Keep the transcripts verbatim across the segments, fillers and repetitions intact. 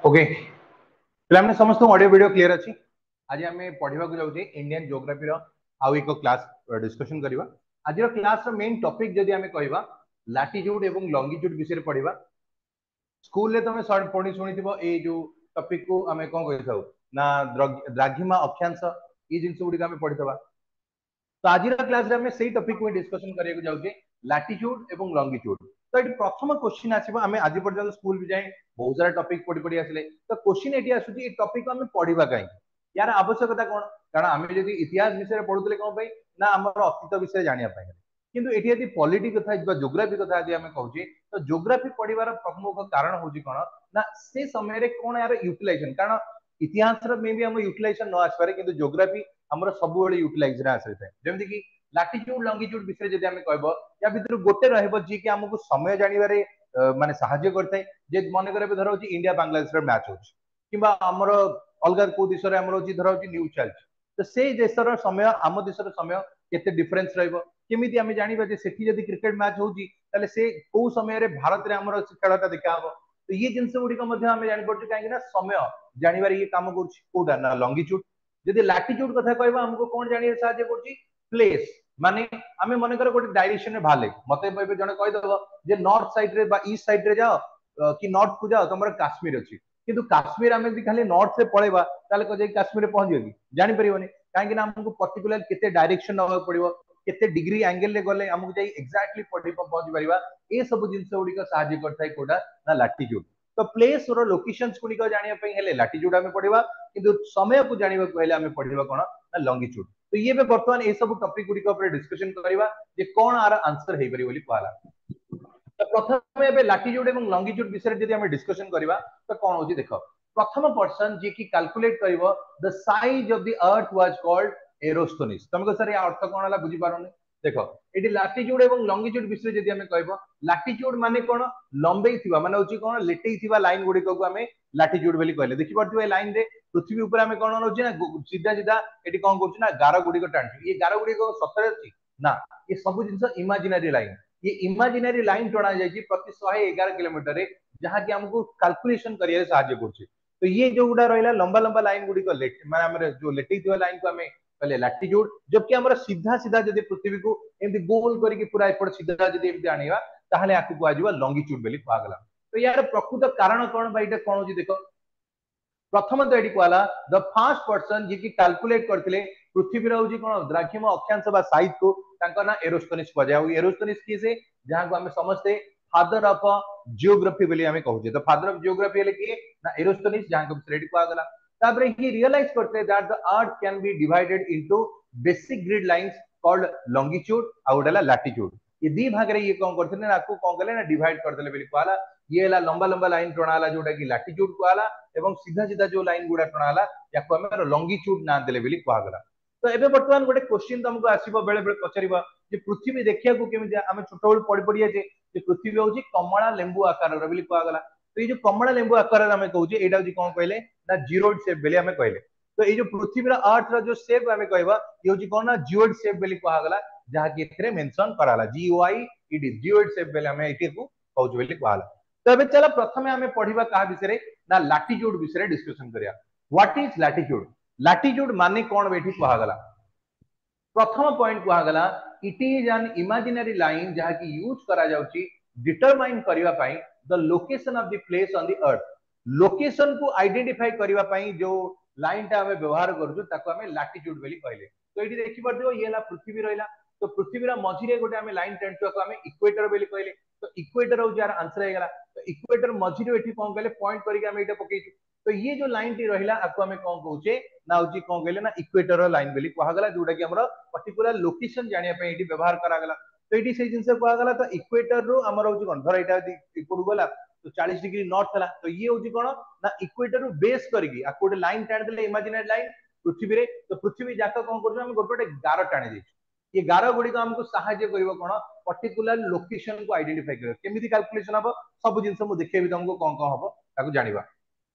Okay ପିଲାମାନେ ସମସ୍ତଙ୍କୁ audio video clear ଅଛି ଆଜି ଆମେ ପଢିବାକୁ ଯାଉଛେ ଇଣ୍ଡିଆନ ଜିଓଗ୍ରାଫିର ଆଉ ଏକ କ୍ଲାସ ଡିସ୍କସନ କରିବା ଆଜିର କ୍ଲାସର ମେନ୍ ଟପିକ ଯଦି ଆମେ କହିବା ଲାଟିଚ୍ୟୁଡ ଏବଂ ଲଙ୍ଗିଚ୍ୟୁଡ ବିଷୟରେ ପଢିବା ସ୍କୁଲରେ ତମେ ପଢି ଶୁଣିଥିବ ଏଇ ଯୋଉ ଟପିକ କୁ ଆମେ କଣ କହିଥାଉ ନା ଦ୍ରାଘିମା ଅକ୍ଷାଂଶ ଏଇ ଜିନିଷ ଗୁଡିକ ଆମେ ପଢିଥିବା ତ ଆଜିର କ୍ଲାସରେ ଆମେ ସେଇ ଟପିକ କୁ ଡିସ୍କସନ କରିବାକୁ ଯାଉଛେ ଲାଟିଚ୍ୟୁଡ ଏବଂ ଲଙ୍ଗିଚ୍ୟୁଡ ତ ଏଠି ପ୍ରଥମ କ୍ୱେଶ୍ଚିନ୍ ଆସିବ ଆମେ ଆଜି ପର୍ଯ୍ୟନ୍ତ ସ୍କୁଲ ବି ଯାଏ ବହୁତ ସାରା ଟପିକ ପଢି ପଢି ଆସିଲେ ତ କ୍ୱେଶ୍ଚିନ୍ ଏଠି ଆସୁଛି ଏଇ ଟପିକ ଆମେ ପଢିବା କାହିଁକି ୟାର ଆବଶ୍ୟକତା କଣ କାରଣ ଆମେ ଯଦି ଇତିହାସ ବିଷୟରେ ପଢୁଥିଲେ କଣ ପାଇଁ ନା ଆମର ଅତୀତ ବିଷୟରେ ଜାଣିବା ପାଇଁ କିନ୍ତୁ ଏଠି ଯଦି ପଲିଟି କଥା ବା ଜୋଗ୍ରାଫି କଥା ଯଦି ଆମେ କହୁଛେ ତ ଜୋଗ୍ରାଫି ପଢିବାର ପ୍ରମୁଖ କାରଣ ହଉଛି କଣ ନା ସେ ସମୟରେ କଣ ଏହାର ୟୁଟିଲାଇଜେସନ କାରଣ ଇତିହାସର ମେ ବି ଆମ ୟୁଟିଲାଇଜେସନ ନ ଆସିପାରେ କିନ୍ତୁ ଜୋଗ୍ରାଫି ଆମର ସବୁବେଳେ ୟୁଟିଲାଇଜରେ ଆସିଥାଏ ଯେମିତି କି ଲାଟିଚ୍ୟୁଡ ଲଙ୍ଗିଚ୍ୟୁଡ ବିଷୟରେ ଯଦି ଆମେ କହିବ ୟା ଭିତରୁ ଗୋଟେ ରହିବ ଯିଏକି ଆମକୁ ସମୟ ଜାଣିବାରେ ମାନେ ସାହାଯ୍ୟ କରିଥାଏ ଯେ ମନେକର ଏବେ ଧର ହଉଛି ଇଣ୍ଡିଆ ବାଂଲାଦେଶର ମ୍ୟାଚ ହଉଛି କିମ୍ବା ଆମର ଅଲଗା କୋଉ ଦେଶରେ ଆମର ହଉଛି ଧର ହଉଛି ନ୍ୟୁଜ ଚାଲିଛି ତ ସେଇ ଦେଶର ସମୟ ଆମ ଦେଶର ସମୟ କେତେ ଡିଫରେନ୍ସ ରହିବ କେମିତି ଆମେ ଜାଣିବା ଯେ ସେଠି ଯଦି କ୍ରିକେଟ ମ୍ୟାଚ ହଉଛି ତାହେଲେ ସେ କୋଉ ସମୟରେ ଭାରତରେ ଆମର ଖେଳଟା ଦେଖାହବ ତ ଇଏ ଜିନିଷ ଗୁଡିକ ମଧ୍ୟ ଆମେ ଜାଣିପାରୁଛୁ କାହିଁକି ନା ସମୟ ଜାଣିବାରେ ଇଏ କାମ କରୁଛି କୋଉଟା ନା ଲଙ୍ଗିଚ୍ୟୁଡ ଯଦି ଲାଟିଚ୍ୟୁଡ କଥା କହିବା ଆମକୁ କଣ ଜାଣିବାରେ ସାହାଯ୍ୟ କରୁଛି ପ୍ଲେସ ମାନେ ଆମେ ମନେକର ଗୋଟେ ଡାଇରେକ୍ସନରେ ବାହାରିଲେ ମତେ ଏବେ ଜଣେ କହିଦବ ଯେ ନର୍ଥ ସାଇଡ ରେ ବା ଇଷ୍ଟ ସାଇଡ ରେ ଯାଅ କି ନର୍ଥ କୁ ଯାଅ ତମର କାଶ୍ମୀର ଅଛି କିନ୍ତୁ କାଶ୍ମୀର ଆମେ ଯଦି ଖାଲି ନର୍ଥ ରେ ପଳେଇବା ତାହେଲେ ଯାଇ କାଶ୍ମୀରରେ ପହଞ୍ଚିବ କି ଜାଣିପାରିବନି କାହିଁକି ନା ଆମକୁ ପର୍ଟିକୁଲାର କେତେ ଡାଇରେକ୍ସନ ନବାକୁ ପଡିବ କେତେ ଡିଗ୍ରୀ ଆଙ୍ଗେଲ ରେ ଗଲେ ଆମକୁ ଯାଇ ଏକ୍ଜାକ୍ଟଲି ପହଞ୍ଚି ପାରିବା ଏ ସବୁ ଜିନିଷ ଗୁଡିକ ସାହାଯ୍ୟ କରିଥାଏ କୋଉଟା ନା ଲାଟିଚ୍ୟୁଡ ତ ପ୍ଲେସ ର ଲୋକେସନ ଗୁଡିକ ଜାଣିବା ପାଇଁ ହେଲେ ଲାଟିଚ୍ୟୁଡ ଆମେ ପଢିବା କିନ୍ତୁ ସମୟକୁ ଜାଣିବାକୁ ହେଲେ ଆମେ ପଢିବା କଣ ନା ଲଙ୍ଗିଚ୍ୟୁଡ ତ ଇଏ ଏବେ ବର୍ତ୍ତମାନ ଏ ସବୁ ଟପିକ ଗୁଡିକ ଉପରେ ଡିସ୍କସନ କରିବା ଯେ କଣ ଆର ଆନ୍ସର ହେଇପାରିବ ବୋଲି କୁହାଗଲା ତ ପ୍ରଥମେ ଏବେ ଲାଟିଚ୍ୟୁଡ ଏବଂ ଲଙ୍ଗିଚ୍ୟୁଡ ବିଷୟରେ ଯଦି ଆମେ ଡିସ୍କସନ କରିବା ତ କଣ ହଉଛି ଦେଖ ପ୍ରଥମ ପର୍ସନ ଯିଏକି କାଲକୁଲେଟ କରିବ the size of the earth was called Eratosthenes ତମେ କହ ସାର୍ ଅର୍ଥ କଣ ହେଲା ବୁଝିପାରୁନି ଦେଖ ଏଠି ଲାଟିଚ୍ୟୁଡ ଏବଂ ଲଙ୍ଗିଚ୍ୟୁଡ ବିଷୟରେ ଯଦି ଆମେ କହିବ ଲାଟିଚ୍ୟୁଡ ମାନେ କଣ ଲମ୍ବେଇ ଥିବା ମାନେ ହଉଛି କଣ ଲେଟେଇ ଥିବା ଲାଇନ ଗୁଡିକକୁ ଆମେ ଲାଟିଚ୍ୟୁଡ ବୋଲି କହିଲେ ଦେଖିପାରୁଥିବେ ଏ ଲାଇନ ରେ ପୃଥିବୀ ଉପରେ ଆମେ କଣ ନଉଛେ ନା ସିଧା ସିଧା ଏଠି କଣ କରୁଛୁ ନା ଗାର ଗୁଡିକ ଟାଣୁଛୁ ଇଏ ଗାର ଗୁଡିକ ସତରେ ଅଛି ନା ଏ ସବୁ ଜିନିଷ ଇମାଜିନାରୀ ଲାଇନ ଇଏ ଇମାଜିନାରୀ ଲାଇନ ଟଣା ଯାଇଛି ପ୍ରତି ଶହେ ଏଗାର କିଲୋମିଟରରେ ଯାହାକି ଆମକୁ କାଲକୁଲେସନ କରିବାରେ ସାହାଯ୍ୟ କରୁଛି ତ ଇଏ ଯୋଉ ଗୁଡା ରହିଲା ଲମ୍ବା ଲମ୍ବା ଲାଇନ ଗୁଡିକ ମାନେ ଆମର ଯୋଉ ଲେଟେଇ ଥିବା ଲାଇନ କୁ ଆମେ କହିଲେ ଲାଟିଚ୍ୟୁଡ ଜବକି ଆମର ସିଧା ସିଧା ଯଦି ପୃଥିବୀକୁ ଏମିତି ଗୋଲ କରିକି ପୁରା ଏପଟ ସିଧା ଯଦି ଏମିତି ଆଣିବା ତାହେଲେ ଆକୁ କୁହାଯିବ ଲଙ୍ଗିଚ୍ୟୁଡ ବୋଲି କୁହାଗଲା ତ ୟାର ପ୍ରକୃତ କାରଣ କଣ ବା ଏଇଟା କଣ ହଉଛି ଦେଖ ପ୍ରଥମତଃ ଏଠି କୁହାଗଲା ଦ ଫାର୍ଷ୍ଟ ପର୍ସନ ଯିଏକି କାଲକୁଲେଟ କରିଥିଲେ ପୃଥିବୀର ହଉଛି କଣ ଦ୍ରାଘିମ ଅକ୍ଷାଂଶ ବା ସାଇଜ କୁ ତାଙ୍କ ନାଁ ଏରୋସ୍ତୋନିସ୍ କୁହାଯାଏ ଆଉ ଏରୋସ୍ତୋନିସ୍ କିଏ ସେ ଯାହାକୁ ଆମେ ସମସ୍ତେ ଫାଦର ଅଫ ଜିଓଗ୍ରାଫି ବୋଲି ଆମେ କହୁଛେ ତ ଫାଦର ଅଫ ଜିଓଗ୍ରାଫି ହେଲେ କିଏ ନା ଏରୋସ୍ତୋନିସ୍ ଯାହାଙ୍କ ବିଷୟରେ ଏଠି କୁହାଗଲା ତାପରେ ହି ରିଅଲାଇଜ କରିଥିଲେ that the earth can be divided into basic grid lines called longitude ଆଉ ଗୋଟେ ହେଲା ଲାଟିଚ୍ୟୁଡ ଏ ଦି ଭାଗରେ ଇଏ କଣ କରିଥିଲେ ନା ଆକୁ କଣ କଲେ ନା ଡିଭାଇଡ କରିଦେଲେ ବୋଲି କୁହାଗଲା ଇଏ ହେଲା ଲମ୍ବା ଲମ୍ବା ଲାଇନ ଟଣା ହେଲା ଯୋଉଟା କି ଲାଟିଚ୍ୟୁଡ କୁହାଗଲା ଏବଂ ସିଧା ସିଧା ଯୋଉ ଲାଇନ ଗୁଡା ଟଣା ହେଲା ୟାକୁ ଆମେ ଲଙ୍ଗିଚ୍ୟୁଡ ନାଁ ଦେଲେ ବୋଲି କୁହାଗଲା ତ ଏବେ ବର୍ତ୍ତମାନ ଗୋଟେ କ୍ୱେଶ୍ଚିନ୍ ତମକୁ ଆସିବ ବେଳେ ବେଳେ ପଚାରିବ ଯେ ପୃଥିବୀ ଦେଖିବାକୁ କେମିତି ଆମେ ଛୋଟବେଳୁ ପଢି ପଢି ଯାଇଛେ ଯେ ପୃଥିବୀ ହଉଛି କମଳା ଲେମ୍ବୁ ଆକାରର ବୋଲି କୁହାଗଲା ତ ଏଇ ଯୋଉ କମଳା ଲେମ୍ବୁ ଆକାରରେ ଆମେ କହୁଛେ ଏଇଟା ହଉଛି କଣ କହିଲେ ନା ଜିଓଏଡ ସେପ୍ ବୋଲି ଆମେ କହିଲେ ତ ଏଇ ଯୋଉ ପୃଥିବୀର ଆର୍ଥ ର ଯୋଉ ସେପ୍ ଆମେ କହିବା ଇଏ ହଉଛି କଣ ନା ଜିଓଏଡ ସେପ୍ ବୋଲି କୁହାଗଲା ଯାହାକି ଏଥିରେ ମେନସନ କରାଗଲା ଜିଓଆଇ ଇଡି ଜିଓଏଡ ସେପ୍ ବୋଲି ଆମେ ଏଇଠିକୁ କହୁଛୁ ବୋଲି କୁହାଗଲା ତ ଏବେ ଚାଲ ପ୍ରଥମେ ଆମେ ପଢିବା କାହା ବିଷୟରେ ନା ଲାଟିଚ୍ୟୁଡ ବିଷୟରେ ଡିସ୍କସନ କରିବା What is latitude ଲାଟିଚ୍ୟୁଡ ମାନେ କଣ ଏଠି କୁହାଗଲା ପ୍ରଥମ ପଏଣ୍ଟ କୁହାଗଲା it is an imaginary line ଯାହାକି ୟୁଜ କରାଯାଉଛି ଡିଟରମାଇନ କରିବା ପାଇଁ the location of the place on the earth location କୁ ଆଇଡେଣ୍ଟିଫାଇ କରିବା ପାଇଁ ଯୋଉ ଲାଇନ ଟା ଆମେ ବ୍ୟବହାର କରୁଛୁ ତାକୁ ଆମେ ଲାଟିଚ୍ୟୁଡ ବୋଲି କହିଲେ ତ ଏଇଠି ଦେଖିପାରୁଥିବ ଇଏ ହେଲା ପୃଥିବୀ ରହିଲା ତ ପୃଥିବୀର ମଝିରେ ଗୋଟେ ଆମେ ଲାଇନ ଟାଣିଛୁ ତାକୁ ଆମେ ଇକ୍ୱେଟର ବୋଲି କହିଲେ ତ ଇକ୍ୱେଟର ହଉଛି ଆର ଆନ୍ସର ହେଇଗଲା ତ ଇକ୍ୱେଟର ମଝିରୁ ଏଠି କଣ କହିଲେ ପଏଣ୍ଟ କରିକି ଆମେ ଏଇଟା ପକେଇଛୁ ତ ଇଏ ଯୋଉ ଲାଇନ ଟି ରହିଲା ଆକୁ ଆମେ କଣ କହୁଛେ ନା ହଉଛି କଣ କହିଲେ ନା ଇକ୍ୱେଟର ଲାଇନ ବୋଲି କୁହାଗଲା ଯୋଉଟା କି ଆମର ପର୍ଟିକୁଲାର ଲୋକେସନ ଜାଣିବା ପାଇଁ ଏଠି ବ୍ୟବହାର କରାଗଲା ତ ଏଇଠି ସେଇ ଜିନିଷ କୁହାଗଲା ତ ଇକ୍ୱେଟର ରୁ ଆମର ହଉଛି କଣ ଧର ଏଇଟା ଯଦି ଏପଟକୁ ଗଲା ତ ଚାଳିଶ ଡିଗ୍ରୀ ନର୍ଥ ହେଲା ତ ଇଏ ହଉଛି କଣ ନା ଇକ୍ୱେଟର ରୁ ବେସ୍ କରିକି ଆକୁ ଗୋଟେ ଲାଇନ ଟାଣିଦେଲେ ଇମାଜିନାରୀ ଲାଇନ ପୃଥିବୀରେ ତ ପୃଥିବୀ ଯାକ କଣ କରୁଛୁ ଆମେ ଗୋଟେ ଗୋଟେ ଗାର ଟାଣି ଦେଇଛୁ ଏ ଗାର ଗୁଡିକ ଆମକୁ ସାହାଯ୍ୟ କରିବ କଣ ପର୍ଟିକୁଲାର ଲୋକେସନ କୁ ଆଇଡେଣ୍ଟିଫାଇ କରିବ କେମିତି କାଲକୁଲେସନ ହବ ସବୁ ଜିନିଷ ମୁଁ ଦେଖେଇବି ତମକୁ କଣ କଣ ହବ ତାକୁ ଜାଣିବା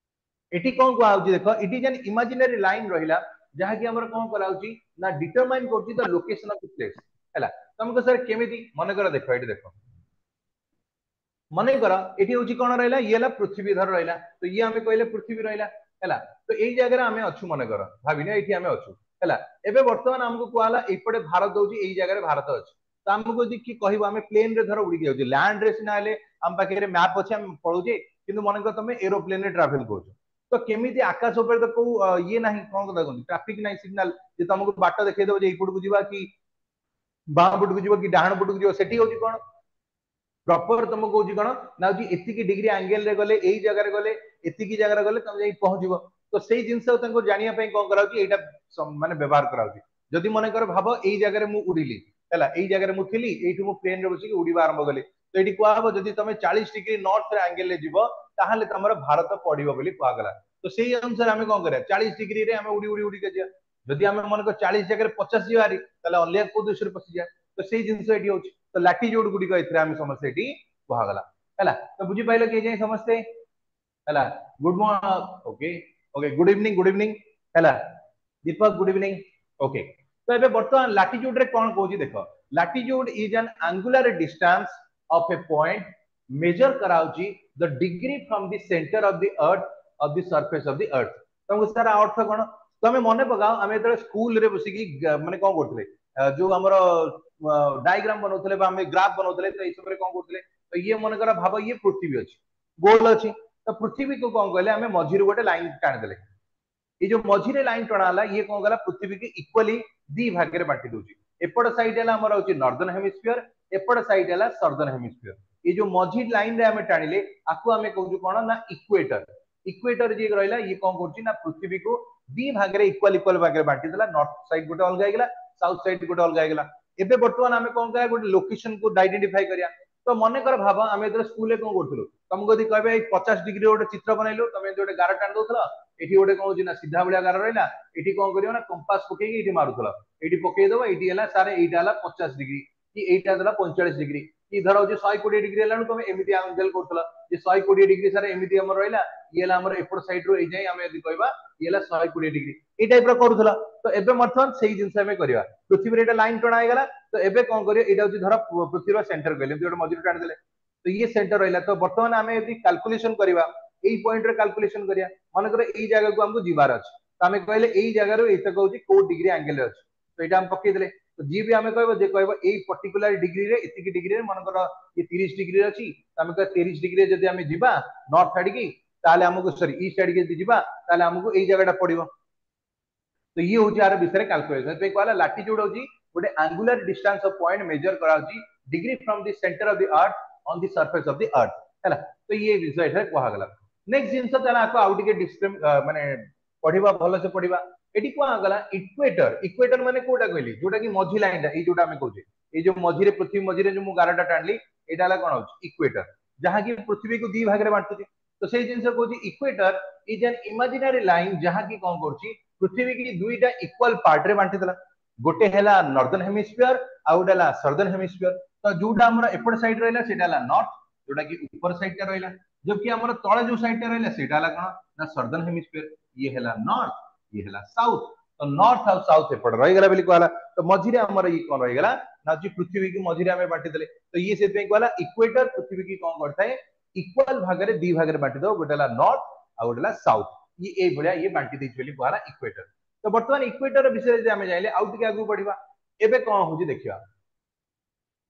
ଏଠି କଣ କୁହାହଉଛି ଦେଖ it is an imaginary line ରହିଲା ଯାହାକି ଆମର କଣ କରାହଉଛି ନା ଡିଟରମାଇନ କରୁଛି the location of the place ହେଲା ତମକୁ ସାର୍ କେମିତି ମନେକର ଦେଖ ଏଠି ଦେଖ ମନେକର ଏଠି ହଉଛି କଣ ରହିଲା ଇଏ ହେଲା ପୃଥିବୀ ଧର ରହିଲା ତ ଇଏ ଆମେ କହିଲେ ପୃଥିବୀ ରହିଲା ହେଲା ତ ଏଇ ଜାଗାରେ ଆମେ ଅଛୁ ମନେକର ଭାବିନେ ଏଇଠି ଆମେ ଅଛୁ ହେଲା ଏବେ ବର୍ତ୍ତମାନ ଆମକୁ କୁହାହେଲା ଏଇପଟେ ଭାରତ ହଉଛି ଏଇ ଜାଗାରେ ଭାରତ ଅଛି ତ ଆମକୁ ଯଦି କି କହିବ ଆମେ ପ୍ଲେନ ରେ ଧର ଉଡିକି ଯାଉଛେ ଲ୍ୟାଣ୍ଡ ରେ ସିନା ହେଲେ ଆମ ପାଖରେ ମ୍ୟାପ ଅଛି ଆମେ ପଳଉଛେ କିନ୍ତୁ ମନେକର ତମେ ଏରୋପ୍ଲେନ ରେ ଟ୍ରାଭେଲ କରୁଛ ତ କେମିତି ଆକାଶ ଉପରେ ତ କୋଉ ଇଏ ନାହିଁ କଣ କଥା କହନ୍ତି ଟ୍ରାଫିକ ନାହିଁ ସିଗ୍ନାଲ ଯେ ତମକୁ ବାଟ ଦେଖେଇଦବ ଯେ ଏଇପଟକୁ ଯିବା କି ବାଁ ପଟକୁ ଯିବ କି ଡାହାଣ ପଟକୁ ଯିବ ସେଠି ହଉଛି କଣ ପ୍ରପର ତମକୁ କହୁଛି କଣ ନା ହଉଛି ଏତିକି ଡିଗ୍ରୀ ଆଙ୍ଗେଲ ରେ ଗଲେ ଏଇ ଜାଗାରେ ଗଲେ ଏତିକି ଜାଗାରେ ଗଲେ ତମେ ଯାଇ ପହଞ୍ଚିବ ତ ସେଇ ଜିନିଷ ତାଙ୍କୁ ଜାଣିବା ପାଇଁ କଣ କରାହଉଛି ଏଇଟା ମାନେ ବ୍ୟବହାର କରାହଉଛି ଯଦି ମନେକର ଭାବ ଏଇ ଜାଗାରେ ମୁଁ ଉଡିଲି ହେଲା ଏଇ ଜାଗାରେ ମୁଁ ଥିଲି ଏଇଠୁ ମୁଁ ପ୍ଲେନ ରେ ବସିକି ଉଡିବା ଆରମ୍ଭ କଲି ତ ଏଇଠି କୁହାହବ ଯଦି ତମେ ଚାଳିଶ ଡିଗ୍ରୀ ନର୍ଥ ଆଙ୍ଗେଲ ରେ ଯିବ ତାହେଲେ ତମର ଭାରତ ପଡିବ ବୋଲି କୁହାଗଲା ତ ସେଇ ଅନୁସାରେ ଆମେ କଣ କରିବା ଚାଳିଶ ଡିଗ୍ରୀରେ ଆମେ ଉଡି ଉଡି ଉଡିକି ଯିବା ଯଦି ଆମେ ମନେକର ଚାଳିଶ ଜାଗାରେ ପଚାଶ ଯିବା ଭାରି ତାହେଲେ ଅଲଗା କୋଉ ଦେଶରେ ପଶିଯିବା ତ ସେଇ ଜିନିଷ ଏଠି ହଉଛି ତ ଲାଟିଚ୍ୟୁଡ ଗୁଡିକ ଏଥିରେ ଆମେ ସମସ୍ତେ ଏଠି କୁହାଗଲା ହେଲା ତ ବୁଝିପାରିଲ କି ଯାଇ ସମସ୍ତେ ହେଲା good morning okay okay good evening good evening ହେଲା ଦୀପକ ଗୁଡ ଇଭିନିଂ ଓକେ ତ ଏବେ ବର୍ତ୍ତମାନ ଲାଟିଚ୍ୟୁଡ ରେ କଣ କହୁଛି ଦେଖ latitude is an angular distance of a point measure କରାଉଛି the degree from the center of the earth of the surface of the earth ତମକୁ ସାର୍ ଅର୍ଥ କଣ ତମେ ମନେ ପକାଅ ଆମେ ଯେତେବେଳେ ସ୍କୁଲରେ ବସିକି ମାନେ କଣ କରୁଥିଲେ ଯୋଉ ଆମର ଡାଇଗ୍ରାମ ବନଉଥିଲେ ବା ଆମେ ଗ୍ରାଫ ବନଉଥିଲେ ତ ଏଇ ସମୟରେ କଣ କରୁଥିଲେ ତ ଇଏ ମନେକର ଭାବ ଇଏ ପୃଥିବୀ ଅଛି ଗୋଲ ଅଛି ତ ପୃଥିବୀକୁ କଣ କହିଲେ ଆମେ ମଝିରୁ ଗୋଟେ ଲାଇନ ଟାଣିଦେଲେ ଏଇ ଯୋଉ ମଝିରେ ଲାଇନ ଟଣା ହେଲା ଇଏ କଣ କଲା ପୃଥିବୀକି ଇକ୍ୱାଲି ଦି ଭାଗରେ ବାଣ୍ଟି ଦଉଛି ଏପଟ ସାଇଡ ହେଲା ଆମର ହଉଛି ନର୍ଦର୍ନ ହେମିସ୍ଫିୟର ଏପଟ ସାଇଡ ହେଲା ସଦର୍ନ ହେମିସ୍ଫିୟର ଏଇ ଯୋଉ ମଝି ଲାଇନ ରେ ଆମେ ଟାଣିଲେ ଆକୁ ଆମେ କହୁଛୁ କଣ ନା ଇକ୍ୱେଟର ଇକ୍ୱେଟର ଯିଏ ରହିଲା ଇଏ କଣ କରୁଛି ନା ପୃଥିବୀକୁ ଦି ଭାଗରେ ଇକ୍ୱାଲ ଇକ୍ୱାଲ ଭାଗରେ ବାଣ୍ଟି ଦେଲା ନର୍ଥ ସାଇଡ ଗୋଟେ ଅଲଗା ହେଇଗଲା ସାଉଥ ସାଇଡ ଗୋଟେ ଅଲଗା ହେଇଗଲା ଏବେ ବର୍ତ୍ତମାନ ଆମେ କଣ କରିବା ଗୋଟେ ଲୋକେସନ କୁ ଆଇଡେଣ୍ଟିଫାଇ କରିବା ତ ମନେକର ଭାବ ଆମେ ଯେତେବେଳେ ସ୍କୁଲରେ କଣ କରୁଥିଲୁ ତମକୁ ଯଦି କହିବେ ଏଇ ପଚାଶ ଡିଗ୍ରୀ ଗୋଟେ ଚିତ୍ର ବନେଇଲୁ ତମେ ଏମିତି ଗୋଟେ ଗାର ଟାଣି ଦଉଥିଲ ଏଠି ଗୋଟେ କଣ ହଉଛି ନା ସିଧା ଭଳିଆ ଗାର ରହିଲା ଏଠି କଣ କରିବ ନା କମ୍ପାସ ପକେଇକି ଏଇଠି ମାରୁଥିଲ ଏଇଠି ପକେଇଦବ ଏଇଠି ହେଲା ସାର୍ ଏଇଟା ହେଲା ପଚାଶ ଡିଗ୍ରୀ କି ଏଇଟା ହେଲା ପଇଁଚାଳିଶ ଡିଗ୍ରୀ କି ଧର ହଉଛି ଶହେ କୋଡିଏ ଡିଗ୍ରୀ ହେଲାଣି ତମେ ଏମିତି ଆଙ୍ଗେଲ କରୁଥିଲ ଯେ ଶହେ କୋଡିଏ ଡିଗ୍ରୀ ସାର୍ ଏମିତି ଆମର ରହିଲା ଇଏ ହେଲା ଆମର ଏପଟ ସାଇଡ ରୁ ଏଇ ଯାଏଁ ଆମେ ଯଦି କହିବା ଇଏ ହେଲା ଶହେ କୋଡିଏ ଡିଗ୍ରୀ ଏଇ ଟାଇପ ର କରୁଥିଲ ତ ଏବେ ବର୍ତ୍ତମାନ ସେଇ ଜିନିଷ ଆମେ କରିବା ପୃଥିବୀରେ ଏଇଟା ଲାଇନ ଟଣା ହେଇଗଲା ତ ଏବେ କଣ କରିବ ଏଇଟା ହଉଛି ଧର ପୃଥିବୀର ସେଣ୍ଟର କହିଲେ ଏମିତି ଗୋଟେ ମଝିରେ ଟାଣିଦେଲେ ତ ଇଏ ସେଣ୍ଟର ରହିଲା ତ ବର୍ତ୍ତମାନ ଆମେ ଯଦି କାଲକୁଲେସନ କରିବା ଏଇ ପଏଣ୍ଟରେ କାଲକୁଲେସନ କରିବା ମନେକର ଏଇ ଜାଗାକୁ ଆମକୁ ଯିବାର ଅଛି ତ ଆମେ କହିଲେ ଏଇ ଜାଗାରୁ ଏଇତକ ହଉଛି କୋଉ ଡିଗ୍ରୀ ଆଙ୍ଗେଲରେ ଅଛି ତ ଏଇଟା ଆମେ ପକେଇଦେଲେ ତ ଯିଏ ବି ଆମେ କହିବ ଯେ କହିବ ଏଇ ପର୍ଟିକୁଲାର ଡିଗ୍ରୀରେ ଏତିକି ଡିଗ୍ରୀରେ ମନେକର ଇଏ ତିରିଶ ଡିଗ୍ରୀରେ ଅଛି ତ ଆମେ କହିବା ତିରିଶ ଡିଗ୍ରୀରେ ଯଦି ଆମେ ଯିବା ନର୍ଥ ଆଡିକି ତାହେଲେ ଆମକୁ ସରି ଇଷ୍ଟ ଆଡିକି ଯଦି ଯିବା ତାହେଲେ ଆମକୁ ଏଇ ଜାଗାଟା ପଡିବ ତ ଇଏ ହଉଛି ଆର ବିଷୟରେ କାଲକୁଲେସନ ସେଥିପାଇଁ କୁହାଗଲା ଲାଟିଚ୍ୟୁଡ ହଉଛି ଗୋଟେ angular distance of point measure କରାହଉଛି degree from the center of the earth on the surface of the earth ହେଲା ତ ଇଏ ବିଷୟ ଏଠାରେ କୁହାଗଲା ନେକ୍ସଟ ଜିନିଷ ତାହେଲେ ଆକୁ ଆଉ ଟିକେ ମାନେ ପଢିବା ଭଲସେ ପଢିବା ଏଠି କୁହାଗଲା ଇକ୍ୱେଟର ଇକ୍ୱେଟର ମାନେ କୋଉଟା କହିଲି ଯୋଉଟା କି ମଝି ଲାଇନଟା ଏଇ ଯୋଉଟା ଆମେ କହୁଛେ ଏଇ ଯୋଉ ମଝିରେ ପୃଥିବୀ ମଝିରେ ଯୋଉ ମୁଁ ଗାରଟା ଟାଣିଲି ଏଇଟା ହେଲା କଣ ହଉଛି ଇକ୍ୱେଟର ଯାହାକି ପୃଥିବୀକୁ ଦି ଭାଗରେ ବାଣ୍ଟୁଛି ତ ସେଇ ଜିନିଷ କହୁଛି equator is an imaginary line ଯାହାକି କଣ କରୁଛି ପୃଥିବୀ କି ଦୁଇଟା ଇକ୍ୱାଲ ପାର୍ଟ ରେ ବାଣ୍ଟିଦେଲା ଗୋଟେ ହେଲା ନର୍ଦର୍ନ ହେମିସ୍ଫିୟର ଆଉ ଗୋଟେ ହେଲା ସଦର୍ନ ହେମିସ୍ଫିୟର ତ ଯୋଉଟା ଆମର ଏପଟ ସାଇଡ ରହିଲା ସେଇଟା ହେଲା ନର୍ଥ ଯୋଉଟା କି ଉପର ସାଇଡ ଟା ରହିଲା ଜବକି ଆମର ତଳେ ଯୋଉ ସାଇଡ ଟା ରହିଲା ସେଇଟା ହେଲା କଣ ନା ସଦର୍ନ ହେମିସ୍ଫିୟର ଇଏ ହେଲା ନର୍ଥ ଇଏ ହେଲା ସାଉଥ ତ ନର୍ଥ ଆଉ ସାଉଥ ଏପଟେ ରହିଗଲା ବୋଲି କୁହାଗଲା ତ ମଝିରେ ଆମର ଇଏ କଣ ରହିଗଲା ନା ହଉଛି ପୃଥିବୀକୁ ମଝିରେ ଆମେ ବାଣ୍ଟିଦେଲେ ତ ଇଏ ସେଥିପାଇଁ କୁହାଗଲା ଇକ୍ୱେଟର ପୃଥିବୀ କି କଣ କରିଥାଏ ଇକ୍ୱାଲ ଭାଗରେ ଦି ଭାଗରେ ବାଣ୍ଟି ଦବ ଗୋଟେ ହେଲା ନର୍ଥ ଆଉ ଗୋଟେ ହେଲା ସାଉଥ ଇଏ ଏଇଭଳିଆ ଇଏ ବାଣ୍ଟି ଦେଇଛି ବୋଲି କୁହାଗଲା ଇକ୍ୱେଟର ତ ବର୍ତ୍ତମାନ ଇକ୍ୱେଟର ବିଷୟରେ ଯଦି ଆମେ ଜାଣିଲେ ଆଉ ଟିକେ ଆଗକୁ ବଢିବା ଏବେ କଣ ହଉଛି ଦେଖିବା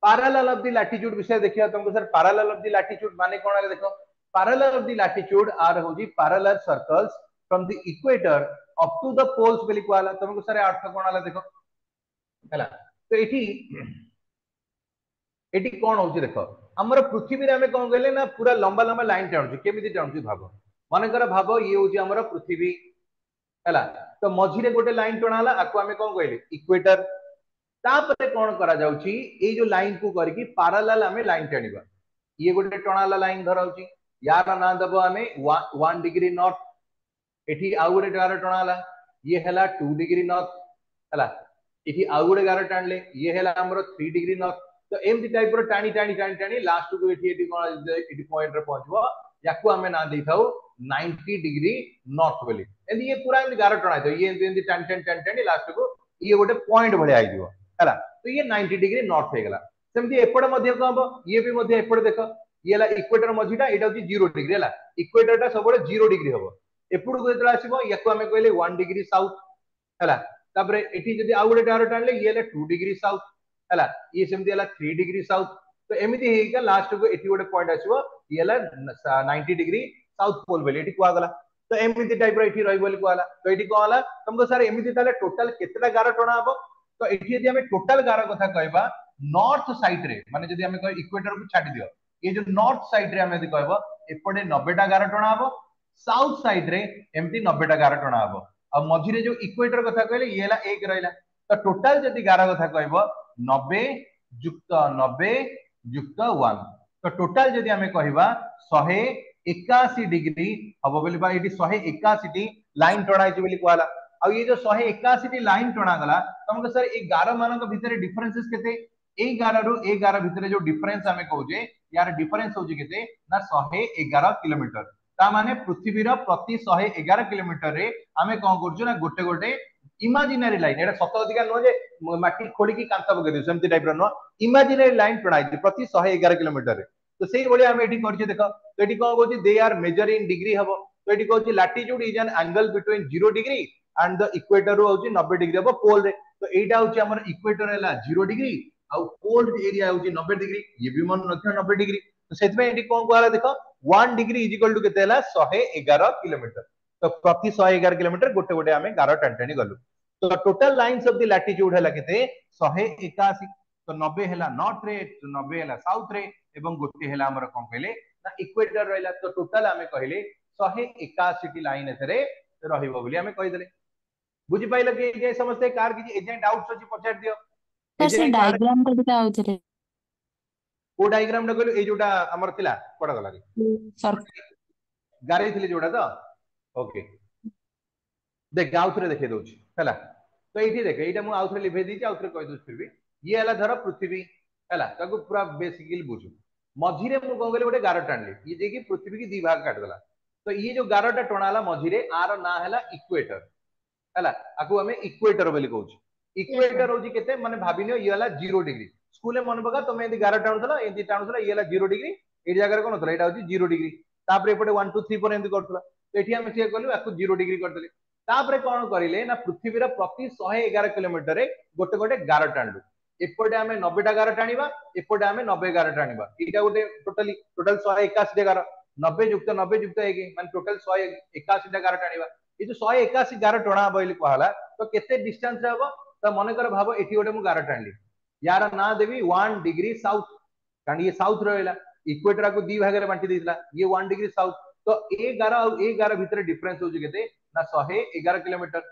ପାରାଲାଲ ଅଫ the latitude ବିଷୟରେ ଦେଖିବା ତମକୁ sir parallel of the latitude ମାନେ କଣ ହେଲା ଦେଖ parallel of the latitude are ହଉଛି parallel circles from the equator up to the poles ବୋଲି କୁହାଗଲା ତମକୁ ସାର୍ ଅର୍ଥ କଣ ହେଲା ଦେଖ ହେଲା ତ ଏଠି ଏଠି କଣ ହଉଛି ଦେଖ ଆମର ପୃଥିବୀରେ ଆମେ କଣ କହିଲେ ନା ପୁରା ଲମ୍ବା ଲମ୍ବା ଲାଇନ ଟାଣୁଛୁ କେମିତି ଟାଣୁଛୁ ଭାବ ମନେକର ଭାବ ଇଏ ହଉଛି ଆମର ପୃଥିବୀ ହେଲା ତ ମଝିରେ ଗୋଟେ ଲାଇନ ଟଣା ହେଲା ଆକୁ ଆମେ କଣ କହିଲେ ଇକ୍ୱେଟର ତାପରେ କଣ କରାଯାଉଛି ଏଇ ଯୋଉ ଲାଇନ କୁ କରିକି ପାରାଲାଲ ଆମେ ଲାଇନ ଟାଣିବା ଇଏ ଗୋଟେ ଟଣା ହେଲା ଲାଇନ ଧରା ହଉଛି ୟାର ନାଁ ଦବ ଆମେ ୱାନ୍ ଡିଗ୍ରୀ ନର୍ଥ ଏଠି ଆଉ ଗୋଟେ ଗାର ଟଣା ହେଲା ଇଏ ହେଲା ଟୁ ଡିଗ୍ରୀ ନର୍ଥ ହେଲା ଏଠି ଆଉ ଗୋଟେ ଗାର ଟାଣିଲେ ଇଏ ହେଲା ଆମର ଥ୍ରୀ ଡିଗ୍ରୀ ନର୍ଥ ତ ଏମିତି ଟାଇପ ର ଟାଣି ଟାଣି ଟାଣି ଟାଣି ଲାଷ୍ଟକୁ ଏଠି ଏଠି କଣ ଏଠି ପଏଣ୍ଟରେ ପହଞ୍ଚିବ ୟାକୁ ଆମେ ନାଁ ଦେଇଥାଉ ନାଇଣ୍ଟି ଡିଗ୍ରୀ ନର୍ଥ ବୋଲି ଏମିତି ଇଏ ପୁରା ଏମିତି ଗାର ଟଣା ହେଇଥିବ ଇଏ ଏମିତି ଏମିତି ଟାଣି ଟାଣି ଟାଣି ଟାଣି ଲାଷ୍ଟକୁ ଇଏ ଗୋଟେ ପଏଣ୍ଟ ଭଳିଆ ହେଇଯିବ ହେଲା ତ ଇଏ ନାଇଣ୍ଟି ଡିଗ୍ରୀ ନର୍ଥ ହେଇଗଲା ସେମିତି ଏପଟେ ମଧ୍ୟ କଣ ହବ ଇଏ ବି ମଧ୍ୟ ଏପଟେ ଦେଖ ଇଏ ହେଲା ଇକ୍ୱେଟର ମଝିଟା, ଏଇଟା ହଉଛି ଜିରୋ ଡିଗ୍ରୀ ହେଲା। ଇକ୍ୱେଟରଟା ସବୁବେଳେ ଜିରୋ ଡିଗ୍ରୀ ହବ। ଏପଟକୁ ଯେତେବେଳେ ଆସିବ ୟାକୁ ଆମେ କହିଲେ ୱାନ୍ ଡିଗ୍ରୀ ସାଉଥ ହେଲା। ତାପରେ ଏଠି ଯଦି ଆଉ ଗୋଟେ ଗାର ଟାଣିଲେ ଇଏ ହେଲା ଟୁ ଡିଗ୍ରୀ ସାଉଥ ହେଲା, ଇଏ ସେମିତି ହେଲା ଥ୍ରୀ ଡିଗ୍ରୀ ସାଉଥ। ତ ଏମିତି ହେଇକା ଲାଷ୍ଟକୁ ଏଠି ଗୋଟେ ପଏଣ୍ଟ ଆସିବ, ଇଏ ହେଲା ନାଇଣ୍ଟି ଡିଗ୍ରୀ ସାଉଥ ପୋଲ ବୋଲି ଏଠି କୁହାଗଲା। ତ ଏମିତି ଟାଇପ ର ଏଠି ରହିବ ବୋଲି କୁହାଗଲା। ତ ଏଠି କଣ ହେଲା ତମକୁ ସାର୍ ଏମିତି ତାହେଲେ ଟୋଟାଲ କେତେଟା ଗାର ଟଣା ହବ? ତ ଏଠି ଯଦି ଆମେ ଟୋଟାଲ ଗାର କଥା କହିବା ନର୍ଥ ସାଇଡ ରେ, ମାନେ ଯଦି ଆମେ କହିବା ଇକ୍ୱେଟର କୁ ଛାଡି ଦିଅ, ଏ ଯୋଉ ନର୍ଥ ସାଇଡ ରେ ଆମେ ଯଦି କହିବ ଏପଟେ ନବେଟା ଗାର ଟଣା ହବ, ସାଉଥ ସାଇଡ ରେ ଏମିତି ନବେଟା ଗାର ଟଣା ହବ, ଆଉ ମଝିରେ ଯୋଉ ଇକ୍ୱେଟର କଥା କହିଲେ ଇଏ ହେଲା ଏକ ରହିଲା। ତ ଟୋଟାଲ ଯଦି ଗାର କଥା କହିବ ନବେ ଯୁକ୍ତ ନବେ ଯୁକ୍ତ ୱାନ୍, ତ ଟୋଟାଲ ଯଦି ଆମେ କହିବା ଶହେ ଏକାଅଶୀ ଡିଗ୍ରୀ ହବ ବୋଲି, ବା ଏଠି ଶହେ ଏକାଅଶୀଟି ଲାଇନ ଟଣା ହେଇଛି ବୋଲି କୁହାଗଲା। ଆଉ ଇଏ ଯୋଉ ଶହେ ଏକାଅଶୀଟି ଲାଇନ ଟଣାଗଲା, ତମକୁ ସାର୍ ଏଇ ଗାର ମାନଙ୍କ ଭିତରେ ଡିଫରେନ୍ସେସ୍ କେତେ? ଏଇ ଗାରରୁ ଏଇ ଗାର ଭିତରେ ଯୋଉ ଡିଫରେନ୍ସ ଆମେ କହୁଛେ, ୟାର ଡିଫରେନ୍ସ ହଉଛି କେତେ ନା ଶହେ ଏଗାର କିଲୋମିଟର। ତା ମାନେ ପୃଥିବୀର ପ୍ରତି ଶହେ ଏଗାର କିଲୋମିଟରରେ ଆମେ କଣ କରୁଛୁ ନା ଗୋଟେ ଗୋଟେ ଇମାଜିନାରୀ ଲାଇନ, ଏଇଟା ସତ ଅଧିକା ନୁହଁ ଯେ ମାଟି ଖୋଳିକି କାନ୍ଥ ପକେଇ ଦଉଛୁ, ସେମିତି ଟାଇପ ର ନୁହଁ, ଇମାଜିନାରୀ ଲାଇନ ଟଣା ହେଇଛି ପ୍ରତି ଶହେ ଏଗାର କିଲୋମିଟରରେ। ତ ସେଇଭଳିଆ ଆମେ ଏଠି କରିଛେ ଦେଖ। ତ ଏଠି କଣ କହୁଛି they are measure in degree ହବ। ତ ଏଠି କହୁଛି latitude is an angle between zero degree and the equator ହଉଛି ନବେ ଡିଗ୍ରୀ ହବ ପୋଲ ରେ। ତ ଏଇଟା ହଉଛି ଆମର ଇକ୍ୱେଟର ହେଲା ଜିରୋ ଡିଗ୍ରୀ ଆଉ ପୋଲ ଏରିଆ ହଉଛି ନବେ ଡିଗ୍ରୀ, ଇଏ ବି ମନେ ରଖିବ ନବେ ଡିଗ୍ରୀ। ତ ସେଥିପାଇଁ ଏଠି କଣ କୁହାଗଲା ଦେଖ, one degree is equal to କେତେ ହେଲା ଶହେ ଏଗାର କିଲୋମିଟର। ତ ପ୍ରତି ଶହେ ଏଗାର କିଲୋମିଟର ଗୋଟେ ଗୋଟେ ଆମେ ଗାର ଟାଣି ଟାଣି ଗଲୁ। ତ total lines of the latitude ହେଲା କେତେ ଶହେ ଏକାଅଶୀ। ତ ନବେ ହେଲା ନର୍ଥ ରେ, ନବେ ହେଲା ସାଉଥ ରେ, ଏବଂ ଗୋଟେ ହେଲା ଆମର କଣ କହିଲେ ନା ଇକ୍ୱେଟର ରହିଲା। ତ ଟୋଟାଲ ଆମେ କହିଲେ ଶହେ ଏକାଅଶୀଟି ଲାଇନ ଏଥିରେ ରହିବ ବୋଲି ଆମେ କହିଦେଲେ। ବୁଝିପାରିଲ କି ଏଯାଏଁ ସମସ୍ତେ? କାହାର କିଛି ଏଯାଏଁ ଡାଉଟ୍ସ ଅଛି ପଚାରି ଦିଅ। ସାର୍ ସେ ଏଯାଏଁ କାହାର ଡାଇଗ୍ରାମ ଟା ଟିକେ ଆଉଥରେ। କୋଉ ଡାଇଗ୍ରାମ ଟା କହିଲୁ? ଏଇ ଯୋଉଟା ଆମର ଥିଲା କୁଆଡେ ଗଲା କି ସର୍କଲ ଗାରେଇଥିଲି ଯୋଉଟା ତ? ଓକେ ଦେଖ ଆଉଥରେ ଦେଖେଇ ଦଉଛି ହେଲା। ତ ଏଇଠି ଦେଖ, ଏଇଟା ମୁଁ ଆଉଥରେ ଲିଭେଇ ଦେଇଛି, ଆଉଥରେ କହିଦଉଛି ଫିର ବି। ଇଏ ହେଲା ଧର ପୃଥିବୀ ହେଲା, ତାକୁ ପୁରା ବେସିକାଲି ବୁଝୁ। ମଝିରେ ମୁଁ କଣ କଲି ଗୋଟେ ଗାର ଟାଣିଲି, ଇଏ ଯାଇକି ପୃଥିବୀ କି ଦି ଭାଗ କାଟିଦେଲା। ତ ଇଏ ଯୋଉ ଗାରଟା ଟଣା ହେଲା ମଝିରେ, ଆର ନାଁ ହେଲା ଇକ୍ୱେଟର ହେଲା, ଆକୁ ଆମେ ଇକ୍ୱେଟର ବୋଲି କହୁଛୁ। ଇକ୍ୱେଟର ହଉଛି କେତେ ମାନେ ଭାବିନିଅ ଇଏ ହେଲା ଜିରୋ ଡିଗ୍ରୀ। ସ୍କୁଲରେ ମନେ ପକା ତମେ ଏମିତି ଗାର ଟାଣୁଥିଲ, ଏମିତି ଟାଣୁଥିଲ, ଇଏ ହେଲା ଜିରୋ ଡିଗ୍ରୀ, ଏଇ ଜାଗାରେ କଣ ହଉଥିଲା ଏଇଟା ହଉଛି ଜିରୋ ଡିଗ୍ରୀ। ତାପରେ ଏପଟେ ୱାନ୍ ଟୁ ଥ୍ରୀ ଫୋର ଏମିତି କରୁଥିଲ। ତ ଏଠି ଆମେ ସେଇଆ କଲୁ, ଆକୁ ଜିରୋ ଡିଗ୍ରୀ କରିଦେଲେ। ତାପରେ କଣ କରିଲେ ନା ପୃଥିବୀର ପ୍ରତି ଶହେ ଏଗାର କିଲୋମିଟରରେ ଗୋଟେ ଗୋଟେ ଗାର ଟାଣିଲୁ। ଏପଟେ ଆମେ ନବେଟା ଗାର ଟାଣିବା, ଏପଟେ ଆମେ ନବେ ଗାର ଟାଣିବା। ଏଇଟା ଗୋଟେ ଟୋଟାଲି ଟୋଟାଲ ଶହେ ଏକାଅଶୀଟା ଗାର, ନବେ ଯୁକ୍ତ ନବେ ଯୁକ୍ତ ଏକ ମାନେ ଟୋଟାଲ ଶହେ ଏକାଅଶୀଟା ଗାର ଟାଣିବା। ଏଇ ଯୋଉ ଶହେ ଏକାଅଶୀ ଗାର ଟଣା ହବ ବୋଲି କୁହାହେଲା, ତ କେତେ ଡିଷ୍ଟାନ୍ସ ହବ? ତ ମନେକର ଭାବ ଏଠି ଗୋଟେ ମୁଁ ଗାର ଟାଣିଲି, ୟାର ନାଁ ଦେବି ୱାନ୍ ଡିଗ୍ରୀ ସାଉଥ, କାରଣ ଇଏ ସାଉଥ ରହିଲା, ଇକ୍ୱେଟରକୁ ଦି ଭାଗରେ ବାଣ୍ଟି ଦେଇଥିଲା, ଇଏ ୱାନ୍ ଡିଗ୍ରୀ ସାଉଥ। ତ ଏ ଗାର ଆଉ ଏ ଗାର ଭିତରେ ଡିଫରେନ୍ସ ହଉଛି କେତେ ନା ଶହେ ଏଗାର କିଲୋମିଟର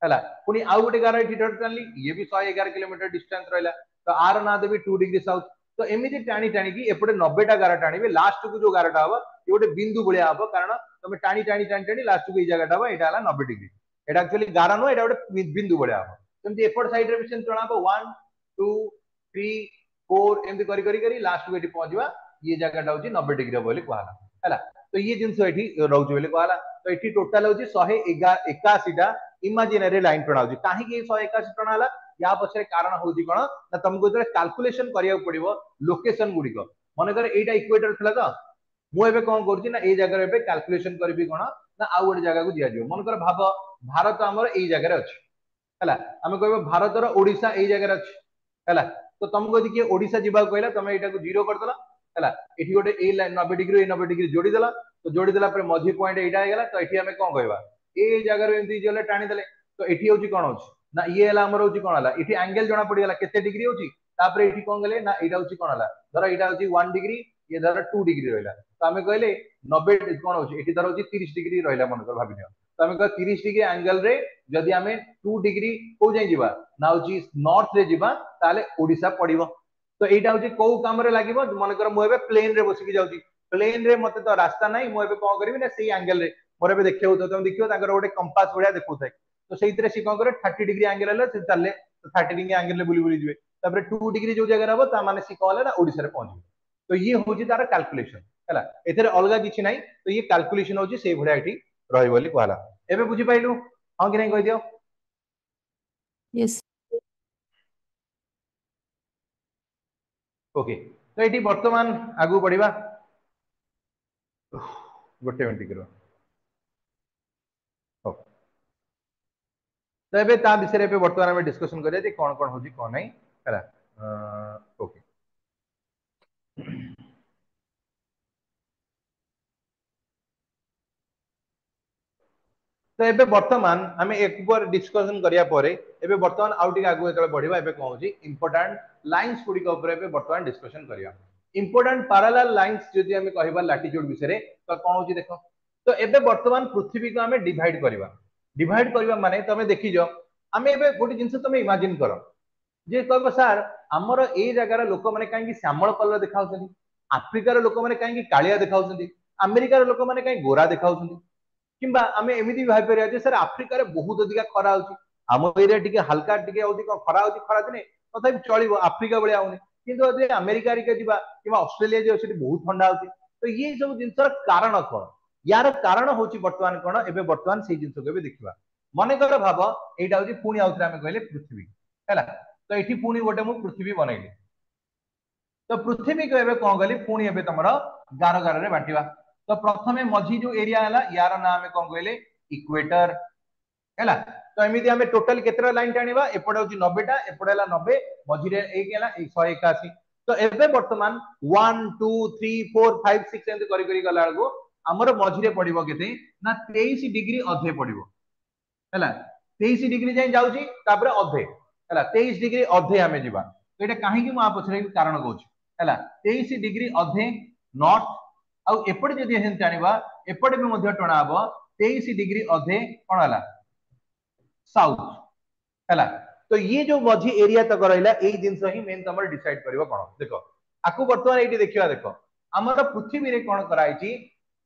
ହେଲା। ପୁଣି ଆଉ ଗୋଟେ ଗାର ଏଠି ଟାଣିଲି, ଇଏ ବି ଶହେ ଏଗାର କିଲୋମିଟର ଡିଷ୍ଟାନ୍ସ ରହିଲା, ତ ଆର ନାଁ ଦେବି ଟୁ ଡିଗ୍ରୀ ସାଉଥ। ତ ଏମିତି ଟାଣି ଟାଣିକି ଏପଟେ ନବେଟା ଗାର ଟାଣିବେ, ଲାଷ୍ଟକୁ ଯୋଉ ଗାରଟା ହବ ଇଏ ଗୋଟେ ବିନ୍ଦୁ ଭଳିଆ ହବ, କାରଣ ତମେ ଟାଣି ଟାଣି ଟାଣି ଟାଣି ଲାଷ୍ଟକୁ ଏଇ ଜାଗାଟା ହବ, ଏଇଟା ହେଲା ନବେ ଡିଗ୍ରୀ। ଏଇଟା ଆକ୍ଚୁଆଲି ଗାର ନୁହଁ, ଏଇଟା ଗୋଟେ ବିନ୍ଦୁ ଭଳିଆ ହବ। ସେମିତି ଏପଟ ସାଇଡରେ ବି ସେମିତି ଟଣା ହବ, ୱାନ୍ ଟୁ ଥ୍ରୀ ଫୋର ଏମିତି କରି କରି କରି ଲାଷ୍ଟକୁ ଏଠି ପହଞ୍ଚିବା, ଇଏ ଜାଗାଟା ହଉଛି ନବେ ଡିଗ୍ରୀ ହବ ବୋଲି କୁହାହେଲା ହେଲା। ତ ଇଏ ଜିନିଷ ଏଠି ରହୁଛି ବୋଲି କୁହାହେଲା। ତ ଏଠି ଟୋଟାଲ ହଉଛି ଶହେ ଏକାଅଶୀଟା ଇମାଜିନାରୀ ଲାଇନ ଟଣା ହଉଛି। କାହିଁକି ଏଇ ଶହେ ଏକାଅଶୀ ଟଣା ହେଲା? ୟା ପଛରେ କାରଣ ହଉଛି କଣ ନା ତମକୁ ଯେତେବେଳେ କାଲକୁଲେସନ କରିବାକୁ ପଡିବ ଲୋକେସନ ଗୁଡିକ, ମନେକର ଏଇଟା ଇକ୍ୱେଟର ଥିଲା ତ ମୁଁ ଏବେ କଣ କରୁଛି ନା ଏଇ ଜାଗାରେ ଏବେ କାଲକୁଲେସନ କରିବି କଣ ନା ଆଉ ଗୋଟେ ଜାଗାକୁ ଦିଆଯିବ। ମନେକର ଭାବ ଭାରତ ଆମର ଏଇ ଜାଗାରେ ଅଛି ହେଲା, ଆମେ କହିବା ଭାରତର ଓଡିଶା ଏଇ ଜାଗାରେ ଅଛି ହେଲା। ତ ତମକୁ ଯଦି କିଏ ଓଡିଶା ଯିବାକୁ କହିଲା, ତମେ ଏଇଟାକୁ ଜିରୋ କରିଦେଲ ହେଲା, ଏଠି ଗୋଟେ ଏଇ ଲାଇନ ନବେ ଡିଗ୍ରୀ ଏଇ ନବେ ଡିଗ୍ରୀ ଯୋଡିଦେଲ, ତ ଯୋଡିଦେଲା ପରେ ମଝି ପଏଣ୍ଟ ଏଇଟା ହେଇଗଲା। ତ ଏଠି ଆମେ କଣ କହିବା, ଏଇ ଜାଗାରୁ ଏମିତି ଗଲେ ଟାଣିଦେଲେ, ତ ଏଠି ହଉଛି କଣ ହଉଛି ନା ଇଏ ହେଲା ଆମର ହଉଛି କଣ ହେଲା, ଏଠି ଆଙ୍ଗେଲ ଜଣା ପଡିଗଲା କେତେ ଡିଗ୍ରୀ ହଉଛି। ତାପରେ ଏଠି କଣ କଲେ ନା ଏଇଟା ହଉଛି କଣ ହେଲା, ଧର ଏଇଟା ହଉଛି ୱାନ୍ ଡିଗ୍ରୀ, ଇଏ ଧର ଟୁ ଡିଗ୍ରୀ ରହିଲା। ତ ଆମେ କହିଲେ ନବେ କଣ ହଉଛି ଏଠି ଧର ହଉଛି ତିରିଶ ଡିଗ୍ରୀ ରହିଲା ମନେକର ଭାବିନିଅ। ତ ଆମେ କହିବା ତିରିଶ ଡିଗ୍ରୀ ଆଙ୍ଗେଲ ରେ ଯଦି ଆମେ ଟୁ ଡିଗ୍ରୀ କୋଉ ଯାଏଁ ଯିବା ନା ହଉଛି ନର୍ଥ ରେ ଯିବା, ତାହେଲେ ଓଡିଶା ପଡିବ। ତ ଏଇଟା ହଉଛି କୋଉ କାମରେ ଲାଗିବ, ମନେକର ମୁଁ ଏବେ ପ୍ଲେନ ରେ ବସିକି ଯାଉଛି, ପ୍ଲେନ ରେ ମତେ ତ ରାସ୍ତା ନାହିଁ, ମୁଁ ଏବେ କଣ କରିବି ନା ସେଇ ଆଙ୍ଗେଲ ରେ ମୋର ଏବେ ଦେଖିବାକୁ ତମେ ଦେଖିବ ତାଙ୍କର ଗୋଟେ କମ୍ପାସ ଭଳିଆ ଦେଖଉଥାଏ, ତ ସେଇଥିରେ ସେ କଣ କରେ ଥାର୍ଟି ଡିଗ୍ରୀ ଆଙ୍ଗେଲ ହେଲେ ସେ ଚାଲେ, ଥାର୍ଟି ଡିଗ୍ରୀ ଆଙ୍ଗେଲ ରେ ବୁଲି ବୁଲି ଯିବେ। ତାପରେ ଟୁ ଡିଗ୍ରୀ ଯୋଉ ଜାଗାରେ ହବ ତା ମାନେ ସେ କଣ ହେଲା ନା ଓଡିଶାରେ ପହଞ୍ଚିବେ। ତ ଇଏ ହଉଛି ତାର କାଲକୁଲେସନ ହେଲା, ଏଥିରେ ଅଲଗା କିଛି ନାହିଁ। ତ ଇଏ କାଲକୁଲେସନ ହଉଛି ସେଇଭଳିଆ ଏଠି ରହିବ ବୋଲି କୁହାହେଲା। ଏବେ ବୁଝିପାରିଲୁ ହଁ କି ନାଇଁ କହିଦିଅ? Yes. Okay, ତ ଏଠି ବର୍ତ୍ତମାନ ଆଗକୁ ବଢିବା। ଗୋଟେ ମିନିଟ୍ ରୁହ। ହଉ, ତ ଏବେ ତା ବିଷୟରେ ଏବେ ବର୍ତ୍ତମାନ ଆମେ ଡିସ୍କସନ କରିବା ଯେ କଣ କଣ ହଉଛି କଣ ନାହିଁ, ହେଲା। ଓକେ, ତ ଏବେ ବର୍ତ୍ତମାନ ଆମେ ଏକବାର ଡିସ୍କସନ କରିବା ପରେ ଏବେ ବର୍ତ୍ତମାନ ଆଉ ଟିକେ ଆଗକୁ ଯେତେବେଳେ ବଢିବା, ଏବେ କଣ ହଉଛି ଇମ୍ପୋର୍ଟାଣ୍ଟ ଲାଇନ୍ସ ଗୁଡିକ ଉପରେ ଏବେ ବର୍ତ୍ତମାନ ଡିସ୍କସନ କରିବା। ଇମ୍ପୋର୍ଟାଣ୍ଟ ପାରାଲାଲ ଲାଇନ୍ସ ଯଦି ଆମେ କହିବା ଲାଟିଚ୍ୟୁଡ ବିଷୟରେ, ତ କଣ ହଉଛି ଦେଖ। ତ ଏବେ ବର୍ତ୍ତମାନ ପୃଥିବୀକୁ ଆମେ ଡିଭାଇଡ କରିବା। ଡିଭାଇଡ କରିବା ମାନେ ତମେ ଦେଖିଛ, ଆମେ ଏବେ ଗୋଟେ ଜିନିଷ ତମେ ଇମାଜିନ କର ଯେ କହିବ ସାର୍ ଆମର ଏଇ ଜାଗାର ଲୋକମାନେ କାହିଁକି ଶ୍ୟାମଳ କଲର ଦେଖାଉଛନ୍ତି, ଆଫ୍ରିକାର ଲୋକମାନେ କାହିଁକି କାଳିଆ ଦେଖାଉଛନ୍ତି, ଆମେରିକାର ଲୋକମାନେ କାହିଁକି ଗୋରା ଦେଖାଉଛନ୍ତି, କିମ୍ବା ଆମେ ଏମିତି ବି ଭାବିପାରିବା ଯେ ସାର୍ ଆଫ୍ରିକାରେ ବହୁତ ଅଧିକା ଖରା ହଉଛି, ଆମ ଏରିଆ ଟିକେ ହାଲକା ଟିକେ ଅଧିକ ଖରା ହଉଛି ଖରା ଦିନେ, ତଥାପି ଚଳିବ, ଆଫ୍ରିକା ଭଳିଆ ହଉନି। କିନ୍ତୁ ଯଦି ଆମେରିକା ହେରିକା ଯିବା କିମ୍ବା ଅଷ୍ଟ୍ରେଲିଆ ଯିବା, ସେଠି ବହୁତ ଥଣ୍ଡା ହଉଛି। ତ ଇଏ ସବୁ ଜିନିଷର କାରଣ କଣ? ୟାର କାରଣ ହଉଛି ବର୍ତ୍ତମାନ କଣ, ଏବେ ବର୍ତ୍ତମାନ ସେଇ ଜିନିଷକୁ ଏବେ ଦେଖିବା। ମନେକର ଭାବ ଏଇଟା ହଉଛି ପୁଣି ଆଉଥରେ ଆମେ କହିଲେ ପୃଥିବୀ, ହେଲା। ତ ଏଠି ପୁଣି ଗୋଟେ ମୁଁ ପୃଥିବୀ ବନେଇଲି। ତ ପୃଥିବୀକୁ ଏବେ କଣ କଲି, ପୁଣି ଏବେ ତମର ଗାର ଗାରରେ ବାଣ୍ଟିବା। ତ ପ୍ରଥମେ ମଝି ଯୋଉ ଏରିଆ ହେଲା ୟାର ନାଁ ଆମେ କଣ କହିଲେ ଇକ୍ୱେଟର, ହେଲା। ତ ଏମିତି ଆମେ ଟୋଟାଲ କେତେଟା ଲାଇନ ଟାଣିବା, ଏପଟେ ହଉଛି ନବେଟା, ଏପଟେ ହେଲା ନବେ, ମଝିରେ ଏକ ହେଲା ଶହେ ଏକାଅଶୀ। ତ ଏବେ ବର୍ତ୍ତମାନ one two three four five six ଏମିତି କରି କରି ଗଲା ବେଳକୁ ଆମର ମଝିରେ ପଡିବ କେତେ ନା ତେଇଶ ଡିଗ୍ରୀ ଅଧେ ପଡିବ, ହେଲା। ତେଇଶ ଡିଗ୍ରୀ ଯାଏଁ ଯାଉଛି, ତାପରେ ଅଧେ, ହେଲା ତେଇଶ ଡିଗ୍ରୀ ଅଧେ ଆମେ ଯିବା। ତ ଏଇଟା କାହିଁକି ମୁଁ ଆ ପଛରେ କାରଣ କହୁଛି, ହେଲା। ତେଇଶ ଡିଗ୍ରୀ ଅଧେ ନର୍ଥ, ଆଉ ଏପଟେ ଯଦି ଏମିତି ଟାଣିବା ଏପଟେ ବି ମଧ୍ୟ ଟଣା ହବ ତେଇଶ ଡିଗ୍ରୀ ଅଧେ କଣ ହେଲା ସାଉଥ, ହେଲା। ତ ଇଏ ଯୋଉ ମଝି ଏରିଆ ତକ ରହିଲା ଏଇ ଜିନିଷ ହିଁ ମେନ୍ ତମର ଡିସାଇଡ କରିବ କଣ। ଦେଖ ଆକୁ ବର୍ତ୍ତମାନ ଏଇଠି ଦେଖିବା, ଦେଖ ଆମର ପୃଥିବୀରେ କଣ କରାହେଇଛି,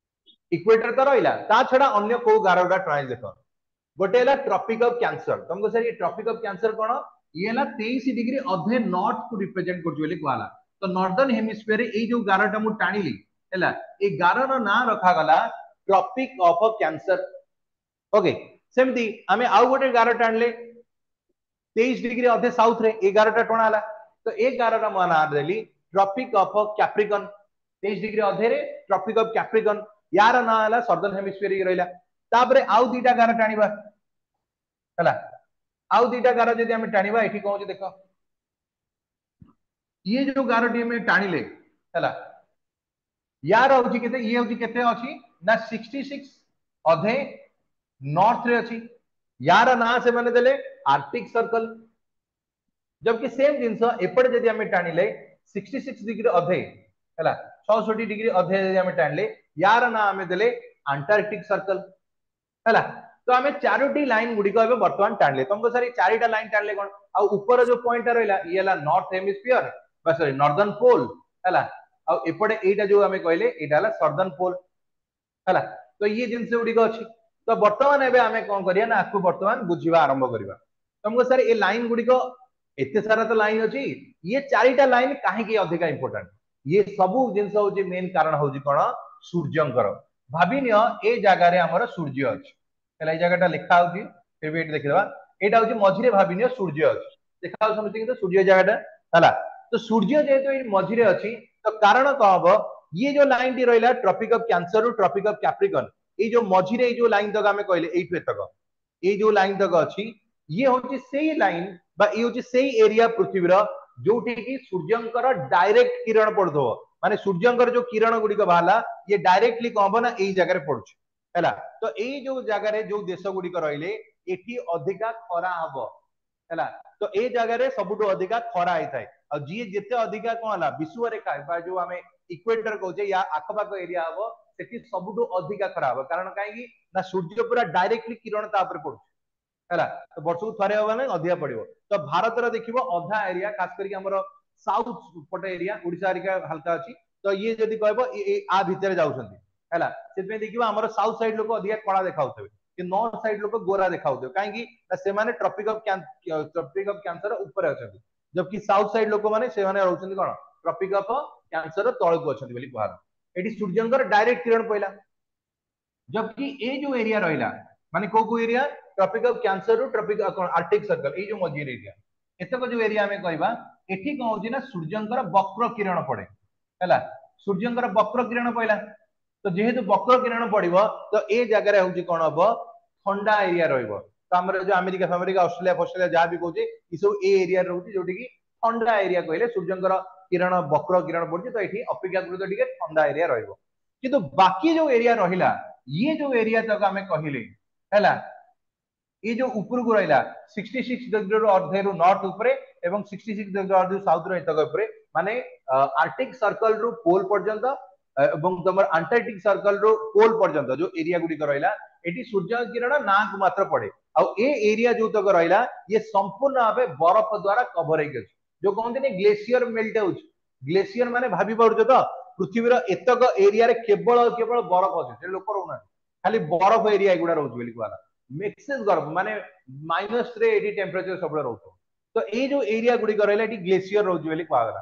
ଇକ୍ୱେଟର ତ ରହିଲା, ତା ଛଡା ଅନ୍ୟ କୋଉ ଗାର ଗୁଡା ଟଣା ହେଇଛି ଦେଖ। ଗୋଟେ ହେଲା ଟ୍ରପିକ ଅଫ କ୍ୟାନ୍ସର। ତମକୁ ସାର୍ ଇଏ ଟ୍ରପିକ ଅଫ କ୍ୟାନ୍ସର କଣ, ଇଏ ହେଲା ତେଇଶ ଡିଗ୍ରୀ ଅଧେ ନର୍ଥ କୁ ରିପ୍ରେଜେଣ୍ଟ କରୁଛି ବୋଲି କୁହାଗଲା। ତ ନର୍ଦର୍ନ ହେମିସ୍ଫିୟର ଏଇ ଯୋଉ ଗାରଟା ମୁଁ ଟାଣିଲି, ହେଲା, ଏଇ ଗାରର ନାଁ ରଖାଗଲା ଟ୍ରପିକ ଅଫ କ୍ୟାନ୍ସର। ଓକେ, ସେମିତି ଆମେ ଆଉ ଗୋଟେ ଗାର ଟାଣିଲେ ତେଇଶ ଡିଗ୍ରୀ ଅଧେ ସାଉଥ ରେ ଏଇ ଗାରଟା ଟଣା ହେଲା। ତ ଏ ଗାରର ମୁଁ ନାଁ ଦେଲି ଟ୍ରପିକ ଅଫ କ୍ୟାପ୍ରିକନ। ତେଇଶ ଡିଗ୍ରୀ ଅଧେରେ ଟ୍ରପିକ ଅଫ କ୍ୟାପ୍ରିକନ, ୟାର ନାଁ ହେଲା ସଦର୍ନ ହେମିସ୍ଫିୟର ରହିଲା। ତାପରେ ଆଉ ଦିଟା ଗାର ଟାଣିବା, ହେଲା। ଆଉ ଦିଟା ଗାର ଯଦି ଆମେ ଟାଣିବା ଏଠି କଣ ହଉଛି ଦେଖ, ଇଏ ଯୋଉ ଗାରଟି ଆମେ ଟାଣିଲେ, ହେଲା, ୟାର ହଉଛି କେତେ, ଇଏ ହଉଛି କେତେ ଅଛି ନା ସିକ୍ସଟି ସିକ୍ସ ଅଧେ ନର୍ଥ ରେ ଅଛି। ୟାର ନାଁ ସେମାନେ ଦେଲେ ଆର୍କଟିକ ସର୍କଲ। ଜବକି ସେମ ଜିନିଷ ଏପଟେ ଯଦି ଆମେ ଟାଣିଲେ ସିକ୍ସଟି ସିକ୍ସ ଡିଗ୍ରୀ ଅଧେ, ହେଲା ଛଅଷଠି ଡିଗ୍ରୀ ଅଧେ ଯଦି ଆମେ ଟାଣିଲେ, ୟାର ନାଁ ଆମେ ଦେଲେ ଆଣ୍ଟାର୍କଟିକ ସର୍କଲ, ହେଲା। ତ ଆମେ ଚାରୋଟି ଲାଇନ ଗୁଡିକ ଏବେ ବର୍ତ୍ତମାନ ଟାଣିଲେ। ତମକୁ ସାର୍ ଏଇ ଚାରିଟା ଲାଇନ ଟାଣିଲେ କଣ, ଆଉ ଉପର ଯୋଉ ପଏଣ୍ଟଟା ରହିଲା ଇଏ ହେଲା ନର୍ଥ ହେମିସ୍ଫିୟର ବା ସରି ନର୍ଦର୍ନ ପୋଲ, ହେଲା। ଆଉ ଏପଟେ ଏଇଟା ଯୋଉ ଆମେ କହିଲେ ଏଇଟା ହେଲା ସଦର୍ନ ପୋଲ, ହେଲା। ତ ଇଏ ଜିନିଷ ଗୁଡିକ ଅଛି। ତ ବର୍ତ୍ତମାନ ଏବେ ଆମେ କଣ କରିବା ନା ଆକୁ ବର୍ତ୍ତମାନ ବୁଝିବା ଆରମ୍ଭ କରିବା। ତମକୁ ସାର୍ ଏ ଲାଇନ ଗୁଡିକ ଏତେ ସାରା ତ ଲାଇନ ଅଛି, ଇଏ ଚାରିଟା ଲାଇନ କାହିଁକି ଅଧିକା ଇମ୍ପୋର୍ଟାଣ୍ଟ, ଇଏ ସବୁ ଜିନିଷ ହଉଛି ମେନ୍ କାରଣ ହଉଛି କଣ ସୂର୍ଯ୍ୟଙ୍କର। ଭାବିନିଅ ଏ ଜାଗାରେ ଆମର ସୂର୍ଯ୍ୟ ଅଛି, ହେଲା, ଏଇ ଜାଗାଟା ଲେଖା ହଉଛି, ଫିର ବି ଏଠି ଦେଖିଦବା, ଏଇଟା ହଉଛି ମଝିରେ ଭାବିନିଅ ସୂର୍ଯ୍ୟ ଅଛି, ଦେଖା ହଉଛି ସମସ୍ତଙ୍କୁ ତ ସୂର୍ଯ୍ୟ ଜାଗାଟା, ହେଲା। ତ ସୂର୍ଯ୍ୟ ଯେହେତୁ ଏଇ ମଝିରେ ଅଛି, ତ କାରଣ କଣ ହବ, ଇଏ ଯୋଉ ଲାଇନଟି ରହିଲା ଟ୍ରପିକ ଅଫ କ୍ୟାନ୍ସର ରୁ ଟ୍ରପିକ ଅଫ କ୍ୟାପ୍ରିକନ, ଏଇ ଯୋଉ ମଝିରେ ଏଇ ଯୋଉ ଲାଇନ ତକ ଆମେ କହିଲେ ଏଇଠୁ ଏତକ ଏଇ ଯୋଉ ଲାଇନ ତକ ଅଛି, ଇଏ ହଉଛି ସେଇ ଲାଇନ ବା ଇଏ ହଉଛି ସେଇ ଏରିଆ ପୃଥିବୀର ଯୋଉଠି କି ସୂର୍ଯ୍ୟଙ୍କର ଡାଇରେକ୍ଟ କିରଣ ପଡୁଥିବ, ମାନେ ସୂର୍ଯ୍ୟଙ୍କର ଯୋଉ କିରଣ ଗୁଡିକ ବାହାରିଲା ଇଏ ଡାଇରେକ୍ଟଲି କଣ ହବ ନା ଏଇ ଜାଗାରେ ପଡୁଛି, ହେଲା। ତ ଏଇ ଯୋଉ ଜାଗାରେ ଯୋଉ ଦେଶ ଗୁଡିକ ରହିଲେ ଏଠି ଅଧିକା ଖରା ହବ, ହେଲା। ତ ଏଇ ଜାଗାରେ ସବୁଠୁ ଅଧିକା ଖରା ହେଇଥାଏ। ଆଉ ଯିଏ ଯେତେ ଅଧିକା କଣ ହେଲା ବିଷୁବରେଖା ବା ଯୋଉ ଆମେ ଇକ୍ୱେଟର କହୁଛେ ୟା ଆଖପାଖ ଏରିଆ ହବ, ସେଠି ସବୁଠୁ ଅଧିକା ଖରା ହବ। କାରଣ କାହିଁକି ନା ସୂର୍ଯ୍ୟ ପୁରା ଡାଇରେକ୍ଟଲି କିରଣ ତା ଉପରେ ପଡୁଛି, ହେଲା। ତ ବର୍ଷକୁ ଥରେ ହବ ମାନେ ଅଧିକା ପଡିବ। ତ ଭାରତର ଦେଖିବ ଅଧା ଏରିଆ, ଖାସ କରିକି ଆମର ସାଉଥ ପଟ ଏରିଆ, ଓଡିଶା ହେରିକା ହାଲକା ଅଛି, ତ ଇଏ ଯଦି କହିବ ଆ ଭିତରେ ଯାଉଛନ୍ତି, ହେଲା। ସେଥିପାଇଁ ଦେଖିବ ଆମର ସାଉଥ ସାଇଡ ଲୋକ ଅଧିକା କଳା ଦେଖାଉଥିବେ, କିନ୍ତୁ ନର୍ଥ ସାଇଡ ଲୋକ ଗୋରା ଦେଖାଉଥିବେ। କାହିଁକି ନା ସେମାନେ tropic of tropic of cancer ଉପରେ ଅଛନ୍ତି, ଜବକି ସାଉଥ ସାଇଡ ଲୋକମାନେ ସେମାନେ ରହୁଛନ୍ତି କଣ ଟ୍ରପିକ ଅଫ କ୍ୟାନ୍ସର ତଳକୁ ଅଛନ୍ତି ବୋଲି କୁହାଗଲା। ଏଠି ସୂର୍ଯ୍ୟଙ୍କର ଡାଇରେକ୍ଟ କିରଣ ପଇଲା, ଜବକି ଏଇ ଯୋଉ ଏରିଆ ରହିଲା ମାନେ କୋଉ କୋଉ ଏରିଆ, ଟ୍ରପିକ ଅଫ କ୍ୟାନ୍ସର ରୁ ଟ୍ରପିକ କଣ ଆର୍କଟିକ ସର୍କଲ, ଏଇ ଯୋଉ ମଝିରେ ଏରିଆ, ଏତକ ଯୋଉ ଏରିଆ ଆମେ କହିବା, ଏଠି କଣ ହଉଛି ନା ସୂର୍ଯ୍ୟଙ୍କର ବକ୍ର କିରଣ ପଡେ, ହେଲା। ସୂର୍ଯ୍ୟଙ୍କର ବକ୍ର କିରଣ ପଇଲା, ତ ଯେହେତୁ ବକ୍ର କିରଣ ପଡିବ, ତ ଏ ଜାଗାରେ ହଉଛି କଣ ହବ? ଥଣ୍ଡା ଏରିଆ ରହିବ। ତ ଆମର ଯୋଉ ଆମେରିକା ଫାମେରିକା, ଅଷ୍ଟ୍ରେଲିଆ ଫଷ୍ଟ୍ରେଲିଆ ଯାହା ବି କହୁଛେ, ଏସବୁ ଏ ଏରିଆରେ ରହୁଛି, ଯୋଉଠି କି ଥଣ୍ଡା ଏରିଆ କହିଲେ ସୂର୍ଯ୍ୟଙ୍କର କିରଣ, ବକ୍ର କିରଣ ପଡୁଛି, ତ ଏଠି ଅପେକ୍ଷାକୃତ ଟିକେ ଥଣ୍ଡା ଏରିଆ ରହିବ। କିନ୍ତୁ ବାକି ଯୋଉ ଏରିଆ ରହିଲା, ଇଏ ଯୋଉ ଏରିଆ ତାକୁ ଆମେ କହିଲେ ହେଲା, ଏଇ ଯୋଉ ଉପରକୁ ରହିଲା ସିକ୍ସଟି ସିକ୍ସ ଡିଗ୍ରୀରୁ ଅର୍ଧେରୁ ନର୍ଥ ଉପରେ ଏବଂ ସିକ୍ସଟି ସିକ୍ସ ଡିଗ୍ରୀ ଅର୍ଧେରୁ ସାଉଥ ର ଏତକ ଉପରେ, ମାନେ ଆର୍କଟିକ ସର୍କଲ ରୁ ପୋଲ ପର୍ଯ୍ୟନ୍ତ ଏବଂ ତମର ଆଣ୍ଟାର୍କଟିକ ସର୍କଲ ରୁ ପୋଲ ପର୍ଯ୍ୟନ୍ତ ଯୋଉ ଏରିଆ ଗୁଡିକ ରହିଲା, ଏଠି ସୂର୍ଯ୍ୟ କିରଣ ନାଁକୁ ମାତ୍ର ପଡେ। ଆଉ ଏ ଏରିଆ ଯୋଉତକ ରହିଲା, ଇଏ ସମ୍ପୂର୍ଣ୍ଣ ଭାବେ ବରଫ ଦ୍ଵାରା କଭର ହେଇକି ଅଛି। ଯୋଉ କହନ୍ତିନି ଗ୍ଲେସିୟର ମେଲ୍ଟ ହଉଛି, ଗ୍ଲେସିୟର ମାନେ ଭାବି ପାରୁଛ ତ? ପୃଥିବୀର ଏତକ ଏରିଆରେ କେବଳ କେବଳ ବରଫ ଅଛି, ସେ ଲୋକ ରହୁନାହାନ୍ତି, ଖାଲି ବରଫ ଏରିଆ ଏଗୁଡା ରହୁଛି ବୋଲି କୁହାଗଲା। ମେକ୍ସିସ୍ ବରଫ ମାନେ ମାଇନସ ରେ ଏଠି ଟେମ୍ପରେଚର ସବୁବେଳେ ରହୁଥିବ। ତ ଏଇ ଯୋଉ ଏରିଆ ଗୁଡିକ ରହିଲା, ଏଠି ଗ୍ଲେସିୟର ରହୁଛି ବୋଲି କୁହାଗଲା।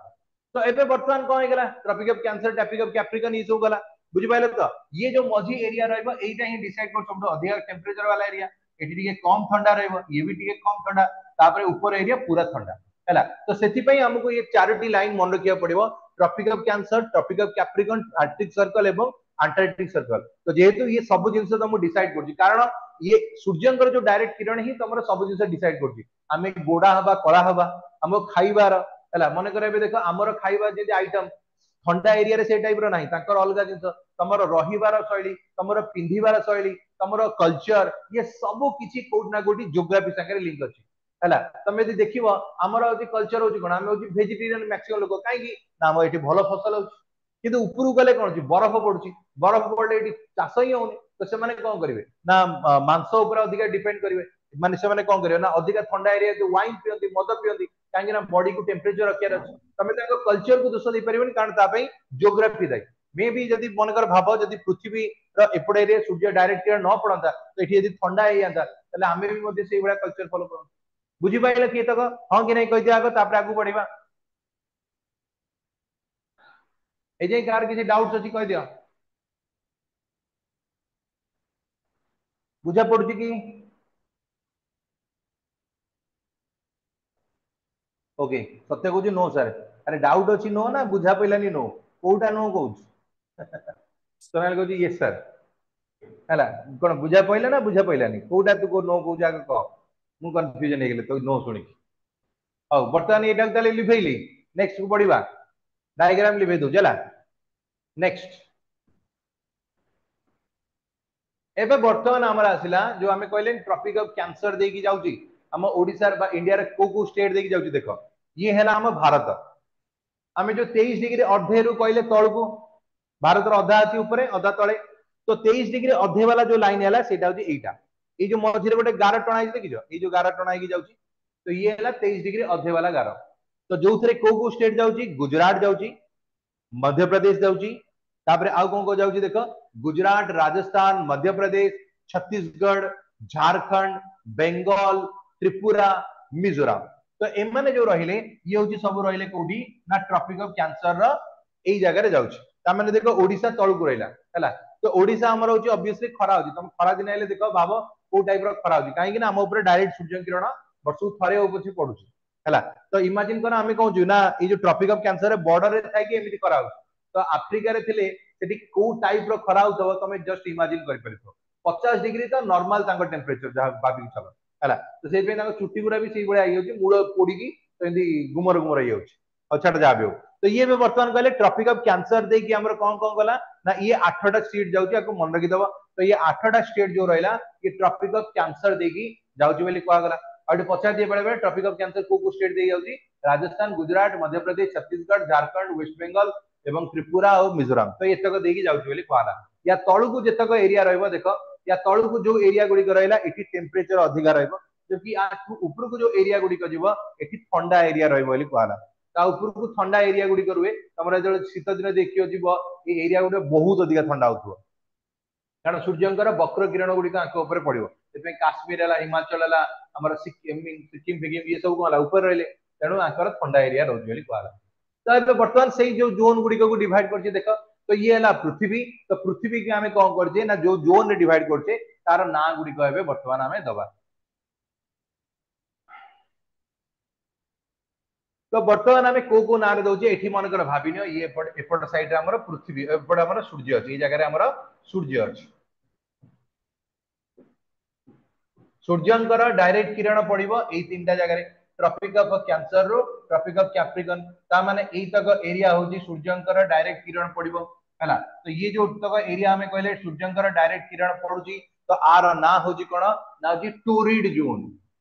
ତ ଏବେ ବର୍ତ୍ତମାନ କଣ ହେଇଗଲା? Tropic of Cancer, Tropic of Capricorn ଏଇ ସବୁ ଗଲା, ବୁଝିପାରିଲେ ତ? ଇଏ ଯୋଉ ମଝି ଏରିଆ ରହିବ, ଏଇଟା ହିଁ ଡିସାଇଡ କରୁଛି ସବୁଠୁ ଅଧିକା ଟେମ୍ପରେଚର ବାଲା ଏରିଆ। ଏଠି ଟିକେ କମ ଥଣ୍ଡା ରହିବ, ଇଏ ବି ଟିକେ କମ ଥଣ୍ଡା, ତାପରେ ଉପର ଏରିଆ ପୁରା ଥଣ୍ଡା ହେଲା। ତ ସେଥିପାଇଁ ଆମକୁ ଇଏ ଚାରୋଟି ଲାଇନ ମନେ ରଖିବାକୁ ପଡିବ, Tropic of Cancer, Tropic of Capricorn, Arctic Circle ଏବଂ ଆଣ୍ଟାର୍କଟିକ ସର୍କଲ। ତ ଯେହେତୁ ଇଏ ସବୁ ଜିନିଷ ତମକୁ ଡିସାଇଡ କରୁଛି, କାରଣ ଇଏ ସୂର୍ଯ୍ୟଙ୍କର ଯୋଉ ଡାଇରେକ୍ଟ କିରଣ ହିଁ ତମର ସବୁ ଜିନିଷ ଡିସାଇଡ କରୁଛି। ଆମେ ଗୋଡା ହବା, କଳା ହବା, ଆମ ଖାଇବାର ହେଲା, ମନେକର ଏବେ ଦେଖ ଆମର ଖାଇବା ଯେମିତି ଆଇଟମ ଥଣ୍ଡା ଏରିଆରେ ସେଇ ଟାଇପ ର ନାହିଁ, ତାଙ୍କର ଅଲଗା ଜିନିଷ। ତମର ରହିବାର ଶୈଳୀ, ତମର ପିନ୍ଧିବାର ଶୈଳୀ, ତମର କଲଚର, ଇଏ ସବୁ କିଛି କୋଉଠି ନା କୋଉଠି ଜିଓଗ୍ରାଫି ସାଙ୍ଗରେ ଲିଙ୍କ ଅଛି ହେଲା। ତମେ ଯଦି ଦେଖିବ ଆମର ହଉଛି କଲଚର ହଉଛି କଣ, ଆମେ ହଉଛି ଭେଜିଟେରିଆନ ମ୍ୟାକ୍ସିମମ୍ ଲୋକ। କାହିଁକି ନା ଆମ ଏଠି ଭଲ ଫସଲ ହଉଛି, କିନ୍ତୁ ଉପରକୁ ଗଲେ କଣ ହଉଛି? ବରଫ ପଡୁଛି। ବରଫ ପଡିଲେ ଏଠି ଚାଷ ହିଁ ହଉନି। ତ ସେମାନେ କଣ କରିବେ ନା ମାଂସ ଉପରେ ଅଧିକା ଡିପେଣ୍ଡ କରିବେ। ମାନେ ସେମାନେ କଣ କରିବେ ନା ଅଧିକା ଥଣ୍ଡା ଏରିଆ ଯୋଉ ୱାଇନ ପିଅନ୍ତି, ମଦ ପିଅନ୍ତି, କାହିଁକି ନା ବଡିକୁ ଟେମ୍ପରେଚର ରଖିବାର ଅଛି। ତମେ ତାଙ୍କ କଲଚରକୁ ଦୋଷ ଦେଇପାରିବନି, କାରଣ ତା ପାଇଁ ଜିଓଗ୍ରାଫି ଦାୟୀ। ମେ ବି ଯଦି ମନେକର ଭାବ, ଯଦି ପୃଥିବୀର ଏପଟ ଏରିଆ ସୂର୍ଯ୍ୟ ଡାଇରେକ୍ଟ କିରଣ ନ ପଡନ୍ତା, ତ ଏଠି ଯଦି ଥଣ୍ଡା ହେଇଯାନ୍ତା, ତାହେଲେ ଆମେ ବି ମଧ୍ୟ ସେଇଭଳିଆ କଲଚର ଫଲୋ କରନ୍ତୁ। ବୁଝିପାରିଲେ କି ଏତକ? ହଁ କି ନାଇଁ କହିଦିଅ ଆଗ, ତାପରେ ଆଗକୁ ବଢିବା। ଏ ଯାଇ କାହାର କିଛି ଡାଉଟ୍ସ ଅଛି କହିଦିଅ। ବୁଝା ପଡୁଛି କି? ଓକେ, ସତ୍ୟ କହୁଛି ନୋ ସାର୍। ଆରେ ଡାଉଟ୍ ଅଛି ନୋ ନା ବୁଝା ପଡିଲାନି ନୋ, କୋଉଟା ନୋ କହୁଛୁ? ସୋନାଲି କହୁଛି ୟେସ୍ ସାର୍। ହେଲା କଣ ବୁଝା ପଡିଲା ନା ବୁଝା ପଡିଲାନି? କୋଉଟା ତୁ ନୋ କହୁଛୁ ଆଗ କହ, ମୁଁ କନଫ୍ୟୁଜନ ହେଇଗଲି ତୁ ନୋ ଶୁଣିକି। ହଉ, ବର୍ତ୍ତମାନ ଏଇଟାକୁ ତାହେଲେ ଲିଭେଇଲି, ନେକ୍ସଟ କୁ ବଢିବା। ଡାଇଗ୍ରାମ ଲିଭେଇ ଦଉଛି ହେଲା। ନେକ୍ସଟ ଏବେ ବର୍ତ୍ତମାନ ଆମର ଆସିଲା ଯୋଉ ଆମେ କହିଲେ ଟ୍ରପିକ ଅଫ କ୍ୟାନ୍ସର ଦେଇକି ଯାଉଛି, ଆମ ଓଡିଶାର ବା ଇଣ୍ଡିଆର କୋଉ କୋଉ ଷ୍ଟେଟ ଦେଇକି ଯାଉଛି ଦେଖ। ଇଏ ହେଲା ଆମ ଭାରତ। ଆମେ ଯୋଉ ତେଇଶ ଡିଗ୍ରୀ ଅଧେରୁ କହିଲେ ତଳକୁ, ଭାରତର ଅଧା ଅଛି ଉପରେ ଅଧା ତଳେ, ତ ତେଇଶ ଡିଗ୍ରୀ ଅଧେ ବାଲା ଯୋଉ ଲାଇନ ହେଲା ସେଇଟା ହଉଛି ଏଇଟା। ଏଇ ଯୋଉ ମଝିରେ ଗୋଟେ ଗାର ଟଣା ହେଇଛି ଦେଖିଛ, ଏଇ ଯୋଉ ଗାର ଟଣା ହେଇକି ଯାଉଛି, ତ ଇଏ ହେଲା ତେଇଶ ଡିଗ୍ରୀ ଅଧେ ବାଲା ଗାର। ତ ଯୋଉଥିରେ କୋଉ କୋଉ ଷ୍ଟେଟ ଯାଉଛି? ଗୁଜରାଟ ଯାଉଛି, ମଧ୍ୟପ୍ରଦେଶ ଯାଉଛି, ତାପରେ ଆଉ କଣ କଣ ଯାଉଛି ଦେଖ, ଗୁଜରାଟ, ରାଜସ୍ଥାନ, ମଧ୍ୟପ୍ରଦେଶ, ଛତିଶଗଡ଼, ଝାରଖଣ୍ଡ, ବେଙ୍ଗଲ, ତ୍ରିପୁରା, ମିଜୋରାମ। ତ ଏମାନେ ଯୋଉ ରହିଲେ, ଇଏ ହଉଛି ସବୁ ରହିଲେ କୋଉଠି ନା ଟ୍ରପିକ ଅଫ କ୍ୟାନ୍ସର ର ଏଇ ଜାଗାରେ ଯାଉଛି। ତାମାନେ ଦେଖ ଓଡିଶା ତଳକୁ ରହିଲା ହେଲା। ତ ଓଡିଶା ଆମର ହଉଛି ଅବଭିୟସଲି ଖରା ହଉଛି, ତମେ ଖରା ଦିନ ହେଲେ ଦେଖ ଭାବ କୋଉ ଟାଇପ ର ଖରା ହଉଛି, କାହିଁକି ନା ଆମ ଉପରେ ଡାଇରେକ୍ଟ ସୂର୍ଯ୍ୟ କିରଣ ବର୍ଷକୁ ଥରେ ହଉ ପଛେ ପଡୁଛି ହେଲା। ତ ଇମାଜିନ କର ଆମେ କହୁଛୁ ନା ଏଇ ଯୋଉ ଟ୍ରପିକ ଅଫ କ୍ୟାନ୍ସର ବର୍ଡର ରେ ଥାଇକି ଏମିତି ଖରା ହଉଛି, ତ ଆଫ୍ରିକାରେ ଥିଲେ ସେଠି କୋଉ ଟାଇପ ର ଖରା ହଉଥିବ ତମେ ଜଷ୍ଟ ଇମାଜିନ କରିପାରିବ। ପଚାଶ ଡିଗ୍ରୀ ତ ନର୍ମାଲ ତାଙ୍କ ଟେମ୍ପରେଚର ଯାହା ଭାବିକି ଚାଲ ହେଲା। ତ ସେଇଥିପାଇଁ ତାଙ୍କ ଚୁଟି ଗୁଡା ବି ସେଇଭଳିଆ ହେଇଯାଉଛି, ମୂଳ ପୋଡିକି ଏମିତି ଗୁମର ଗୁମର ହେଇଯାଉଛି। ଆଉ ଛାଡ ଯାହା ବି ହଉ, ତ ଇଏ ଏବେ ବର୍ତ୍ତମାନ କହିଲେ ଟ୍ରପିକ ଅଫ କ୍ୟାନ୍ସର ଦେଇକି ଆମର କଣ କଣ ଗଲା ନା ଇଏ ଆଠଟା ଷ୍ଟେଟ ଯାଉଛି, ଆକୁ ମନେ ରଖିଦବ। ତ ଇଏ ଆଠଟା ଷ୍ଟେଟ ଯୋଉ ରହିଲା ଇଏ ଟ୍ରପିକ ଅଫ କ୍ୟାନ୍ସର ଦେଇକି ଯାଉଛି ବୋଲି କୁହାଗଲା। ଆଉ ଏଠି ପଚାରି ଦିଏ ବେଳେ ବେଳେ ଟ୍ରପିକ ଅଫ କ୍ୟାନ୍ସର କୋଉ କୋଉ ଷ୍ଟେଟ ଦେଇ ଯାଉଛି? ରାଜସ୍ଥାନ, ଗୁଜରାଟ, ମଧ୍ୟପ୍ରଦେଶ, ଛତିଶଗଡ଼, ଝାରଖଣ୍ଡ, ୱେଷ୍ଟ ବେଙ୍ଗଲ ଏବଂ ତ୍ରିପୁରା ଆଉ ମିଜୋରାମ। ତ ଏତକ ଦେଇକି ଯାଉଛି ବୋଲି କୁହାଗଲା। ୟା ତଳକୁ ଯେତକ ଏରିଆ ରହିବ ଦେଖ, ୟା ତଳକୁ ଯୋଉ ଏରିଆ ଗୁଡିକ ରହିଲା ଏଠି ଟେମ୍ପରେଚର ଅଧିକା ରହିବ, ଜବକି ୟାଠୁ ଉପରକୁ ଯୋଉ ଏରିଆ ଗୁଡିକ ଯିବ ଏଠି ଥଣ୍ଡା ଏରିଆ ରହିବ ବୋଲି କୁହାଗଲା। ତା ଉପରକୁ ଥଣ୍ଡା ଏରିଆ ଗୁଡିକ ରୁହେ, ତମର ଯେତେବେଳେ ଶୀତ ଦିନ ଦେଖିବ ଯିବ ଏଇ ଏରିଆ ଗୁଡିକ ବହୁତ ଅଧିକା ଥଣ୍ଡା ହଉଥିବ, କାରଣ ସୂର୍ଯ୍ୟଙ୍କର ବକ୍ର କିରଣ ଗୁଡିକ ଆଙ୍କ ଉପରେ ପଡିବ। ସେଥିପାଇଁ କାଶ୍ମୀର ହେଲା, ହିମାଚଳ ହେଲା, ଆମର ସିକିମ ଫିକିମ ଇଏ ସବୁ କଣ ହେଲା ଉପରେ ରହିଲେ, ତେଣୁ ଆଙ୍କର ଥଣ୍ଡା ଏରିଆ ରହୁଛି ବୋଲି କୁହାଗଲା। ତ ଏବେ ବର୍ତ୍ତମାନ ସେଇ ଯୋଉ ଜୋନ ଗୁଡିକକୁ ଡିଭାଇଡ କରୁଛି ଦେଖ, ତ ଇଏ ହେଲା ପୃଥିବୀ। ତ ପୃଥିବୀକି ଆମେ କଣ କରୁଛେ ନା ଯୋଉ ଜୋନରେ ଡିଭାଇଡ କରୁଛେ ତାର ନାଁ ଗୁଡିକ ଏବେ ବର୍ତ୍ତମାନ ଆମେ ଦବା। ତ ବର୍ତ୍ତମାନ ଆମେ କୋଉ କୋଉ ନାଁରେ ଦଉଛେ ଏଠି ମନେକର ଭାବିନିଅ ଇଏ ଏପଟ ଏପଟ ସାଇଡରେ ଆମର ପୃଥିବୀ ଏପଟେ ଆମର ସୂର୍ଯ୍ୟ ଅଛି ଏଇ ଜାଗାରେ ଆମର ସୂର୍ଯ୍ୟ ଅଛି ସୂର୍ଯ୍ୟଙ୍କର ଡାଇରେକ୍ଟ କିରଣ ପଡିବ ଏଇ ତିନିଟା ଜାଗାରେ ଟ୍ରପିକ ଅଫ କ୍ୟାନ୍ସର ରୁ ଟ୍ରପିକ ଅଫ କ୍ୟାପ୍ରିକନ ତା ମାନେ ଏଇତକ ଏରିଆ ହଉଛି ସୂର୍ଯ୍ୟଙ୍କର ଡାଇରେକ୍ଟ କିରଣ ପଡିବ ହେଲା ତ ଇଏ ଯୋଉ ତକ ଏରିଆ ଆମେ କହିଲେ ସୂର୍ଯ୍ୟଙ୍କର ଡାଇରେକ୍ଟ କିରଣ ପଡୁଛି ତ ଆର ନାଁ ହଉଛି କଣ ନା ହଉଛି ଟୋରିଡ ଜୋନ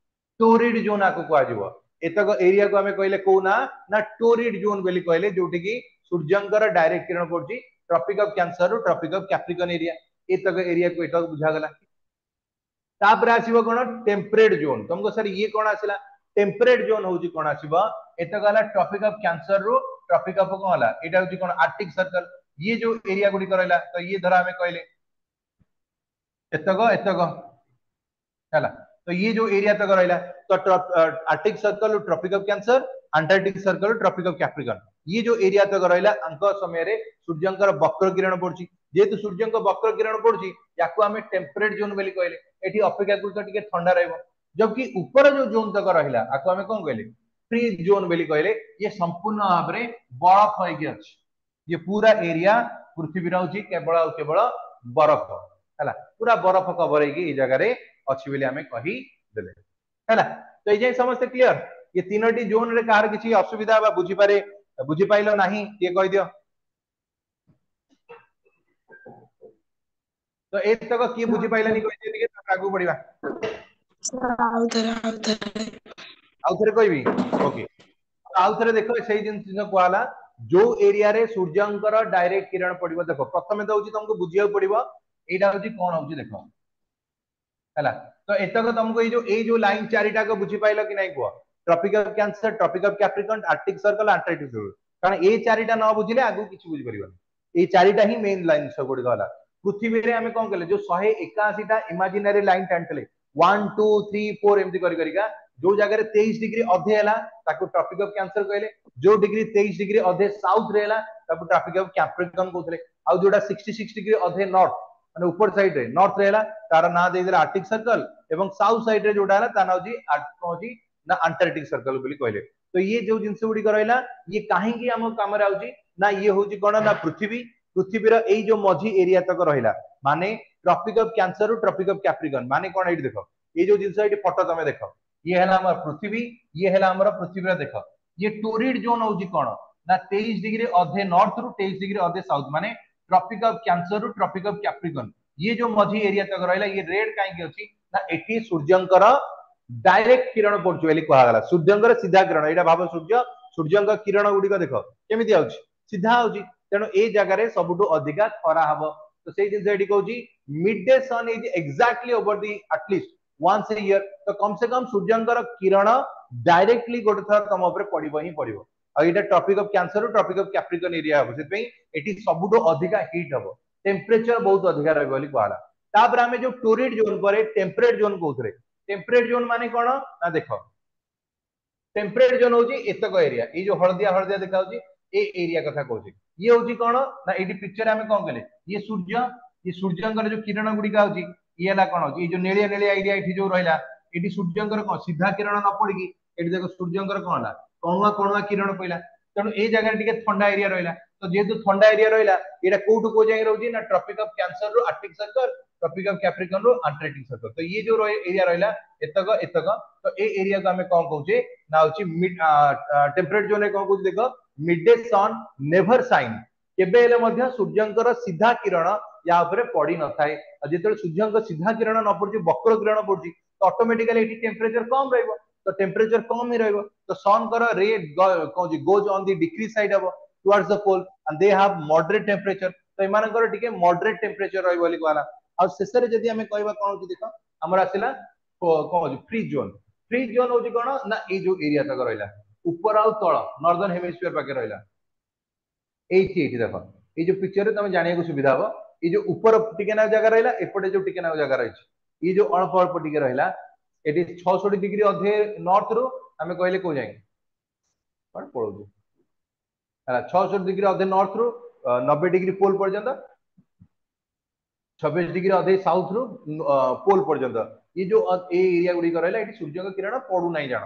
ଟୋରିଡ ଜୋନ ଆକୁ କୁହାଯିବ ଏତକ ଏରିଆକୁ ଆମେ କହିଲେ କୋଉ ନା ନା ଟୋରିଡ ଜୋନ ବୋଲି କହିଲେ ଯୋଉଠି କି ସୂର୍ଯ୍ୟଙ୍କର ଡାଇରେକ୍ଟ କିରଣ ପଡୁଛି ଟ୍ରପିକ ଅଫ କ୍ୟାନ୍ସର ରୁ ଟ୍ରପିକ ଅଫ କ୍ୟାପ୍ରିକନ ଏରିଆ ଏତକ ଏରିଆକୁ ଏତକ ବୁଝାଗଲା ତାପରେ ଆସିବ କଣ ଟେମ୍ପରେଟ ଜୋନ ତମକୁ ସାର୍ ଇଏ କଣ ଆସିଲା ଟେମ୍ପରେଟ ଜୋନ ହଉଛି କଣ ଆସିବ ଏତକ ହେଲା ଟ୍ରପିକ ଅଫ କ୍ୟାନ୍ସର ରୁ ଟ୍ରପିକ ଅଫ କଣ ହେଲା ଏଇଟା ହଉଛି କଣ ଆର୍କଟିକ ସର୍କଲ ଇଏ ଯୋଉ ଏରିଆ ଗୁଡିକ ରହିଲା ତ ଇଏ ଧର ଆମେ କହିଲେ ଏତକ ଏତକ ହେଲା ତ ଇଏ ଯୋଉ ଏରିଆ ତକ ରହିଲା ତ Arctic circle Tropic of Cancer Antarctic circle Tropic of Capricorn ଇଏ ଯୋଉ ଏରିଆ ତକ ରହିଲା ଆଙ୍କ ସମୟରେ ସୂର୍ଯ୍ୟଙ୍କର ବକ୍ର କିରଣ ପଡୁଛି ଯେହେତୁ ସୂର୍ଯ୍ୟଙ୍କ ବକ୍ର କିରଣ ପଡୁଛି ୟାକୁ ଆମେ ଟେମ୍ପରେଟ ଜୋନ ବୋଲି କହିଲେ ଏଠି ଅପେକ୍ଷାକୃତ ଟିକେ ଥଣ୍ଡା ରହିବ ଜବକି ଉପର ଯୋଉ ଜୋନ ତକ ରହିଲା ଆକୁ ଆମେ କଣ କହିଲେ ଫ୍ରିଜ ଜୋନ ବୋଲି କହିଲେ ଇଏ ସମ୍ପୂର୍ଣ୍ଣ ଭାବରେ ବରଫ ହେଇକି ଅଛି ଇଏ ପୁରା ଏରିଆ ପୃଥିବୀର ହଉଛି କେବଳ ଆଉ କେବଳ ବରଫ ହେଲା ପୁରା ବରଫ କଭର ହେଇକି ଏଇ ଜାଗାରେ ଅଛି ବୋଲି ଆମେ କହିଦେଲେ ହେଲା ତ ଏଇ ଯାଏଁ ସମସ୍ତେ କ୍ଲିୟର ଏ ତିନୋଟି ଜୋନରେ କାହାର କିଛି ଅସୁବିଧା ବା ବୁଝିପାରେ ବୁଝିପାଇଲ ନାହିଁ କିଏ କହିଦିଅ ତ ଏତକ କିଏ ବୁଝିପାଇଲାନି କହିଦିଅ ଟିକେ ତାପରେ ଆଗକୁ ବଢିବା ଆଉ ଥରେ ଆଉ ଥରେ ଆଉ ଥରେ କହିବି ଓକେ ଆଉ ଥରେ ଦେଖ ସେଇ ଜିନିଷ କୁହାହେଲା ଯୋଉ ଏରିଆରେ ସୂର୍ଯ୍ୟଙ୍କର ଡାଇରେକ୍ଟ କିରଣ ପଡିବ ଦେଖ ପ୍ରଥମେ ତ ହଉଛି ତମକୁ ବୁଝିବାକୁ ପଡିବ ଏଇଟା ହଉଛି କଣ ହଉଛି ଦେଖ ହେଲା ତ ଏତକ ତମକୁ ଏଇ ଯୋଉ ଏଇ ଯୋଉ ଲାଇନ ଚାରିଟାକ ବୁଝିପାଇଲ କି ନାଇଁ କୁହ Tropic of Cancer Tropic of Capricorn Arctic circle Antarctic circle କାରଣ ଏଇ ଚାରିଟା ନ ବୁଝିଲେ ଆଗକୁ କିଛି ବୁଝିପାରିବନି ଏଇ ଚାରିଟା ହିଁ ମେନ୍ ଲାଇନ ସବୁଗୁଡିକ ହେଲା ପୃଥିବୀରେ ଆମେ କଣ କଲେ ଯୋଉ ଶହେ ଏକାଅଶୀଟା ଇମାଜିନାରୀ ଲାଇନ ଟାଣିଥିଲେ ୱାନ୍ ଟୁ ଥ୍ରୀ ଫୋର ଏମିତି କରି କରିକା ଯୋଉ ଜାଗାରେ ତେଇଶ ଡିଗ୍ରୀ ଅଧେ ହେଲା ତାକୁ ଟ୍ରପିକ ଅଫ କ୍ୟାନ୍ସର କହିଲେ ଯୋଉ ଡିଗ୍ରୀ ତେଇଶ ଡିଗ୍ରୀ ଅଧେ ସାଉଥ ରେ ହେଲା ତାକୁ ଟ୍ରପିକ ଅଫ କ୍ୟାପ୍ରିକନ କହୁଥିଲେ ଆଉ ଯୋଉଟା ସିକ୍ସଟି ସିକ୍ସ ଡିଗ୍ରୀ ଅଧେ ନର୍ଥ ମାନେ ଉପର ସାଇଡ ରେ ନର୍ଥ ରେ ହେଲା ତାର ନାଁ ଦେଇଦେଲେ ଆର୍କଟିକ ସର୍କଲ ଏବଂ ସାଉଥ ସାଇଡ ରେ ଯୋଉଟା ହେଲା ତା ନାଁ ହଉଛି କଣ ହଉଛି ନା ଆଣ୍ଟାର୍କଟିକ ସର୍କଲ ବୋଲି କହିଲେ ତ ଇଏ ଯୋଉ ଜିନିଷ ଗୁଡିକ ରହିଲା ଇଏ କାହିଁକି ଆମ କାମରେ ଆଉଛି ନା ଇଏ ହଉଛି କଣ ନା ପୃଥିବୀ ପୃଥିବୀର ଏଇ ଯୋଉ ମଝି ଏରିଆ ତକ ରହିଲା ମାନେ ଟ୍ରପିକ ଅଫ କ୍ୟାନ୍ସର ରୁ ଟ୍ରପିକ ଅଫ କ୍ୟାପ୍ରିକନ ମାନେ କଣ ଏଇଠି ଦେଖ ଏଇ ଯୋଉ ଜିନିଷ ଏଇଠି ଫଟୋ ତମେ ଦେଖ ଇଏ ହେଲା ଆମର ପୃଥିବୀ ଇଏ ହେଲା ଆମର ପୃଥିବୀର ଦେଖ ଇଏ ଟୋରିଡ ଜୋନ ହଉଛି କଣ ନା ତେଇଶ ଡିଗ୍ରୀ ଅଧେ ନର୍ଥ ରୁ ତେଇଶ ଡିଗ୍ରୀ ଅଧେ ସାଉଥ ମାନେ ଟ୍ରପିକ ଅଫ କ୍ୟାନ୍ସର ରୁ ଟ୍ରପିକ ଅଫ କ୍ୟାପ୍ରିକନ ଇଏ ଯୋଉ ମଝି ଏରିଆ ତକ ରହିଲା ଇଏ ରେଡ କାହିଁକି ଅଛି ନା ଏଠି ସୂର୍ଯ୍ୟଙ୍କର ଡାଇରେକ୍ଟ କିରଣ ପଡୁଛି ବୋଲି କୁହାଗଲା ସୂର୍ଯ୍ୟଙ୍କର ସିଧା କିରଣ ଏଇଟା ଭାବ ସୂର୍ଯ୍ୟ ସୂର୍ଯ୍ୟଙ୍କ କିରଣ ଗୁଡିକ ଦେଖ କେମିତି ଆଉଛି ସିଧା ଆଉଛି ତେଣୁ ଏଇ ଜାଗାରେ ସବୁଠୁ ଅଧିକା ଖରା ହବ ତ ସେଇ ଜିନିଷ ଏଠି କହୁଛି mid day sun is exactly over the at least once a year ତ କମ ସେ କମ ସୂର୍ଯ୍ୟଙ୍କର କିରଣ ଡାଇରେକ୍ଟଲି ଗୋଟେ ଥର ତମ ଉପରେ ପଡିବ ହିଁ ପଡିବ ଆଉ ଏଇଟା ଟ୍ରପିକ ଅଫ କ୍ୟାନ୍ସର ରୁ ଟ୍ରପିକ ଅଫ କ୍ୟାପ୍ରିକନ ଏରିଆ ହବ ସେଥିପାଇଁ ଏଠି ସବୁଠୁ ଅଧିକା ହିଟ୍ ହବ ଟେମ୍ପରେଚର ବହୁତ ଅଧିକା ରହିବ ବୋଲି କୁହାଗଲା ତାପରେ ଆମେ ଯୋଉ ଟୋରିଡ ଜୋନ ପରେ ଟେମ୍ପରେଟ ଜୋନ କହୁଥିଲେ ଟେମ୍ପରେଟ ଜୋନ ମାନେ କଣ ନା ଦେଖ ଟେମ୍ପରେଟ ଜୋନ ହଉଛି ଏତକ ଏରିଆ ଏଇ ଯୋଉ ହଳଦିଆ ହଳଦିଆ ଦେଖାଯାଉଛି ଏ ଏରିଆ କଥା କହୁଛି ଇଏ ହଉଛି କଣ ନା ଏଇଠି ପିକ୍ଚର ଆମେ କଣ କଲେ ଇଏ ସୂର୍ଯ୍ୟ ଇଏ ସୂର୍ଯ୍ୟଙ୍କର ଯୋଉ କିରଣ ଗୁଡିକ ଆଉଛି ଇଏ ହେଲା କଣ ହଉଛି ଏଇ ଯୋଉ ନେଳିଆ ନେଳିଆ ଏରିଆ ଏଠି ଯୋଉ ରହିଲା ଏଠି ସୂର୍ଯ୍ୟଙ୍କର କଣ ସିଧା କିରଣ ନ ପଡିକି ଏଠି ଦେଖ ସୂର୍ଯ୍ୟଙ୍କର କଣ ହେଲା କଣୁଆ କଣୁଆ କିରଣ ପଇଲା ତେଣୁ ଏଇ ଜାଗାରେ ଟିକେ ଥଣ୍ଡା ଏରିଆ ରହିଲା ତ ଯେହେତୁ ଥଣ୍ଡା ଏରିଆ ରହିଲା ଏଇଟା କୋଉଠୁ କୋଉ ଯାଏଁ ରହୁଛି ନା ଟ୍ରପିକ ଅଫ କ୍ୟାନ୍ସର ରୁ Arctic circle Tropic of Capricorn ରୁ ଆଣ୍ଟାର୍କଟିକ ସର୍କଲ ତ ଇଏ ଯୋଉ ଏରିଆ ରହିଲା ଏତକ ଏତକ ତ ଏଇ ଏରିଆକୁ ଆମେ କଣ କହୁଛେ ନା ହଉଛି ଟେମ୍ପରେଟ ଜୋନରେ କଣ କହୁଛି ଦେଖ mid day sun never shine କେବେ ହେଲେ ମଧ୍ୟ ସୂର୍ଯ୍ୟଙ୍କର ସିଧା କିରଣ ୟା ଉପରେ ପଡି ନଥାଏ ଆଉ ଯେତେବେଳେ ସୂର୍ଯ୍ୟଙ୍କ ସିଧା କିରଣ ନ ପଡୁଛି ବକ୍ର କିରଣ ପଡୁଛି ତ ଅଟୋମେଟିକାଲି ଏଠି ଟେମ୍ପରେଚର କମ ରହିବ ତ ଟେମ୍ପରେଚର କମ ହିଁ ରହିବ ତ ସନଙ୍କର ରେ କଣ goes on the decrease side ହବ towards the pole and they have moderate temperature ତ ଏମାନଙ୍କର ଟିକେ ମଡରେଟ ଟେମ୍ପରେଚର ରହିବ ବୋଲି କୁହାଗଲା ଆଉ ଶେଷରେ ଯଦି ଆମେ କହିବା କଣ ହଉଛି ଦେଖ ଆମର ଆସିଲା କଣ ହଉଛି ଫ୍ରିଜ ଜୋନ ଫ୍ରିଜ ଜୋନ ହଉଛି କଣ ନା ଏଇ ଯୋଉ ଏରିଆ ତକ ରହିଲା ଉପର ଆଉ ତଳ ନର୍ଦର୍ନ ହେମିସ୍ଫିୟର ପାଖରେ ରହିଲା ଏଇଠି ଏଇଠି ଦେଖ ଏଇ ଯୋଉ ପିକ୍ଚରରେ ତମେ ଜାଣିବାକୁ ସୁବିଧା ହବ ଏଇ ଯୋଉ ଉପର ଟିକେ ନାକୁ ଜାଗା ରହିଲା ଏପଟେ ଯୋଉ ଟିକେ ନାକୁ ଜାଗା ରହିଛି ଏଇ ଯୋଉ ଅଳ୍ପ ଅଳ୍ପ ଟିକେ ରହିଲା ଏଠି ଛଅଷଠି ଡିଗ୍ରୀ ଅଧେ ନର୍ଥ ରୁ ଆମେ କହିଲେ କୋଉ ଯାଏଁ କଣ ପଳଉଛି ହେଲା ଛଅଷଠି ଡିଗ୍ରୀ ଅଧେ ନର୍ଥ ରୁ ନବେ ଡିଗ୍ରୀ ପୋଲ ପର୍ଯ୍ୟନ୍ତ ଛବିଶ ଡିଗ୍ରୀ ଅଧେ ସାଉଥ ରୁ ପୋଲ ପର୍ଯ୍ୟନ୍ତ ଏଇ ଯୋଉ ଏଇ ଏରିଆ ଗୁଡିକ ରହିଲା ଏଠି ସୂର୍ଯ୍ୟଙ୍କ କିରଣ ପଡୁନାହିଁ ଜାଣ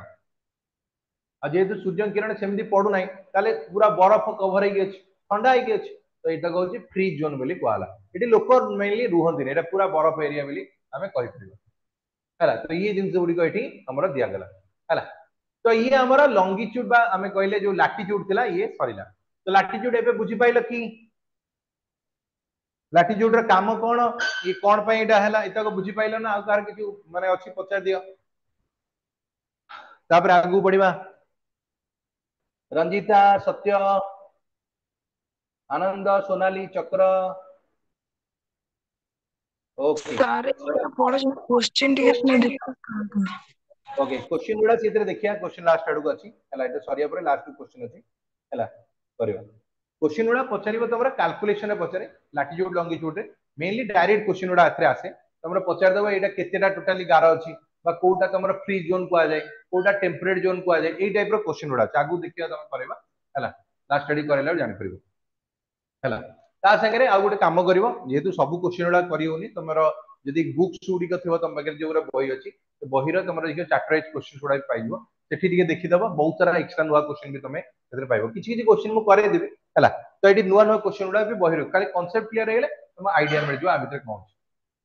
ଆଉ ଯେହେତୁ ସୂର୍ଯ୍ୟ କିରଣ ସେମିତି ପଡୁନାହିଁ, ତାହେଲେ ପୁରା ବରଫ କଭର ହେଇକି ଅଛି, ଥଣ୍ଡା ହେଇକି ଅଛି। ତ ଏଇଟା ହଉଛି ଫ୍ରି ଜୋନ୍ ବୋଲି କୁହାହେଲା। ଏଠି ଲୋକ ମେନଲି ରୁହନ୍ତିନି, ଏଇଟା ପୁରା ବରଫ ଏରିଆ ବୋଲି ଆମେ କହିପାରିବା। ହେଲା, ତ ଇଏ ଜିନିଷ ଗୁଡିକ ଏଠି ଆମର ଦିଆଗଲା। ହେଲା, ତ ଇଏ ଆମର ଲଙ୍ଗିଚ୍ୟୁଡ ବା ଆମେ କହିଲେ ଯୋଉ ଲାଟିଚ୍ୟୁଡ ଥିଲା, ଇଏ ସରିଲା। ତ ଲାଟିଚ୍ୟୁଡ ଏବେ ବୁଝିପାଇଲ କି? ଲାଟିଚ୍ୟୁଡ ର କାମ କଣ, ଇଏ କଣ ପାଇଁ ଏଇଟା ହେଲା, ଏତକ ବୁଝିପାଇଲ ନା? ଆଉ କାହାର କିଛି ମାନେ ଅଛି, ପଚାରି ଦିଅ, ତାପରେ ଆଗକୁ ବଢିବା। ରଞ୍ଜିତା, ସତ୍ୟ, ଆନନ୍ଦ, ସୋନାଲି, ଚକ୍ର, ଓକେ। ସାର୍, ଏଗୁଡ଼ା ପଢୁଛନ୍ତି, କୋଶ୍ଚିନ୍ ଟିକେ ଡିସ୍କସ୍ କରନ୍ତୁ। ଓକେ, କ୍ୱେଶ୍ଚିନ୍ ଗୁଡା ସେଥିରେ ଦେଖିବା। କ୍ୱେଶ୍ଚିନ୍ ଲାଷ୍ଟ ଆଡକୁ ଅଛି। ହେଲା, ଏଟା ସରିବା ପରେ ଲାଷ୍ଟ କ୍ୱେଶ୍ଚିନ୍ ଅଛି। ହେଲା, କରିବା। କ୍ୱେଶ୍ଚିନ୍ ଗୁଡା ପଚାରିବ ତମର କାଲକୁଲେସନ ରେ ପଚାରେ, ଲାଟିଚ୍ୟୁଡ ଲଙ୍ଗିଚ୍ୟୁଡ ରେ ମେନଲି ଡାଇରେକ୍ଟ କ୍ୱେଶ୍ଚିନ୍ ଗୁଡା ଏଥିରେ ଆସେ। ତମର ପଚାରିଦବ ଏଇଟା କେତେଟା ଟୋଟାଲି ଗାର ଅଛି, ବା କୋଉଟା ତମର ଫ୍ରି ଜୋନ୍ କୁହାଯାଏ, କୋଉଟା ଟେମ୍ପରେଟ ଜୋନ୍ କୁହାଯାଏ, ଏଇ ଟାଇପ ର କ୍ୱେଶ୍ଚିନ୍ ଗୁଡା ଅଛି। ଆଗକୁ ଦେଖିବା, ତମେ କରିବା। ହେଲା, ଲାଷ୍ଟ ଷ୍ଟଡି କରାଇଲା ବେଳେ ଜାଣିପାରିବ। ହେଲା, ତା ସାଙ୍ଗରେ ଆଉ ଗୋଟେ କାମ କରିବ। ଯେହେତୁ ସବୁ କ୍ୱେଶ୍ଚିନ୍ ଗୁଡା କରି ହଉନି, ତମର ଯଦି ବୁକ୍ସ ଗୁଡିକ ଥିବ ତମ ପାଖରେ, ଯୋଉଗୁରା ବହି ଅଛି, ବହିର ତମର ଦେଖିବ ଚାପ୍ଟର ୱାଇଜ କ୍ୱେଶ୍ଚିନ୍ ଗୁଡା ବି ପାଇଯିବ। ସେଠି ଟିକେ ଦେଖିଦବ, ବହୁତ ସାରା ଏକ୍ସଟ୍ରା ନୂଆ କ୍ୱେଶ୍ଚିନ୍ ବି ତମେ ସେଥିରେ ପାଇବ। କିଛି କିଛି କ୍ୱେଶ୍ଚିନ୍ ମୁଁ କରେଇଦେବି। ହେଲା, ତ ଏଠି ନୂଆ ନୂଆ କ୍ୱେଶ୍ଚିନ୍ ଗୁଡା ବି ବହିରୁ ଖାଲି କନସେପ୍ଟ କ୍ଲିୟର ହେଇଗଲେ ତମ ଆଇଡିଆ ମିଳିଯିବ ଆ ଭିତରେ କଣ ଅଛି।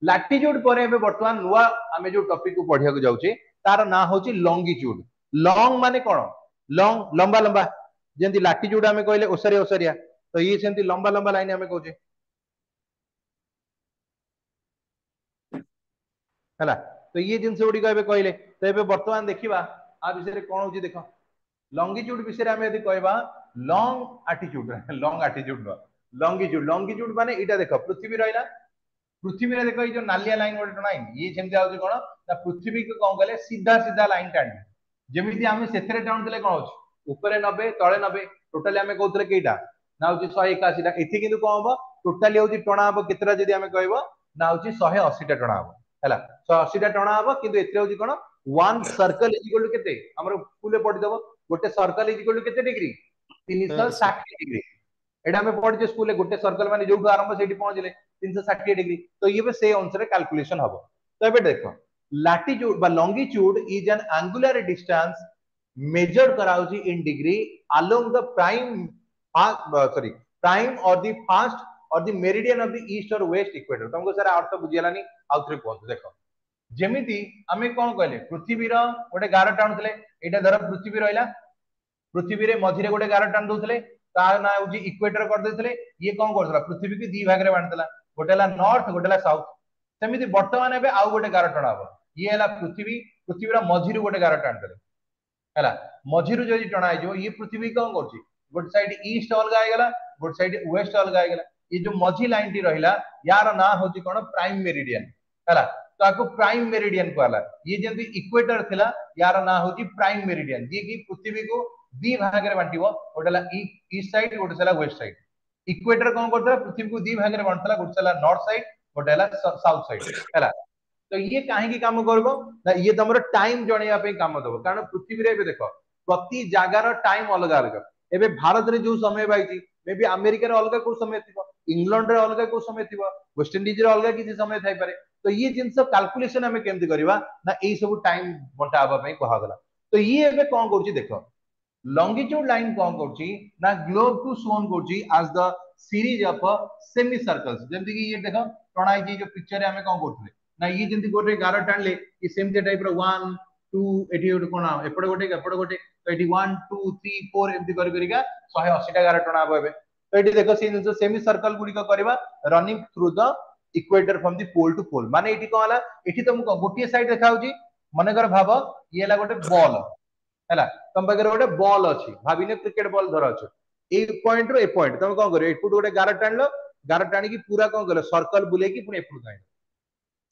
ଲାଟିଚ୍ୟୁଡ ପରେ ଏବେ ବର୍ତ୍ତମାନ ନୂଆ ଆମେ ଯୋଉ ଟପିକ କୁ ପଢିବାକୁ ଯାଉଛେ, ତାର ନାଁ ହଉଛି ଲଙ୍ଗିଚ୍ୟୁଡ। ଲଙ୍ଗ ମାନେ କଣ? ଲଙ୍ଗ, ଲମ୍ବା ଲମ୍ବା। ଯେମିତି ଲାଟିଚ୍ୟୁଡ ଆମେ କହିଲେ ଓସାରିଆ ଓସାରିଆ, ତ ଇଏ ସେମିତି ଲମ୍ବା ଲମ୍ବା ଲାଇନ ଆମେ କହୁଛେ। ହେଲା, ତ ଇଏ ଜିନିଷ ଗୁଡିକ ଏବେ କହିଲେ। ତ ଏବେ ବର୍ତ୍ତମାନ ଦେଖିବା ଆ ବିଷୟରେ କଣ ହଉଛି। ଦେଖ, ଲଙ୍ଗିଚ୍ୟୁଡ ବିଷୟରେ ଆମେ ଯଦି କହିବା, ଲଙ୍ଗ ଆଟିଚ୍ୟୁଡ, ଲଙ୍ଗ ଆଟିଚ୍ୟୁଡ ନୁହଁ, ଲଙ୍ଗିଚ୍ୟୁଡ। ଲଙ୍ଗିଚ୍ୟୁଡ ମାନେ ଏଇଟା ଦେଖ, ପୃଥିବୀ ରହିଲା। ପୃଥିବୀରେ ଦେଖ, ଏଇ ଯୋଉ ନାଲିଆ ଲାଇନ ଗୋଟେ ଟଣା ହେଇନି, ଇଏ ସେମିତି ହଉଛି କଣ ନା ପୃଥିବୀକୁ କଣ କଲେ, ସିଧା ସିଧା ଲାଇନ ଟାଣିଲେ। ଯେମିତି ଆମେ ସେଥିରେ ଟାଣୁଥିଲେ, କଣ ହଉଛି, ଉପରେ ନବେ, ତଳେ ନବେ, ଟୋଟାଲି ଆମେ କହୁଥିଲେ କେଇଟା ନା ହଉଛି ଶହେ ଏକାଅଶୀଟା। ଏଠି କିନ୍ତୁ କଣ ହବ? ଟୋଟାଲି ହଉଛି ଟଣା ହବ କେତେଟା ଯଦି ଆମେ କହିବ ନା ହଉଛି ଶହେ ଅଶୀଟା ଟଣା ହବ। ହେଲା, ଶହେ ଅଶୀଟା ଟଣା ହବ। କିନ୍ତୁ ଏଥିରେ ହଉଛି କଣ, one circle is equal to କେତେ? ଆମର ସ୍କୁଲରେ ପଢିଦବ, ଗୋଟେ ସର୍କଲ is equal to କେତେ ଡିଗ୍ରୀ? ତିନିଶହ ଷାଠିଏ ଡିଗ୍ରୀ। ଏଇଟା ଆମେ ପଢିଛେ ସ୍କୁଲରେ। ଗୋଟେ ସର୍କଲ ମାନେ ଯୋଉଠୁ ଆରମ୍ଭ ସେଇଠି ପହଞ୍ଚିଲେ ତିନିଶହ ଷାଠିଏ ଡିଗ୍ରୀ। ତ ଇଏ ବି ସେଇ ଅନୁସାରେ କାଲକୁଲେସନ ହବ। ତ ଏବେ ଦେଖ, ଲାଟିଚ୍ୟୁଡ ବା longitude is an angular distance measured କରାହଉଛି in degree along the prime uh, sorry prime or the first or the meridian of the east or west equator। ତମକୁ ସାର୍ ଅର୍ଥ ବୁଝିଗଲାନି, ଆଉ ଥରେ କୁହନ୍ତୁ। ଦେଖ, ଯେମିତି ଆମେ କଣ କହିଲେ, ପୃଥିବୀର ଗୋଟେ ଗାର ଟାଣୁଥିଲେ। ଏଇଟା ଧର ପୃଥିବୀ ରହିଲା, ପୃଥିବୀରେ ମଝିରେ ଗୋଟେ ଗାର ଟାଣି ଦଉଥିଲେ, ତା ନାଁ ହଉଛି ଇକ୍ୱେଟର କରିଦେଇଥିଲେ। ଇଏ କଣ କରୁଥିଲା? ପୃଥିବୀକୁ ଦି ଭାଗରେ ବାଣ୍ଟିଥିଲା, ଗୋଟେ ହେଲା ନର୍ଥ, ଗୋଟେ ହେଲା ସାଉଥ। ସେମିତି ବର୍ତ୍ତମାନ ଏବେ ଆଉ ଗୋଟେ ଗାର ଟଣା ହବ। ଇଏ ହେଲା ପୃଥିବୀ, ପୃଥିବୀର ମଝିରୁ ଗୋଟେ ଗାର ଟାଣିଦେଲେ। ହେଲା, ମଝିରୁ ଯଦି ଟଣା ହେଇଯିବ, ଇଏ ପୃଥିବୀ କଣ କରୁଛି? ଗୋଟେ ସାଇଡ ଇଷ୍ଟ ଅଲଗା ହେଇଗଲା, ଗୋଟେ ସାଇଡ ୱେଷ୍ଟ ଅଲଗା ହେଇଗଲା। ଏ ଯୋଉ ମଝି ଲାଇନ ଟି ରହିଲା, ୟାର ନାଁ ହଉଛି କଣ? Prime Meridian. ହେଲା, ତ ଆକୁ ପ୍ରାଇମ ମେରିଡିଆନ କୁହାଗଲା। ଇଏ ଯେମିତି ଇକ୍ୱେଟର ଥିଲା, ୟାର ନାଁ ହଉଛି ପ୍ରାଇମ ମେରିଡିଆନ, ଯିଏ କି ପୃଥିବୀକୁ ଦି ଭାଗରେ ବାଣ୍ଟିବ, ଗୋଟେ ହେଲା ଇଷ୍ଟ ସାଇଡ, ଗୋଟେ ହେଲା ୱେଷ୍ଟ ସାଇଡ। ଇକ୍ୱେଟର କଣ କରୁଥିଲା? ପୃଥିବୀକୁ ଦି ଭାଗରେ ବାଣ୍ଟୁଥିଲା, ଗୋଟେ ହେଲା ନର୍ଥ ସାଇଡ, ଗୋଟେ ହେଲା ସାଉଥ ସାଇଡ। ହେଲା, ତ ଇଏ କାହିଁକି କାମ କରିବ ନା ଇଏ ତମର ଟାଇମ ଜଣେଇବା ପାଇଁ କାମ ଦବ। କାରଣ ପୃଥିବୀରେ ଏବେ ଦେଖ, ପ୍ରତି ଜାଗାର ଟାଇମ ଅଲଗା ଅଲଗା। ଏବେ ଭାରତରେ ଯୋଉ ସମୟ ପାଇଛି, ମେ ବି ଆମେରିକାରେ ଅଲଗା କୋଉ ସମୟ ଥିବ, ଇଂଲଣ୍ଡରେ ଅଲଗା କୋଉ ସମୟ ଥିବ, ୱେଷ୍ଟଇଣ୍ଡିଜରେ ଅଲଗା କିଛି ସମୟ ଥାଇପାରେ। ତ ଇଏ ଜିନିଷ କାଲକୁଲେସନ ଆମେ କେମିତି କରିବା ନା ଏଇ ସବୁ ଟାଇମ ବଣ୍ଟା ହବା ପାଇଁ କୁହାଗଲା। ତ ଇଏ ଏବେ କଣ କରୁଛି ଦେଖ, ଲଙ୍ଗିଚ୍ୟୁଡ ଲାଇନ କଣ କରୁଛି ନା ଗ୍ଲୋବ କୁ ଶୋନ୍ କରୁଛି as the series of semi circles। ଯେମିତି କି ଇଏ ଦେଖ, ଟଣା ହେଇଛି ଯୋଉ ପିକ୍ଚରରେ, ଆମେ କଣ କରୁଥିଲେ ନା ଇଏ ଯେମିତି ଗୋଟେ ଗାର ଟାଣିଲେ, ଇଏ ସେମିତି ଟାଇପ ର ୱାନ୍ ଟୁ, ଏଠି ଗୋଟେ କଣ, ଏପଟେ ଗୋଟେ, ଏପଟେ ଗୋଟେ। ତ ଏଠି ୱାନ୍ ଟୁ ଥ୍ରୀ ଫୋର ଏମିତି କରି କରିକା ଶହେ ଅଶୀଟା ଗାର ଟଣା ହବ ଏବେ। ତ ଏଠି ଦେଖ, ସେଇ ଜିନିଷ ସେମି ସର୍କଲ ଗୁଡିକ କରିବା running through the equator from the pole to pole। ମାନେ ଏଠି କଣ ହେଲା? ଏଠି ତମକୁ ଗୋଟିଏ ସାଇଡ ଦେଖା ହଉଛି। ମନେକର ଭାବ, ଇଏ ହେଲା ଗୋଟେ ବଲ୍। ହେଲା, ତମ ପାଖରେ ଗୋଟେ ବଲ୍ ଅଛି, ଭାବିନେ କ୍ରିକେଟ ବଲ୍ ଧର ଅଛି। ଏଇ ପଏଣ୍ଟ ରୁ ଏ ପଏଣ୍ଟ ତମେ କଣ କରିବ? ଏପଟୁ ଗୋଟେ ଗାର ଟାଣିଲ, ଗାର ଟାଣିକି ପୁରା କଣ କଲ, ସର୍କଲ ବୁଲେଇକି ପୁଣି ଏପଟକୁ ଆଣିଲ।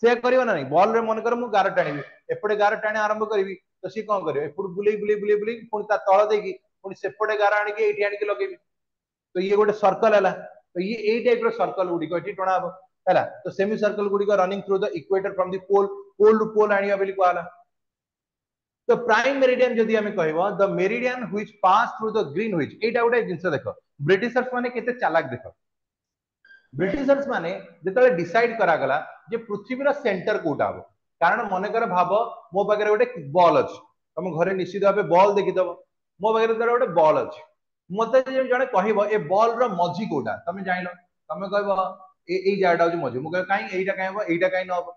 ସେୟା କରିବ ନା ନାଇଁ? ବଲ ରେ ମନେକର ମୁଁ ଗାର ଟାଣିବି, ଏପଟେ ଗାର ଟାଣି ଆରମ୍ଭ କରିବି, ତ ସିଏ କଣ କରିବ? ଏପଟୁ ବୁଲେଇ ବୁଲେଇ ବୁଲେଇ ବୁଲେଇ ପୁଣି ତା ତଳ ଦେଇକି ପୁଣି ସେପଟେ ଗାର ଆଣିକି ଏଇଠି ଆଣିକି ଲଗେଇବି। ତ ଇଏ ଗୋଟେ ସର୍କଲ ହେଲା। ତ ଇଏ ଏଇ ଟାଇପ ର ସର୍କଲ ଗୁଡିକ ଏଠି ଟଣା ହବ। ହେଲା, ତ ସେମି ସର୍କଲ ଗୁଡିକ running through the equator from the pole pole to pole ଆଣିବା ବୋଲି କୁହାଗଲା। ତ ପ୍ରାଇମ ମେରିଡିଆନ ଯଦି ଆମେ କହିବ, the meridian which pass through the Greenwich। ଏଇଟା ଗୋଟେ ଜିନିଷ ଦେଖ, ବ୍ରିଟିଶର୍ସ ମାନେ କେତେ ଚାଲାକ ଦେଖ। ବ୍ରିଟିଶର୍ସ ମାନେ ଯେତେବେଳେ ଡିସାଇଡ କରାଗଲା ଯେ ପୃଥିବୀର ସେଣ୍ଟର କୋଉଟା ହବ, କାରଣ ମନେକର ଭାବ, ମୋ ପାଖରେ ଗୋଟେ ବଲ୍ ଅଛି। ତମ ଘରେ ନିଶ୍ଚିତ ଭାବେ ବଲ୍ ଦେଖିଦବ। ମୋ ପାଖରେ ଧର ଗୋଟେ ବଲ୍ ଅଛି ମତେ ଯଦି ଜଣେ କହିବ ଏ ବଲ୍ ର ମଝି କୋଉଟା ତମେ ଜାଣିଲ ତମେ କହିବ ଏ ଏଇ ଜାଗାଟା ହଉଛି ମଝି ମୁଁ କହିବି କାଇଁ ଏଇଟା କାଇଁ ହବ ଏଇଟା କାଇଁ ନ ହବ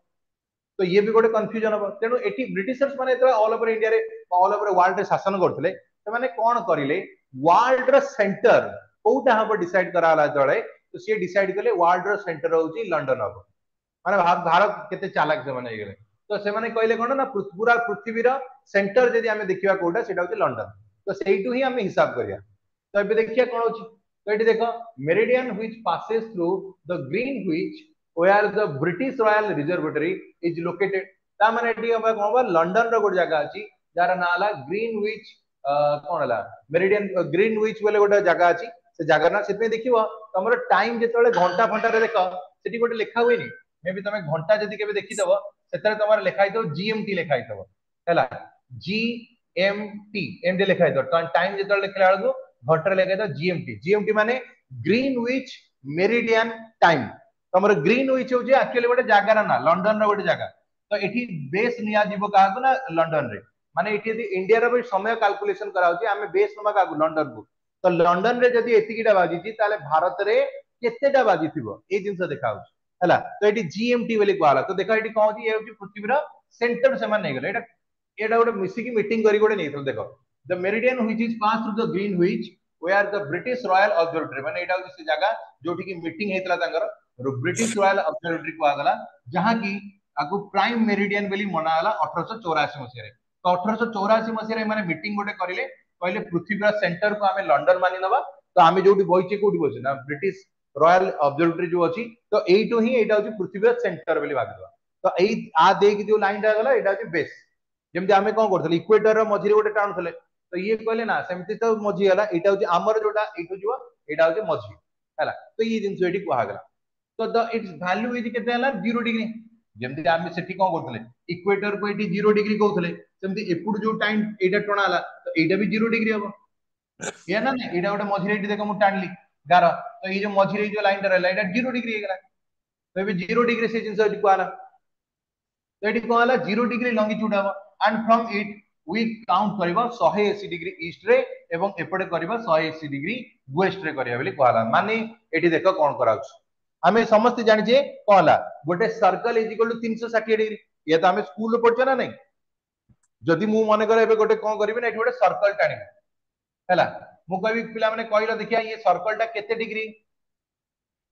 ତ ଇଏ ବି ଗୋଟେ କନଫ୍ୟୁଜନ ହବ ତେଣୁ ଏଠି ବ୍ରିଟିଶର୍ସ ମାନେ ଯେତେବେଳେ ଅଲ ଓଭର ଇଣ୍ଡିଆରେ ଅଲ ଓଭର ୱାର୍ଲଡରେ ଶାସନ କରୁଥିଲେ ସେମାନେ କଣ କରିଲେ ୱାର୍ଲଡ ର ସେଣ୍ଟର କୋଉଟା ହବ ଡିସାଇଡ କରାଗଲା ଯେତେବେଳେ ତ ସିଏ ଡିସାଇଡ କଲେ ୱାର୍ଲଡ ର ସେଣ୍ଟର ହଉଛି ଲଣ୍ଡନ ହବ ମାନେ ଭାରତ କେତେ ଚାଲାକ ସେମାନେ ହେଇଗଲେ ତ ସେମାନେ କହିଲେ କଣ ନା ପୁରା ପୃଥିବୀର ସେଣ୍ଟର ଯଦି ଆମେ ଦେଖିବା କୋଉଟା ସେଇଟା ହଉଛି ଲଣ୍ଡନ ତ ସେଇଠୁ ହିଁ ଆମେ ହିସାବ କରିବା ତ ଏବେ ଦେଖିବା କଣ ହଉଛି ତ ଏଠି ଦେଖ meridian which passes through the Greenwich where the British Royal Observatory is located ତା ମାନେ ଏଠି କଣ ହବ ଲଣ୍ଡନ ର ଗୋଟେ ଜାଗା ଅଛି ଯାହାର ନାଁ ହେଲା ଗ୍ରୀନ which କଣ ହେଲା ମେରିଡିଆନ ଗ୍ରୀନ which ବୋଲି ଗୋଟେ ଜାଗା ଅଛି ସେ ଜାଗା ନା ସେଥିପାଇଁ ଦେଖିବ ତମର ଟାଇମ ଯେତେବେଳେ ଘଣ୍ଟା ଫଣ୍ଟାରେ ଦେଖ ସେଠି ଗୋଟେ ଲେଖା ହୁଏନି ମେ ବି ତମେ ଘଣ୍ଟା ଯଦି କେବେ ଦେଖିଦବ ସେଥିରେ ତମର ଲେଖା ହେଇଥିବ ଜିଏମଟି ଲେଖା ହେଇଥିବ ହେଲା ଜି ଏମ ଟି ଏମିତି ଲେଖା ହେଇଥିବ ଟାଇମ ଯେତେବେଳେ ଲେଖିଲା ବେଳକୁ ଘଣ୍ଟାରେ ଲେଖା ହେଇଥିବ ଜିଏମଟି ଜିଏମଟି ମାନେ ଗ୍ରୀନ which Meridian time ତମର ଗ୍ରୀନ which ହଉଛି ଆକ୍ଚୁଆଲି ଗୋଟେ ଜାଗାର ନା ଲଣ୍ଡନର ଗୋଟେ ଜାଗା ତ ଏଠି ବେସ୍ ନିଆଯିବ କାହାକୁ ନା ଲଣ୍ଡନରେ ମାନେ ଏଠି ଯଦି ଇଣ୍ଡିଆର ବି ସମୟ କାଲକୁଲେସନ କରାହଉଛି ଆମେ ବେସ୍ ନବା କାହାକୁ ଲଣ୍ଡନକୁ ତ ଲଣ୍ଡନରେ ଯଦି ଏତିକିଟା ବାଜିଛି ତାହେଲେ ଭାରତରେ କେତେଟା ବାଜିଥିବ ଏଇ ଜିନିଷ ଦେଖା ହଉଛି ହେଲା ତ ଏଠି ଜିଏମଟି ବୋଲି କୁହାଗଲା ତ ଦେଖ ଏଠି କଣ ହଉଛି ଇଏ ହଉଛି ପୃଥିବୀର ସେଣ୍ଟର ସେମାନେ ନେଇଗଲେ ଏଇଟା ଏଇଟା ଗୋଟେ ମିଶିକି ମିଟିଂ କରି ଗୋଟେ ନେଇଥିଲେ ଦେଖ the meridian which is pass through the Greenwich where the British Royal Observatory ମାନେ ଏଇଟା ହଉଛି ସେ ଜାଗା ଯୋଉଠି କି ମିଟିଂ ହେଇଥିଲା ତାଙ୍କର ବ୍ରିଟିଶ ରୟାଲ ଅବଜର୍ଭେଟରୀ କୁହାଗଲା ଯାହାକି ଆକୁ ପ୍ରାଇମ ମେରିଡିଆନ ବୋଲି ମନାଗଲା ଅଠରଶହ ଚଉରାଅଶୀ ମସିହାରେ ତ ଅଠରଶହ ଚଉରାଅଶୀ ମସିହାରେ ଏମାନେ ମିଟିଂ ଗୋଟେ କରିଲେ କହିଲେ ପୃଥିବୀର ସେଣ୍ଟରକୁ ଆମେ ଲଣ୍ଡନ ମାନି ନବା ତ ଆମେ ଯୋଉଠି ବଇଛେ କୋଉଠି ବଇଛେ ନା ବ୍ରିଟିଶ ରୟାଲ ଅବଜର୍ଭେଟରୀ ଯୋଉ ଅଛି ତ ଏଇଠୁ ହିଁ ଏଇଟା ହଉଛି ପୃଥିବୀର ସେଣ୍ଟର ବୋଲି ଭାବିଦବା ତ ଏଇ ଆ ଦେଇକି ଯୋଉ ଲାଇନଟା ଗଲା ଏଇଟା ହଉଛି ବେସ୍ ଯେମିତି ଆମେ କଣ କରୁଥିଲେ ଇକ୍ୱେଟର ମଝିରେ ଗୋଟେ ଟାଣୁଥିଲେ ତ ଇଏ କହିଲେ ନା ସେମିତି ତ ମଝି ହେଲା ଏଇଟା ହଉଛି ଆମର ଯୋଉଟା ଏଇଠୁ ଯିବ ଏଇଟା ହଉଛି ମଝି ହେଲା ତ ଇଏ ଜିନିଷ ଏଠି କୁହାଗଲା ତ ଦ it's value is କେତେ ହେଲା ଜିରୋ ଡିଗ୍ରୀ ଯେମିତି ଆମେ ସେଠି କଣ କରୁଥିଲେ ଇକ୍ୱେଟର କୁ ଏଠି ଜିରୋ ଡିଗ୍ରୀ କହୁଥିଲେ ସେମିତି ଏପଟୁ ଯୋଉ ଟାଇମ ଏଇଟା ଟଣା ହେଲା ତ ଏଇଟା ବି ଜିରୋ ଡିଗ୍ରୀ ହବ ଏଇଆ ନା ନାଇଁ ଏଇଟା ଗୋଟେ ମଝିରେ ଏଇଠି ଦେଖ ମୁଁ ଟାଣିଲି ଗାର ତ ଏଇ ଯୋଉ ମଝିରେ ଏଇ ଯୋଉ ଲାଇନଟା ରହିଲା ଏଇଟା ଜିରୋ ଡିଗ୍ରୀ ହେଇଗଲା ତ ଏବେ ଜିରୋ ଡିଗ୍ରୀ ସେ ଜିନିଷ ଏଠି କୁହାଗଲା ତ ଏଠି କଣ ହେଲା ଜିରୋ ଡିଗ୍ରୀ ଲଙ୍ଗିଚ୍ୟୁଡ ହବ and from it we count କରିବ ଶହେ ଅଶୀ ଡିଗ୍ରୀ ଇଷ୍ଟ ରେ ଏବଂ ଏପଟେ କରିବା ଶହେ ଅଶୀ ଡିଗ୍ରୀ ୱେଷ୍ଟ ରେ କରିବା ବୋଲି କୁହାଗଲା ମାନେ ଏଠି ଦେଖ କଣ କରାହଉଛି ଆମେ ସମସ୍ତେ ଜାଣିଛେ କଣ ହେଲା ଗୋଟେ ସର୍କଲ is equal to ତିନିଶହ ଷାଠିଏ ଡିଗ୍ରୀ ଇଏ ତ ଆମେ ସ୍କୁଲରେ ପଢିଛେ ନା ନାଇଁ ଯଦି ମୁଁ ମନେକର ଏବେ ଗୋଟେ କଣ କରିବି ନା ଏଠି ଗୋଟେ ସର୍କଲ ଟାଣିବି ହେଲା ମୁଁ କହିବି ପିଲାମାନେ କହିଲ ଦେଖିବା ଇଏ ସର୍କଲ ଟା କେତେ ଡିଗ୍ରୀ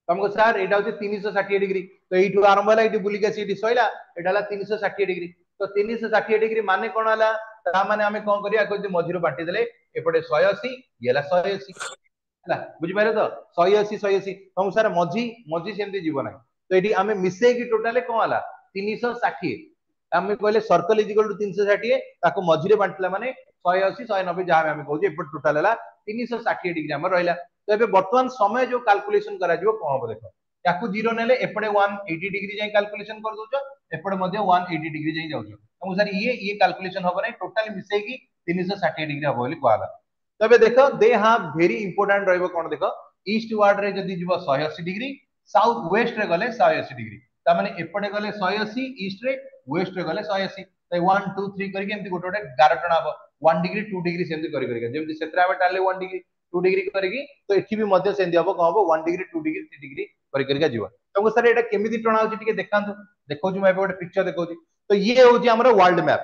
ତମକୁ ସାର୍ ଏଇଟା ହଉଛି ତିନିଶହ ଷାଠିଏ ଡିଗ୍ରୀ ତ ଏଇଠୁ ଆରମ୍ଭ ହେଲା ଏଇଠି ବୁଲିକି ଆସି ଏଇଠି ସଇଲା ଏଇଟା ହେଲା ତିନିଶହ ଷାଠିଏ ଡିଗ୍ରୀ ତ ତିନିଶହ ଷାଠିଏ ଡିଗ୍ରୀ ମାନେ କଣ ହେଲା ତା ମାନେ ଆମେ କଣ କରିବା ଯଦି ମଝିରୁ ବାଣ୍ଟି ଦେଲେ ଏପଟେ ଶହେ ଅଶୀ ଇଏ ହେଲା ଶହେ ଅଶୀ ହେଲା ବୁଝିପାରିଲେ ତ ଶହେ ଅଶୀ ଶହେ ଅଶୀ ତମକୁ ସାର୍ ମଝି ମଝି ସେମିତି ଯିବ ନାହିଁ ତ ଏଠି ଆମେ ମିଶେଇକି ଟୋଟାଲି କଣ ହେଲା ତିନିଶହ ଷାଠିଏ ଆମେ କହିଲେ ସର୍କଲ is equal to ତିନିଶହ ଷାଠିଏ ତାକୁ ମଝିରେ ବାଣ୍ଟିଲା ମାନେ ଶହେ ଅଶୀ ଶହେ ନବେ ଯାହା ଆମେ କହୁଛେ ଏପଟେ ଟୋଟାଲ ହେଲା ତିନିଶହ ଷାଠିଏ ଡିଗ୍ରୀ ଆମର ରହିଲା ତ ଏବେ ବର୍ତ୍ତମାନ ସମୟ ଯୋଉ କାଲକୁଲେସନ କରାଯିବ କଣ ହବ ଦେଖ ତାକୁ ଜିରୋ ନେଲେ ଏପଟେ ୱାନ୍ ଏଇଟି ଡିଗ୍ରୀ ଯାଇ କାଲକୁଲେସନ କରିଦଉଛ ଏପଟେ ମଧ୍ୟ ୱାନ୍ ଏଇଟି ଡିଗ୍ରୀ ଯାଇ ଯାଉଛ ତମକୁ ସାର୍ ଇଏ ଇଏ କାଲକୁଲେସନ ହବ ନାହିଁ ଟୋଟାଲି ମିଶେଇକି ତିନିଶହ ଷାଠିଏ ଡିଗ୍ରୀ ହବ ବୋଲି କୁହାଗଲା ତେବେ ଦେଖ ଦେ have very important ରହିବ କଣ ଦେଖ ଇଷ୍ଟ ୱାର୍ଡ ରେ ଯଦି ଯିବ ଶହେ ଅଶୀ ଡିଗ୍ରୀ ସାଉଥ ୱେଷ୍ଟ ରେ ଗଲେ ଶହେ ଅଶୀ ଡିଗ୍ରୀ ତା ମାନେ ଏପଟେ ଗଲେ ଶହେ ଅଶୀ ଇଷ୍ଟ ରେ ୱେଷ୍ଟ ରେ ଗଲେ ଶହେ ଅଶୀ ୱାନ୍ ଟୁ ଥ୍ରୀ କରିକି ଏମିତି ଗୋଟେ ଗୋଟେ ଗାର ଟଣା ହବ ୱାନ୍ ଡିଗ୍ରୀ ଟୁ ଡିଗ୍ରୀ ସେମିତି କରି କରିକା ଯେମିତି ସେଥିରେ ଆମେ ଟାଣିଲେ ୱାନ୍ ଡିଗ୍ରୀ ଟୁ ଡିଗ୍ରୀ କରିକି ତ ଏଠି ବି ମଧ୍ୟ ସେମିତି ହବ କଣ ହବ one degree two degree three degree କରି କରିକା ଯିବ ତମକୁ ସାର୍ ଏଇଟା କେମିତି ଟଣା ହଉଛି ଟିକେ ଦେଖାନ୍ତୁ ଦେଖଉଛି ମୁଁ ଏବେ ଗୋଟେ ପିକ୍ଚର ଦେଖଉଛି ତ ଇଏ ହଉଛି ଆମର ୱାର୍ଲଡ ମ୍ୟାପ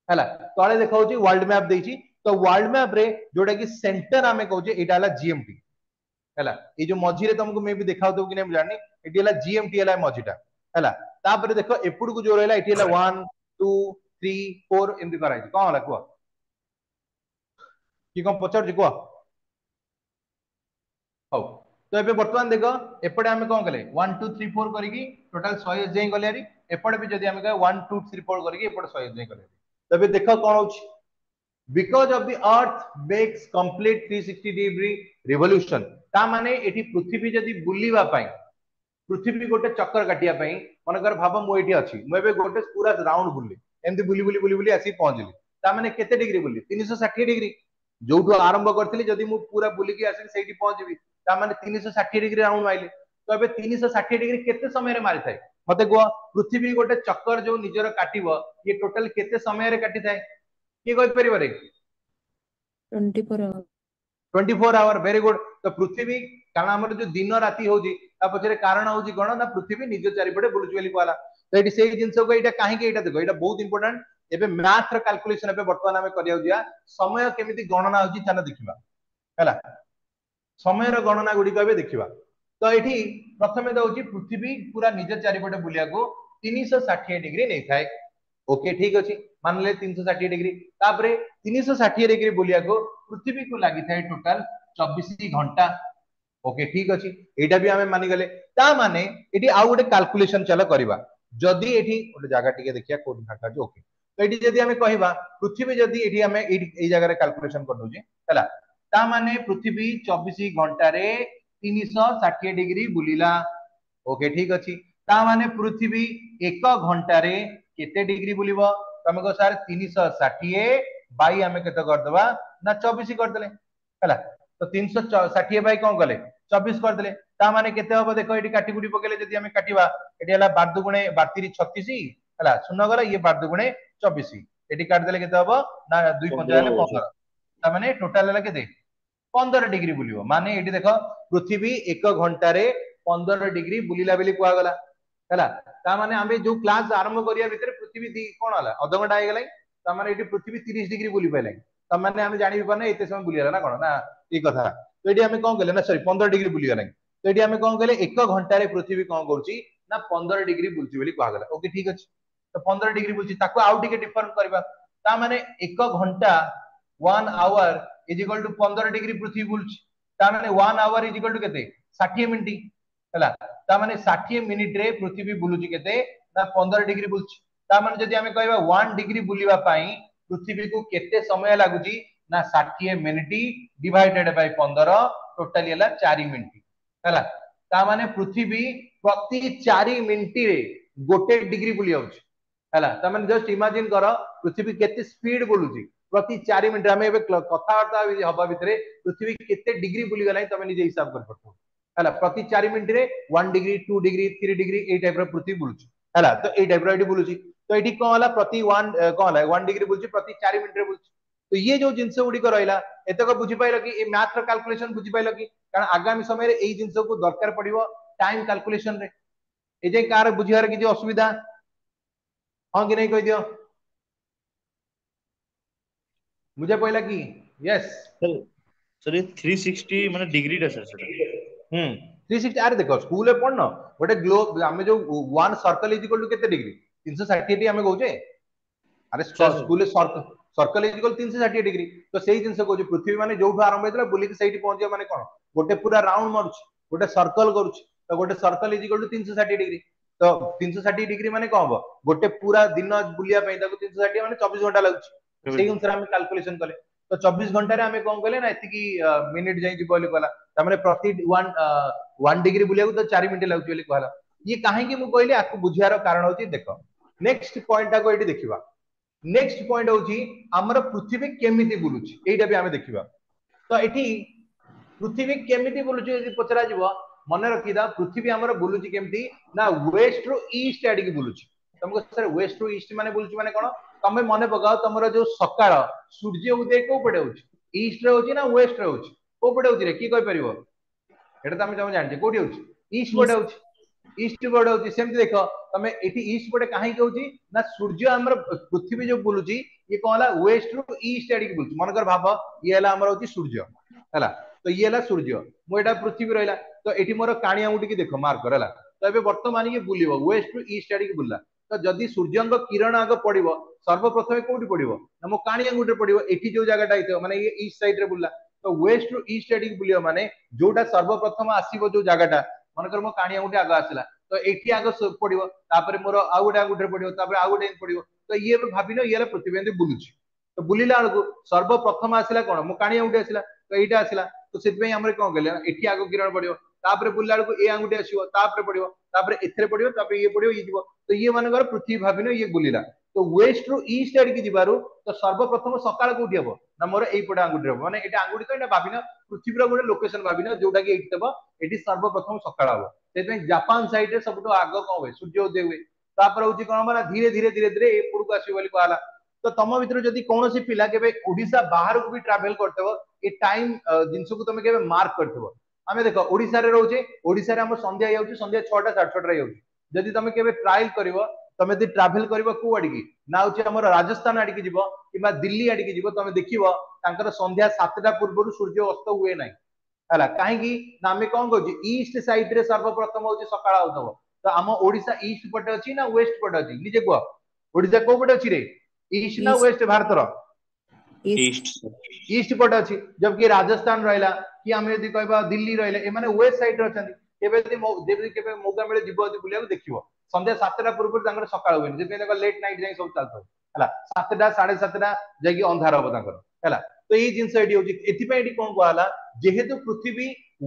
ହେଲା ତଳେ ଦେଖାଉଛି ୱାର୍ଲଡ ମ୍ୟାପ ଦେଇଛି ତ ୱାର୍ଲଡ ମ୍ୟାପ ରେ ଯୋଉଟା କି ସେଣ୍ଟର ଆମେ କହୁଛେ ଏଇଟା ହେଲା ଜିଏମଟି ହେଲା ଏଇ ଯୋଉ ମଝିରେ ତମକୁ ମେ ବି ଦେଖାଉଥିବ କି ନାଇଁ ମୁଁ ଜାଣିନି ଏଠି ହେଲା ଜିଏମଟି ହେଲା ମଝିଟା ହେଲା ତାପରେ ଦେଖ ଏପଟକୁ ଯୋଉ ରହିଲା ଏଠି ହେଲା ୱାନ୍ ଟୁ ଥ୍ରୀ ଫୋର ଏମିତି କରାହେଇଛି କଣ ହେଲା କୁହ କି କଣ ପଚାରୁଛି କୁହ ହଉ ତ ଏବେ ବର୍ତ୍ତମାନ ଦେଖ ଏପଟେ ଆମେ କଣ କଲେ ୱାନ୍ ଟୁ ଥ୍ରୀ ଫୋର କରିକି ଟୋଟାଲ ଶହେ ଯାଇ ଗଲେ ହାରି ଏପଟେ ବି ଯଦି ଆମେ କହିବା ୱାନ୍ ଟୁ ଥ୍ରୀ ଫୋର କରିକି ଏପଟେ ଶହେ ଯାଇ ଗଲେ ତ ଏବେ ଦେଖ କଣ ହଉଛି because of the earth makes complete three sixty degree revolution ତା ମାନେ ଏଠି ପୃଥିବୀ ଯଦି ବୁଲିବା ପାଇଁ ପୃଥିବୀ ଗୋଟେ ଚକ୍କର କାଟିବା ପାଇଁ ମନେକର ଭାବ ମୁଁ ଏଇଠି ଅଛି ମୁଁ ଏବେ ଗୋଟେ ପୁରା ରାଉଣ୍ଡ ବୁଲିଲି ଏମିତି ବୁଲି ବୁଲି ବୁଲି ବୁଲି ଆସିକି ପହଞ୍ଚିଲି ତା ମାନେ କେତେ ଡିଗ୍ରୀ ବୁଲିଲି ତିନିଶହ ଷାଠିଏ ଡିଗ୍ରୀ ଯୋଉଠୁ ଆରମ୍ଭ କରିଥିଲି ଯଦି ମୁଁ ପୁରା ବୁଲିକି ଆସିକି ସେଇଠି ପହଞ୍ଚିବି ତା ମାନେ ତିନିଶହ ଷାଠିଏ ଡିଗ୍ରୀ ରାଉଣ୍ଡ ମାଇଲି ତ ଏବେ ତିନିଶହ ଷାଠିଏ ଡିଗ୍ରୀ କେତେ ସମୟରେ ମାରିଥାଏ ମତେ କୁହ ପୃଥିବୀ ଗୋଟେ ଚକ୍କର ଯୋଉ ନିଜର କାଟିବ ଇଏ ଟୋଟାଲ କେତେ ସମୟରେ କାଟିଥାଏ କିଏ କହିପାରିବ ରେ Twenty four hour. Twenty four hour, very good. ତ ପୃଥିବୀ, କାରଣ ଆମର ଯୋଉ ଦିନ ରାତି ହଉଛି ତା ପଛରେ କାରଣ ହଉଛି କଣ ନା ପୃଥିବୀ ନିଜ ଚାରିପଟେ ବୁଲୁଛି ବୋଲି କୁହାହେଲା। ତ ଏଠି ସେଇ ଜିନିଷକୁ ଏଇଟା କାହିଁକି, ଏଇଟା ଦେଖ, ଏଇଟା ବହୁତ ଇମ୍ପୋର୍ଟାଣ୍ଟ। ଏବେ ମ୍ୟାଥ ର କାଲକୁଲେସନ ଏବେ ବର୍ତ୍ତମାନ ଆମେ କରିବାକୁ ଯିବା। ସମୟ କେମିତି ଗଣନା ହଉଛି ଚାଲ ଦେଖିବା, ହେଲା। ସମୟର ଗଣନା ଗୁଡିକ ଏବେ ଦେଖିବା। ତ ଏଠି ପ୍ରଥମେ ଦଉଛି ପୃଥିବୀ ପୁରା ନିଜ ଚାରିପଟେ ବୁଲିବାକୁ ତିନିଶହ ଷାଠିଏ ଡିଗ୍ରୀ ନେଇଥାଏ। ଓକେ, ଠିକ ଅଛି, ମାନିଲେ ତିନିଶହ ଷାଠିଏ ଡିଗ୍ରୀ। ତାପରେ ତିନିଶହ ଷାଠିଏ ଡିଗ୍ରୀ ବୁଲିବାକୁ ପୃଥିବୀକୁ ଲାଗିଥାଏ ଟୋଟାଲ ଚବିଶ ଘଣ୍ଟା। ଓକେ, ଠିକ ଅଛି, ଏଇଟା ବି ଆମେ ମାନିଗଲେ। ତା ମାନେ ଏଠି ଆଉ ଗୋଟେ କାଲକୁଲେସନ ଚାଲ କରିବା। ଯଦି ଏଠି ଗୋଟେ ଜାଗା ଟିକେ ଦେଖିବା କୋଉଠି ଫାଙ୍କା ଅଛି। ଓକେ, ତ ଏଠି ଯଦି ଆମେ କହିବା ପୃଥିବୀ ଯଦି ଏଠି ଆମେ ଏଇଠି ଏଇ ଜାଗାରେ କାଲକୁଲେସନ କରିଦଉଛେ, ହେଲା, ତା ମାନେ ପୃଥିବୀ ଚବିଶ ଘଣ୍ଟାରେ ତିନିଶହ ଷାଠିଏ ଡିଗ୍ରୀ ବୁଲିଲା। ଓକେ, ଠିକ ଅଛି, ତା ମାନେ ପୃଥିବୀ ଏକ ଘଣ୍ଟାରେ କେତେ ଡିଗ୍ରୀ ବୁଲିବ? ତମେ କହ ସାର୍ ତିନିଶହ ଷାଠିଏ ବାଇ ଆମେ କେତେ କରିଦବା ନା ଚବିଶ କରିଦେଲେ, ହେଲା। ତ ତିନିଶହ ଷାଠିଏ ବାଇ କଣ କଲେ? ଚବିଶ କରିଦେଲେ। ତା ମାନେ କେତେ ହବ ଦେଖ, ଏଠି କାଟି କୁଟି ପକେଇଲେ ଯଦି ଆମେ କାଟିବା, ଏଠି ହେଲା ବାର ଦୁଗୁଣେ ବାର ତିରି ଛତିଶ, ହେଲା, ଶୂନ ଗଲା, ଇଏ ବାର ଦୁଗୁଣେ ଚବିଶ, ଏଠି କାଟିଦେଲେ କେତେ ହବ ନା ଦୁଇ ପଞ୍ଚା ହେଲେ ପନ୍ଦର। ତା ମାନେ ଟୋଟାଲ ହେଲା କେତେ? ପନ୍ଦର ଡିଗ୍ରୀ ବୁଲିବ। ମାନେ ଏଠି ଦେଖ ପୃଥିବୀ ଏକ ଘଣ୍ଟାରେ ପନ୍ଦର ଡିଗ୍ରୀ ବୁଲିଲା ବୋଲି କୁହାଗଲା, ହେଲା। ତା ମାନେ ଆମେ ଯୋଉ କ୍ଲାସ ଆରମ୍ଭ କରିବା ଭିତରେ ପୃଥିବୀ ଦି କଣ ହେଲା, ଅଧଘଣ୍ଟା ହେଇଗଲାଣି। ତା ମାନେ ଏଠି ପୃଥିବୀ ତିରିଶ ଡିଗ୍ରୀ ବୁଲି ପାଇଲାଣି। ତା ମାନେ ଆମେ ଜାଣି ପାରୁନେ ଏତେ ସମୟ ବୁଲିଗଲା ନା କଣ ନା ଏଇ କଥା। ତ ଏଠି ଆମେ କଣ କଲେ ନା ସରି ପନ୍ଦର ଡିଗ୍ରୀ ବୁଲିଗଲାଣି। ତ ଏଠି ଆମେ କଣ କଲେ, ଏକ ଘଣ୍ଟାରେ ପୃଥିବୀ କଣ କରୁଛି ନା ପନ୍ଦର ଡିଗ୍ରୀ ବୁଲୁଛି ବୋଲି କୁହାଗଲା। ଓକେ, ଠିକ ଅଛି, ତ ପନ୍ଦର ଡିଗ୍ରୀ ବୁଲୁଛି, ତାକୁ ଆଉ ଟିକେ ଡିଫରେଣ୍ଟ କରିବା। ତା ମାନେ ଏକ ଘଣ୍ଟା one hour is equal to ପନ୍ଦର ଡିଗ୍ରୀ ପୃଥିବୀ ବୁଲୁଛି। ତା ମାନେ one hour is equal to କେତେ? ଷାଠିଏ ମିନିଟ, ହେଲା। ତା ମାନେ ଷାଠିଏ ମିନିଟ ରେ ପୃଥିବୀ ବୁଲୁଛି କେତେ ନା ପନ୍ଦର ଡିଗ୍ରୀ ବୁଲୁଛି। ତା ମାନେ ଯଦି ଆମେ କହିବା ୱାନ୍ ଡିଗ୍ରୀ ବୁଲିବା ପାଇଁ ପୃଥିବୀକୁ କେତେ ସମୟ ଲାଗୁଛି ନା ଷାଠିଏ ମିନିଟ ଡିଭାଇଡେଡ ବାଇ ପନ୍ଦର, ଟୋଟାଲି ହେଲା ଚାରି ମିନିଟ, ହେଲା। ତା ମାନେ ପୃଥିବୀ ପ୍ରତି ଚାରି ମିନିଟରେ ଗୋଟେ ଡିଗ୍ରୀ ବୁଲି ଯାଉଛି, ହେଲା। ତା ମାନେ ଜଷ୍ଟ ଇମାଜିନ କର ପୃଥିବୀ କେତେ ସ୍ପିଡ ବୁଲୁଛି ପ୍ରତି ଚାରି ମିନିଟ। ଆମେ ଏବେ କଥାବାର୍ତ୍ତା ହବା ଭିତରେ ପୃଥିବୀ କେତେ ଡିଗ୍ରୀ ବୁଲିଗଲାଣି ତମେ ନିଜେ ହିସାବ କରିପାରୁଥିବ, ହେଲା। ପ୍ରତି ଚାରି ମିନିଟରେ one degree, two degree, three degree ଏଇ ଟାଇପ ର ପୃଥିବୀ ବୁଲୁଛି, ହେଲା। ତ ଏଇ ଟାଇପ ର ଏଠି ବୁଲୁଛି। ତ ଏଠି କଣ ହେଲା, ପ୍ରତି ୱାନ୍ କଣ ହେଲା ୱାନ୍ ଡିଗ୍ରୀ ବୁଲୁଛି, ପ୍ରତି ଚାରି ମିନିଟରେ ବୁଲୁଛି। ତ ଇଏ ଯୋଉ ଜିନିଷ ଗୁଡିକ ରହିଲା, ଏତକ ବୁଝିପାଇଲ କି? ଏ ମ୍ୟାଥ ର କାଲକୁଲେସନ ବୁଝିପାଇଲ କି? କାରଣ ଆଗାମୀ ସମୟରେ ଏଇ ଜିନିଷକୁ ଦରକାର ପଡିବ ଟାଇମ କାଲକୁଲେସନ ରେ। ଏ ଯାଇ କାହାର ବୁଝିବାର କିଛି ଅସୁବିଧା ହଁ କି ନାଇଁ କହିଦିଅ। ବୁଝା ପଇଲା କି? ୟେସ୍ ସାର୍, ଏ ଥ୍ରୀ ସିକ୍ସଟି ମାନେ ଡିଗ୍ରୀଟା ସାର୍ ସେଟା? ହୁଁ, ଥ୍ରୀ ସିକ୍ସଟି। ଆରେ ଦେଖ, ସ୍କୁଲରେ ପଢୁନ ଗୋଟେ ଗ୍ଲୋବ, ଆମେ ଯୋଉ one circle is equal to କେତେ ଡିଗ୍ରୀ? ତିନିଶହ ଷାଠିଏ ଆମେ କହୁଛେ। ଆରେ ସ୍କୁଲରେ ସର୍କଲ is equal ତିନିଶହ ଷାଠିଏ ଡିଗ୍ରୀ। ତ ସେଇ ଜିନିଷ କହୁଛି, ପୃଥିବୀ ମାନେ ଯୋଉଠୁ ଆରମ୍ଭ ହେଇଥିଲା ବୁଲିକି ସେଇଠି ପହଞ୍ଚିବ ମାନେ କଣ, ଗୋଟେ ପୁରା ରାଉଣ୍ଡ ମାରୁଛି, ଗୋଟେ ସର୍କଲ କରୁଛି। ତ ଗୋଟେ ସର୍କଲ is equal to ତିନିଶହ ଷାଠିଏ ଡିଗ୍ରୀ। ତ ତିନିଶହ ଷାଠିଏ ଡିଗ୍ରୀ ମାନେ କଣ ହବ, ଗୋଟେ ପୁରା ଦିନ ବୁଲିବା ପାଇଁ ତାକୁ ତିନିଶହ ଷାଠିଏ ମାନେ ଚବିଶ ଘଣ୍ଟା ଲାଗୁଛି। ସେଇ ଅନୁସାରେ ଆମେ କାଲକୁଲେସନ କଲେ। ତ ଚବିଶ ଘଣ୍ଟାରେ ଆମେ କଣ କଲେ ନା ଏତିକି ମିନିଟ ଯାଇ ଯିବ ବୋଲି କହିଲା। ତାମାନେ ପ୍ରତି ୱାନ୍ ୱାନ୍ ଡିଗ୍ରୀ ବୁଲିବାକୁ ତ ଚାରି ମିନିଟ ଲାଗୁଛି ବୋଲି କହିଲା। ଇଏ କାହିଁକି ମୁଁ କହିଲି, ଆକୁ ବୁଝିବାର କାରଣ ହଉଛି ଦେଖ, ନେକ୍ସଟ ପଏଣ୍ଟ ଟାକୁ ଏଇଠି ଦେଖିବା। ନେକ୍ସଟ ପଏଣ୍ଟ ହଉଛି ଆମର ପୃଥିବୀ କେମିତି ବୁଲୁଛି, ଏଇଟା ବି ଆମେ ଦେଖିବା। ତ ଏଠି ପୃଥିବୀ କେମିତି ବୁଲୁଛି ଯଦି ପଚରାଯିବ, ମନେ ରଖିଥା ପୃଥିବୀ ଆମର ବୁଲୁଛି କେମିତି ନା ୱେଷ୍ଟ ରୁ ଇଷ୍ଟ ଆଡିକି ବୁଲୁଛି। ତମକୁ ସାର୍ ୱେଷ୍ଟ ରୁ ଇଷ୍ଟ ମାନେ ବୁଲୁଛି ମାନେ କଣ? ତମେ ମନେ ପକାଅ ତମର ଯୋଉ ସକାଳ ସୂର୍ଯ୍ୟ ଉଦୟ କୋଉ ପଟେ ହଉଛି? ଇଷ୍ଟ ରେ ହଉଛି ନା ୱେଷ୍ଟ ରେ ହଉଛି? କୋଉ ପଟେ ହଉଛି ରେ, କିଏ କହିପାରିବ? ଏଇଟା ତ ଆମେ ତମେ ଜାଣିଛେ କୋଉଠି ହଉଛି, ଇଷ୍ଟ ପଟେ ହଉଛି। ଇଷ୍ଟ ପଟେ ହଉଛି। ସେମିତି ଦେଖ ତମେ ଏଠି ଇଷ୍ଟ ପଟେ କାହିଁକି ହଉଛି ନା ସୂର୍ଯ୍ୟ ଆମର ପୃଥିବୀ ଯୋଉ ବୁଲୁଛି ଇଏ କଣ ହେଲା ୱେଷ୍ଟ ରୁ ଇଷ୍ଟ ଆଡିକି ବୁଲୁଛି। ମନେକର ଭାବ ଇଏ ହେଲା ଆମର ହଉଛି ସୂର୍ଯ୍ୟ, ହେଲା। ତ ଇଏ ହେଲା ସୂର୍ଯ୍ୟ, ମୁଁ ଏଇଟା ପୃଥିବୀ ରହିଲା। ତ ଏଠି ମୋର କାଣି ଆଙ୍ଗୁଠିକି ଦେଖ ମାର୍କ କର, ହେଲା। ତ ଏବେ ବର୍ତ୍ତମାନ ଇଏ ବୁଲିବ ୱେଷ୍ଟ ରୁ ଇଷ୍ଟ ଆଡିକି ବୁଲିଲା। ତ ଯଦି ସୂର୍ଯ୍ୟଙ୍କ କିରଣ ଆଗ ପଡିବ ସର୍ବପ୍ରଥମେ କୋଉଠି ପଡିବ ନା ମୋ କାଣି ଆଙ୍ଗୁଠିରେ ପଡିବ, ଏଠି ଯୋଉ ଜାଗାଟା ହେଇଥିବ ମାନେ ଇଏ ଇଷ୍ଟ ସାଇଡ ରେ ବୁଲିଲା। ତ ୱେଷ୍ଟ ରୁ ଇଷ୍ଟ ଆଡିକି ବୁଲିବ ମାନେ ଯୋଉଟା ସର୍ବପ୍ରଥମ ଆସିବ ଯୋଉ ଜାଗାଟା, ମନେକର ମୋ କାଣି ଆଙ୍ଗୁଠି ଆଗ ଆସିଲା ତ ଏଠି ଆଗ ପଡିବ, ତାପରେ ମୋର ଆଉ ଗୋଟେ ଆଙ୍ଗୁଠିରେ ପଡିବ, ତାପରେ ଆଉ ଗୋଟେ ପଡିବ। ତ ଇଏ ଭାବିନ ଇଏ ହେଲା ପୃଥିବୀ ଏମିତି ବୁଲୁଛି। ତ ବୁଲିଲା ବେଳକୁ ସର୍ବପ୍ରଥମ ଆସିଲା କଣ, ମୋ କାଣି ଆଙ୍ଗୁଠି ଆସିଲା, ତ ଏଇଟା ଆସିଲା। ତ ସେଥିପାଇଁ ଆମର କଣ କଲେ ଏଠି ଆଗ କିରଣ ପଡିବ, ତାପରେ ବୁଲିଲା ବେଳକୁ ଏ ଆଙ୍ଗୁଠି ଆସିବ, ତାପରେ ପଡିବ, ତାପରେ ଏଥିରେ ପଡିବ, ତାପରେ ଇଏ ପଡିବ, ଇଏ ଯିବ। ତ ଇଏ ମାନଙ୍କର ପୃଥିବୀ ଭାବିନ ଇଏ ବୁଲିଲା। ତ ୱେଷ୍ଟ ରୁ ଇଷ୍ଟ ଆଡିକି ଯିବାରୁ ତ ସର୍ବପ୍ରଥମ ସକାଳ କୋଉଠି ହବ ନା ମୋର ଏଇପଟେ ଆଙ୍ଗୁଠି ହବ। ମାନେ ଏଇଟା ଆଙ୍ଗୁଠି ତ ଏଇଟା ଭାବିନ ପୃଥିବୀର ଗୋଟେ ଲୋକେସନ ଭାବିନ ଯୋଉଟା କି ଏଇଠି ଥିବ, ଏଠି ସର୍ବପ୍ରଥମ ସକାଳ ହବ। ସେଥିପାଇଁ ଜାପାନ ସାଇଡ ରେ ସବୁଠୁ ଆଗ କଣ ହୁଏ, ସୂର୍ଯ୍ୟ ଉଦୟ ହୁଏ। ତାପରେ ହଉଛି କଣ ହବ ନା ଧୀରେ ଧୀରେ ଧୀରେ ଧୀରେ ଏପଟକୁ ଆସିବ ବୋଲି କୁହାହେଲା। ତ ତମ ଭିତରୁ ଯଦି କୌଣସି ପିଲା କେବେ ଓଡିଶା ବାହାରକୁ ବି ଟ୍ରାଭେଲ କରିଥିବ, ଏ ଟାଇମ ଜିନିଷକୁ ତମେ କେବେ ମାର୍କ କରିଥିବ। ଆମେ ଦେଖ ଓଡିଶାରେ ରହୁଛେ, ଓଡିଶାରେ ଆମର ସନ୍ଧ୍ୟା ହେଇଯାଉଛି, ସନ୍ଧ୍ୟା ଛଅଟା ସାଢେ ଛଅଟା ହେଇଯାଉଛି। ଯଦି ତମେ କେବେ ଟ୍ରାଏଲ କରିବ, ତମେ ଯଦି ଟ୍ରାଭେଲ କରିବ କୋଉ ଆଡିକି ନା ହଉଛି ଆମର ରାଜସ୍ଥାନ ଆଡିକି ଯିବ କିମ୍ବା ଦିଲ୍ଲୀ ଆଡିକି ଯିବ, ତମେ ଦେଖିବ ତାଙ୍କର ସନ୍ଧ୍ୟା ସାତଟା ପୂର୍ବରୁ ସୂର୍ଯ୍ୟ ଅସ୍ତ ହୁଏ ନାହିଁ। ହେଲା, କାହିଁକି ନା ଆମେ କଣ କରୁଛେ, ଇଷ୍ଟ ସାଇଡ ରେ ସର୍ବପ୍ରଥମ ହଉଛି ସକାଳ ହଉଥିବ। ତ ଆମ ଓଡିଶା ଇଷ୍ଟ ପଟେ ଅଛି ନା ୱେଷ୍ଟ ପଟେ ଅଛି? ନିଜେ କୁହ, ଓଡିଶା କୋଉ ପଟେ ଅଛି ରେ? ଇଷ୍ଟ ନା ଇଷ୍ଟ। ୱେଷ୍ଟ? ଭାରତର ଇଷ୍ଟ। ଇଷ୍ଟ। ଇଷ୍ଟ ପଟେ ଅଛି। ଜବକି ରାଜସ୍ଥାନ ରହିଲା କି ଆମେ ଯଦି କହିବା ଦିଲ୍ଲୀ ରହିଲେ, ଏମାନେ ୱେଷ୍ଟ ସାଇଡ ରେ ଅଛନ୍ତି। କେବେ ଯଦି ଯେମିତି କେବେ ମୌକା ମିଳେ ଯିବ ଯଦି ବୁଲିବାକୁ, ଦେଖିବ ସନ୍ଧ୍ୟା ସାତଟା ପୂର୍ବରୁ ତାଙ୍କର ସକାଳ ହୁଏନି। ସେଥିପାଇଁ ତାଙ୍କର ଲେଟ୍ ନାଇଟ୍ ଯାଇ ସବୁ ଚାଲିଥିବ। ହେଲା, ସାତଟା ସାଢେ ସାତଟା ଯାଇକି ଅନ୍ଧାର ହବ ତାଙ୍କର। ହେଲା, ତ ଏଇ ଜିନିଷ ଏଠି ହଉଛି। ଏଥିପାଇଁ ଏଠି କଣ କୁହାହେଲା, ଯେହେତୁ ପୃଥିବୀ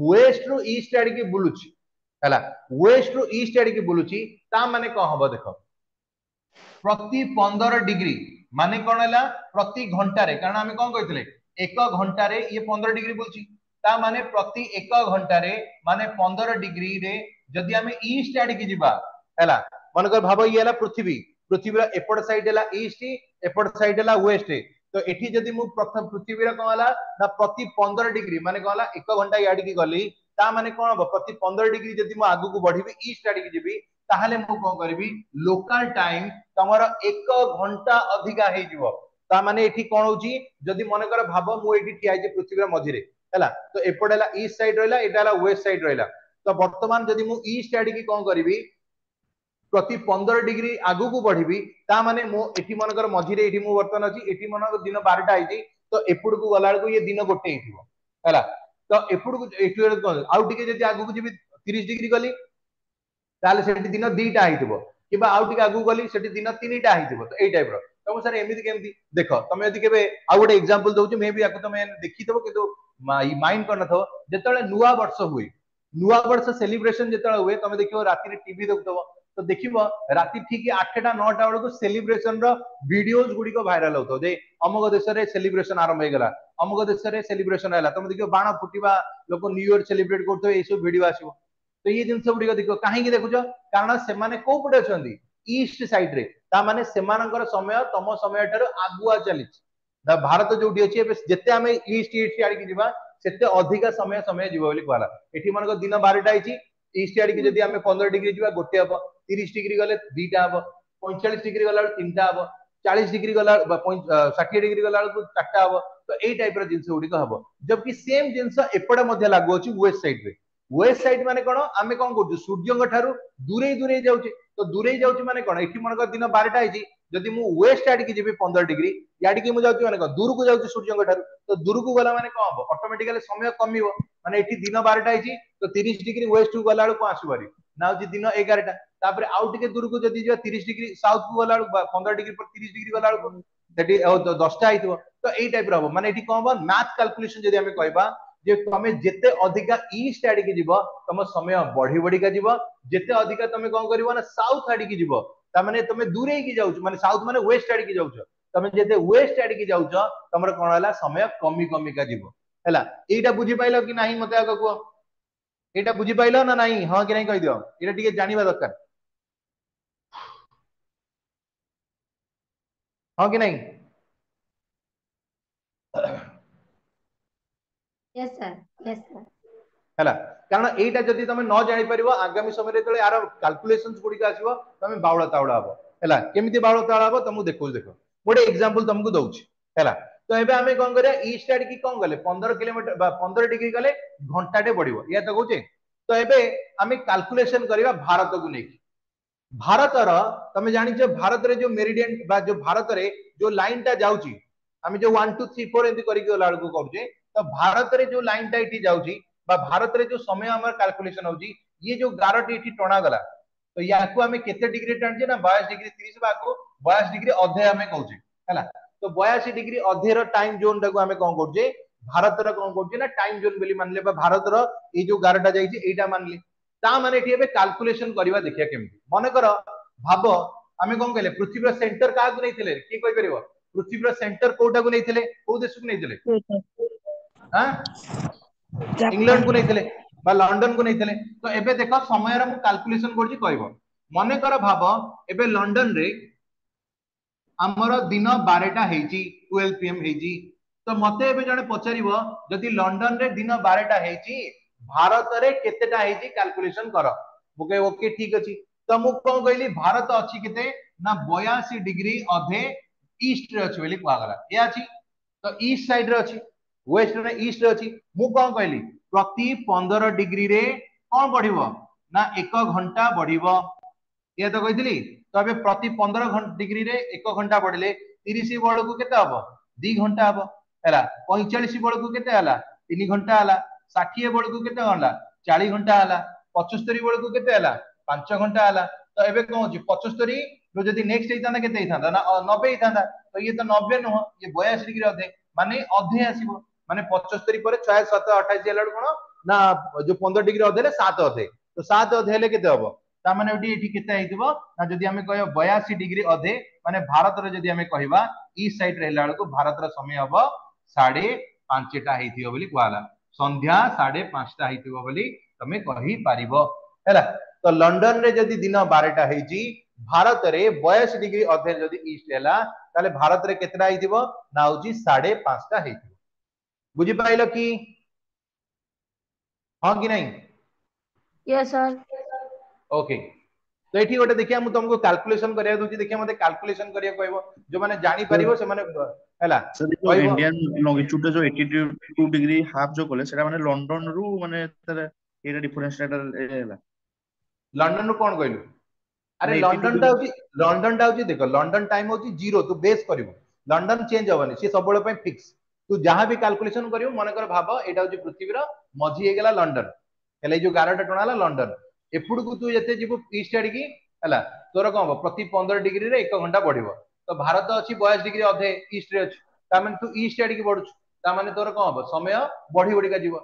ୱେଷ୍ଟ ରୁ ଇଷ୍ଟ ଆଡିକି ବୁଲୁଛି, ହେଲା, ୱେଷ୍ଟ ରୁ ଇଷ୍ଟ ଆଡିକି ବୁଲୁଛି, ତା ମାନେ କଣ ହବ ଦେଖ, ପ୍ରତି ପନ୍ଦର ଡିଗ୍ରୀ ମାନେ କଣ ହେଲା ପ୍ରତି ଘଣ୍ଟାରେ, କାରଣ ଆମେ କଣ କହିଥିଲେ ଏକ ଘଣ୍ଟାରେ ଇଏ ପନ୍ଦର ଡିଗ୍ରୀ ବୁଲୁଛି, ତା ମାନେ ପ୍ରତି ଏକ ଘଣ୍ଟାରେ ମାନେ ପନ୍ଦର ଡିଗ୍ରୀରେ ଯଦି ଆମେ ଇଷ୍ଟ ଆଡିକି ଯିବା, ହେଲା, ମନେକର ଭାବ ଇଏ ହେଲା ପୃଥିବୀ, ପୃଥିବୀର ଏପଟ ସାଇଡ ହେଲା ଇଷ୍ଟ, ଏପଟ ସାଇଡ ହେଲା ୱେଷ୍ଟ। ତ ଏଠି ଯଦି ମୁଁ ପ୍ରଥମ ପୃଥିବୀର କଣ ହେଲା ନା ପ୍ରତି ପନ୍ଦର ଡିଗ୍ରୀ ମାନେ କଣ ହେଲା ଏକ ଘଣ୍ଟା ଇଆଡିକି ଗଲି, ତା ମାନେ କଣ ହବ ପ୍ରତି ପନ୍ଦର ଡିଗ୍ରୀ ଯଦି ମୁଁ ଆଗକୁ ବଢିବି ଇଷ୍ଟ ଆଡିକି ଯିବି, ତାହେଲେ ମୁଁ କଣ କରିବି ଲୋକାଲ ଟାଇମ ତମର ଏକ ଘଣ୍ଟା ଅଧିକା ହେଇଯିବ। ତା ମାନେ ଏଠି କଣ ହଉଛି, ଯଦି ମନେକର ଭାବ ମୁଁ ଏଇଠି ଠିଆ ହେଇଛି ପୃଥିବୀର ମଝିରେ, ହେଲା, ତ ଏପଟ ହେଲା ଇଷ୍ଟ ସାଇଡ ରହିଲା, ଏଇଟା ହେଲା ୱେଷ୍ଟ ସାଇଡ ରହିଲା। ତ ବର୍ତ୍ତମାନ ଯଦି ମୁଁ ଇଷ୍ଟ ଆଡିକି କଣ କରିବି ପ୍ରତି ପନ୍ଦର ଡିଗ୍ରୀ ଆଗକୁ ବଢିବି, ତା ମାନେ ମୁଁ ଏଠି ମନେକର ମଝିରେ ଏଇଠି ମୁଁ ବର୍ତ୍ତମାନ ଅଛି, ଏଠି ମନେକର ଦିନ ବାରଟା ହେଇଛି, ତ ଏପଟକୁ ଗଲା ବେଳକୁ ଇଏ ଦିନ ଗୋଟେ ହେଇଥିବ। ହେଲା, ତ ଏପଟକୁ ଏଠି ଆଉ ଟିକେ ଯଦି ଆଗକୁ ଯିବି ତିରିଶ ଡିଗ୍ରୀ ଗଲି, ତାହେଲେ ସେଠି ଦିନ ଦିଟା ହେଇଥିବ, କିମ୍ବା ଆଉ ଟିକେ ଆଗକୁ ଗଲି ସେଠି ଦିନ ତିନିଟା ହେଇଥିବ। ତ ଏଇ ଟାଇପ ର। ତମ ସାର୍ ଏମିତି କେମିତି ଦେଖ, ତମେ ଯଦି କେବେ ଆଉ ଗୋଟେ ଏକ୍ସାମ୍ପଲ ଦଉଛି, ମେ ବି ୟାକୁ ତମେ ଦେଖିଥିବ କିନ୍ତୁ ମାଇଣ୍ଡ କରିନଥିବ। ଯେତେବେଳେ ନୂଆ ବର୍ଷ ହୁଏ, ନୂଆ ବର୍ଷ ସେଲିବ୍ରେସନ ଯେତେବେଳେ ହୁଏ, ତମେ ଦେଖିବ ରାତିରେ ଟିଭି ଦେଖୁଥିବ, ତ ଦେଖିବ ରାତି ଠିକ ଆଠଟା ନଅଟା ବେଳକୁ ସେଲିବ୍ରେସନ ର ଭିଡିଓଜ ଗୁଡିକ ଭାଇରାଲ ହଉଥିବ, ଯେ ଅମୁକ ଦେଶରେ ସେଲିବ୍ରେସନ ଆରମ୍ଭ ହେଇଗଲା, ଅମୁକ ଦେଶରେ ସେଲିବ୍ରେସନ ହେଲା, ତମେ ଦେଖିବ ବାଣ ଫୁଟିବା, ଲୋକ ନ୍ୟୁ ଇୟର ସେଲିବ୍ରେଟ କରୁଥିବେ, ଏଇ ସବୁ ଭିଡିଓ ଆସିବ। ତ ଏଇ ଜିନିଷ ଗୁଡିକ ଦେଖିବ କାହିଁକି ଦେଖୁଛ, କାରଣ ସେମାନେ କୋଉ ପଟେ ଅଛନ୍ତି, ଇଷ୍ଟ ସାଇଡ ରେ, ତା ମାନେ ସେମାନଙ୍କର ସମୟ ତମ ସମୟ ଠାରୁ ଆଗୁଆ ଚାଲିଛି। ଭାରତ ଯୋଉଠି ଅଛି ଏବେ ଯେତେ ଆମେ ଇଷ୍ଟ ଇଷ୍ଟ ଆଡିକି ଯିବା ସେତେ ଅଧିକା ସମୟ ସମୟ ଯିବ ବୋଲି କୁହାଗଲା। ଏଠି ମନେକର ଦିନ ବାରଟା ହେଇଛି, ଇଷ୍ଟ ଆଡିକି ଯଦି ଆମେ ପନ୍ଦର ଡିଗ୍ରୀ ଯିବା ଗୋଟେ ହବ, ତିରିଶ ଡିଗ୍ରୀ ଗଲେ ଦିଟା ହବ, ପଇଁଚାଳିଶ ଡିଗ୍ରୀ ଗଲା ବେଳକୁ ତିନିଟା ହବ, ଚାଳିଶ ଡିଗ୍ରୀ ଗଲା ଷାଠିଏ ଡିଗ୍ରୀ ଗଲା ବେଳକୁ ଚାରିଟା ହବ। ତ ଏଇ ଟାଇପ ର ଜିନିଷ ଗୁଡିକ ହବ। ଜବକି ସେମ ଜିନିଷ ଏପଟେ ମଧ୍ୟ ଲାଗୁ ଅଛି ୱେଷ୍ଟ ସାଇଡ ରେ। ୱେଷ୍ଟ ସାଇଡ ମାନେ କଣ, ଆମେ କଣ କରୁଛୁ ସୂର୍ଯ୍ୟଙ୍କ ଠାରୁ ଦୂରେଇ ଦୂରେଇ ଯାଉଛେ। ତ ଦୂରେଇ ଯାଉଛି ମାନେ କଣ, ଏଠି ମନେକର ଦିନ ବାରଟା ହେଇଛି, ଯଦି ମୁଁ ୱେଷ୍ଟ ଆଡିକି ଯିବି ପନ୍ଦର ଡିଗ୍ରୀ ଇଆଡିକି ମୁଁ ଯାଉଛି ମାନେ କଣ ଦୂରକୁ ଯାଉଛି ସୂର୍ଯ୍ୟଙ୍କ ଠାରୁ, ତ ଦୂରକୁ ଗଲା ମାନେ କଣ ହବ ଅଟୋମେଟିକାଲି ସମୟ କମିବ। ମାନେ ଏଠି ଦିନ ବାରଟା ହେଇଛି ତ ତିରିଶ ଡିଗ୍ରୀ ୱେଷ୍ଟ କୁ ଗଲା ବେଳକୁ କଣ ଆସିବ ଭାରି ନା ହଉଛି ଦିନ ଏଗାରଟା। ତାପରେ ଆଉ ଟିକେ ଦୂରକୁ ଯଦି ଯିବା ତିରିଶ ଡିଗ୍ରୀ ସାଉଥ କୁ ଗଲା ବେଳକୁ ପନ୍ଦର ଡିଗ୍ରୀ ପରେ ତିରିଶ ଡିଗ୍ରୀ ଗଲା ବେଳକୁ ସେଠି ଦଶଟା ହେଇଥିବ। ତ ଏଇ ଟାଇପ ର ହବ। ମାନେ ଏଠି କଣ ହବ ମ୍ୟାଥ କାଲକୁଲେସନ ଯଦି ଆମେ କହିବା ଯେ ତମେ ଯେତେ ଅଧିକା ଇଷ୍ଟ ଆଡିକି ଯିବ ତମ ସମୟ ବଢି ବଢିକା ଯିବ, ଯେତେ ଅଧିକା ତମେ କଣ କରିବ ନା ସାଉଥ ଆଡିକି ଯିବ, ତାମାନେ ତମେ ଦୂରେଇକି ଯାଉଛ, ମାନେ ସାଉଥ ମାନେ ୱେଷ୍ଟ ଆଡିକି ଯାଉଛ, ତମେ ଯେତେ ୱେଷ୍ଟ ଆଡିକି ଯାଉଛ ତମର କଣ ହେଲା ସମୟ କମି କମିକା ଯିବ। ହେଲା, ଏଇଟା ବୁଝିପାଇଲ କି ନାହିଁ ମତେ ଆଗ କୁହ, ଏଇଟା ବୁଝିପାଇଲ ନା ନାହିଁ? ହଁ କି ନାହିଁ କହିଦିଅ, ଏଇଟା ଟିକେ ଜାଣିବା ଦରକାର, ହଁ କି ନାହିଁ? Yes sir, yes sir. ହେଲା, କାରଣ ଏଇଟା ଯଦି ତମେ ନ ଜାଣିପାରିବ ଆଗାମୀ ସମୟରେ ଯେତେବେଳେ ଆର କାଲକୁଲେସନ ଗୁଡିକ ଆସିବ ତମେ ବାଉଳା ତାଉଳା ହବ। ହେଲା, କେମିତି ବାଉଳା ତାଉଳା ହବ ତମକୁ ଦେଖଉଛି, ଦେଖ ଗୋଟେ ଏକ୍ସାମ୍ପଲ ତମକୁ ଦଉଛି। ହେଲା, ତ ଏବେ ଆମେ କଣ କରିବା, ଇଷ୍ଟ ଆଡିକି କଣ ଗଲେ ପନ୍ଦର କିଲୋମିଟର ବା ପନ୍ଦର ଡିଗ୍ରୀ ଗଲେ ଘଣ୍ଟାଟେ ବଢିବ, ଇୟା ତ କହୁଛେ। ତ ଏବେ ଆମେ କାଲକୁଲେସନ କରିବା ଭାରତକୁ ନେଇକି। ଭାରତର ତମେ ଜାଣିଛ ଭାରତରେ ଯୋଉ ମେରିଡିଆନ ବା ଯୋଉ ଭାରତରେ ଯୋଉ ଲାଇନ ଟା ଯାଉଛି, ଆମେ ଯୋଉ ୱାନ୍ ଟୁ ଥ୍ରୀ ଫୋର ଏମିତି କରିକି ଗଲା ବେଳକୁ କରୁଛେ, ତ ଭାରତରେ ଯୋଉ ଲାଇନ ଟା ଏଠି ଯାଉଛି ବା ଭାରତରେ ଯୋଉ ସମୟ ଆମର କାଲକୁଲେସନ ହଉଛି, ଇଏ ଯୋଉ ଗାରଟି ଏଠି ଟଣାଗଲା, ତ ୟାକୁ ଆମେ କେତେ ଡିଗ୍ରୀ ଟାଣିଛେ ନା ବୟାଅଶୀ ଡିଗ୍ରୀ ତିରିଶ ବା ଆକୁ ବୟାଅଶୀ ଡିଗ୍ରୀ ଅଧେ ଆମେ କହୁଛେ। ହେଲା, ତ ବୟାଅଶୀ ଡିଗ୍ରୀ ଅଧେର ଟାଇମ ଜୋନ ଟାକୁ ଆମେ କଣ କରୁଛେ, ଭାରତର କଣ କରୁଛେ ନା ଟାଇମ ଜୋନ ବୋଲି ମାନିଲେ, ବା ଭାରତର ଏଇ ଯୋଉ ଗାରଟା ଯାଇଛି ଏଇଟା ମାନିଲେ। ତା ମାନେ ଏଠି ଏବେ କାଲକୁଲେସନ କରିବା ଦେଖିବା କେମିତି। ମନେକର ଭାବ ଆମେ କଣ କହିଲେ ପୃଥିବୀର ସେଣ୍ଟର କାହାକୁ ନେଇଥିଲେ, କିଏ କହିପାରିବ ପୃଥିବୀର ସେଣ୍ଟର କୋଉଟାକୁ ନେଇଥିଲେ, କୋଉ ଦେଶକୁ ନେଇଥିଲେ? ଇଂଲଣ୍ଡ କୁ ନେଇଥିଲେ ବା ଲଣ୍ଡନ କୁ ନେଇଥିଲେ। ତ ଏବେ ଦେଖ ସମୟର ମୁଁ କାଲକୁଲେସନ କରୁଛି କହିବ। ମନେକର ଭାବ ଏବେ ଲଣ୍ଡନରେ ଆମର ଦିନ ବାରଟା ହେଇଛି, ଟୁଏଲ୍ଭ ପିଏମ ହେଇଛି। ତ ମତେ ଏବେ ଜଣେ ପଚାରିବ, ଯଦି ଲଣ୍ଡନରେ ଦିନ ବାରଟା ହେଇଛି, ଭାରତରେ କେତେଟା ହେଇଛି କାଲକୁଲେସନ କର। ମୁଁ କହିବି ଓକେ, ଠିକ ଅଛି। ତ ମୁଁ କଣ କହିଲି? ଭାରତ ଅଛି କେତେ ନା ବୟାଅଶୀ ଡିଗ୍ରୀ ଅଧେ ଇଷ୍ଟ ରେ ଅଛି ବୋଲି କୁହାଗଲା। ଏ ଅଛି ତ ଇଷ୍ଟ ସାଇଡ ରେ ଅଛି, ୱେଷ୍ଟ ରେ, ଇଷ୍ଟ ରେ ଅଛି। ମୁଁ କଣ କହିଲି? ପ୍ରତି ପନ୍ଦର ଡିଗ୍ରୀରେ କଣ ବଢିବ ନା ଏକ ଘଣ୍ଟା ବଢିବ, ଇଏ ତ କହିଥିଲି। ତ ଏବେ ପ୍ରତି ପନ୍ଦର ଡିଗ୍ରୀରେ ଏକ ଘଣ୍ଟା ବଢିଲେ ତିରିଶ ବେଳକୁ କେତେ ହବ? ଦି ଘଣ୍ଟା ହବ, ହେଲା। ପଇଁଚାଳିଶ ବେଳକୁ କେତେ ହେଲା? ତିନି ଘଣ୍ଟା ହେଲା। ଷାଠିଏ ବେଳକୁ କେତେ ହେଲା? ଚାରି ଘଣ୍ଟା ହେଲା। ପଚସ୍ତରୀ ବେଳକୁ କେତେ ହେଲା? ପାଞ୍ଚ ଘଣ୍ଟା ହେଲା। ତ ଏବେ କଣ ହଉଛି? ପଚସ୍ତରୀ ଯଦି ନେକ୍ସଟ ହେଇଥାନ୍ତା, କେତେ ହେଇଥାନ୍ତା ନା ନବେ ହେଇଥାନ୍ତା। ତ ଇଏ ତ ନବେ ନୁହଁ, ଇଏ ବୟାଅଶୀ ଡିଗ୍ରୀ ଅଧେ, ମାନେ ଅଧେ ଆସିବ। ମାନେ ପଚସ୍ତରୀ ପରେ ଛଅ, ସାତ, ଅଠାଇଶ ହେଲା ବେଳକୁ କଣ ନା ଯୋଉ ପନ୍ଦର ଡିଗ୍ରୀ ଅଧେ ହେଲେ ସାତ ଅଧେ। ତ ସାତ ଅଧେ ହେଲେ କେତେ ହବ? ତା ମାନେ ଏଠି ଏଠି କେତେ ହେଇଥିବ ନା ଯଦି ଆମେ କହିବା ବୟାଅଶୀ ଡିଗ୍ରୀ ଅଧେ, ମାନେ ଭାରତରେ ଯଦି ଆମେ କହିବା ଇଷ୍ଟ ସାଇଡ ରେ ହେଲା ବେଳକୁ ଭାରତର ସମୟ ହବ ସାଢେ ପାଞ୍ଚଟା ହେଇଥିବ ବୋଲି କୁହାଗଲା। ସନ୍ଧ୍ୟା ସାଢେ ପାଞ୍ଚଟା ହେଇଥିବ ବୋଲି ତମେ କହିପାରିବ, ହେଲା। ତ ଲଣ୍ଡନରେ ଯଦି ଦିନ ବାରଟା ହେଇଛି, ଭାରତରେ ବୟାଅଶୀ ଡିଗ୍ରୀ ଅଧେ ଯଦି ଇଷ୍ଟ ହେଲା, ତାହେଲେ ଭାରତରେ କେତେଟା ହେଇଥିବ ନା ହଉଛି ସାଢେ ପାଞ୍ଚଟା ହେଇଥିବ। ବୁଝିପାରିଲ କି ହଁ କି ନାଇଁ? Yes sir. Okay, ତ ଏଠି ଗୋଟେ ଦେଖିବା, ମୁଁ ତମକୁ କାଲକୁଲେସନ କରିବାକୁ ଦଉଛି। ଦେଖିବା, ମତେ କାଲକୁଲେସନ କରିବାକୁ କହିବ, ଯୋଉମାନେ ଜାଣିପାରିବ ସେମାନେ, ହେଲା। ସାର୍, ଯୋଉ ଇଣ୍ଡିଆନ ଲଙ୍ଗିଚ୍ୟୁଡ ଯୋଉ ଏଇଟି ଟୁ ଡିଗ୍ରୀ ହାଫ ଯୋଉ କଲେ, ସେଟା ମାନେ ଲଣ୍ଡନ ରୁ ମାନେ ତାର ଏଇଟା ଡିଫରେନ୍ସ ଟା ହେଲା। ଲଣ୍ଡନ ରୁ କଣ କହିଲୁ? ଆରେ, ଲଣ୍ଡନ ଟା ହଉଛି, ଲଣ୍ଡନ ଟା ହଉଛି, ଦେଖ, ଲଣ୍ଡନ ଟାଇମ ହଉଛି ଜିରୋ। ତୁ ବେସ୍ କରିବୁ, ଲଣ୍ଡନ ଚେଞ୍ଜ ହବନି, ସିଏ ସବୁବେଳେ ପାଇଁ ଫିକ୍ସ। ତୁ ଯାହା ବି କାଲକୁଲେସନ କରିବୁ, ମନେକର ଭାବ ଏଇଟା ହଉଛି ପୃଥିବୀର ମଝି ହେଇଗଲା ଲଣ୍ଡନ, ହେଲେ ଏଇ ଯୋଉ ଗାରଟା ଟଣା ହେଲା ଲଣ୍ଡନ। ଏପଟକୁ ତୁ ଯେତେ ଯିବୁ ଇଷ୍ଟ ଆଡିକି, ହେଲା, ତୋର କଣ ହବ? ପ୍ରତି ପନ୍ଦର ଡିଗ୍ରୀରେ ଏକ ଘଣ୍ଟା ବଢିବ। ତ ଭାରତ ଅଛି ବୟାଅଶୀ ଡିଗ୍ରୀ ଅଧେ ଇଷ୍ଟରେ ଅଛି, ତାମାନେ ତୁ ଇଷ୍ଟ ଆଡିକି ବଢୁଛୁ, ତାମାନେ ତୋର କଣ ହବ? ସମୟ ବଢି ବଢିକା ଯିବ।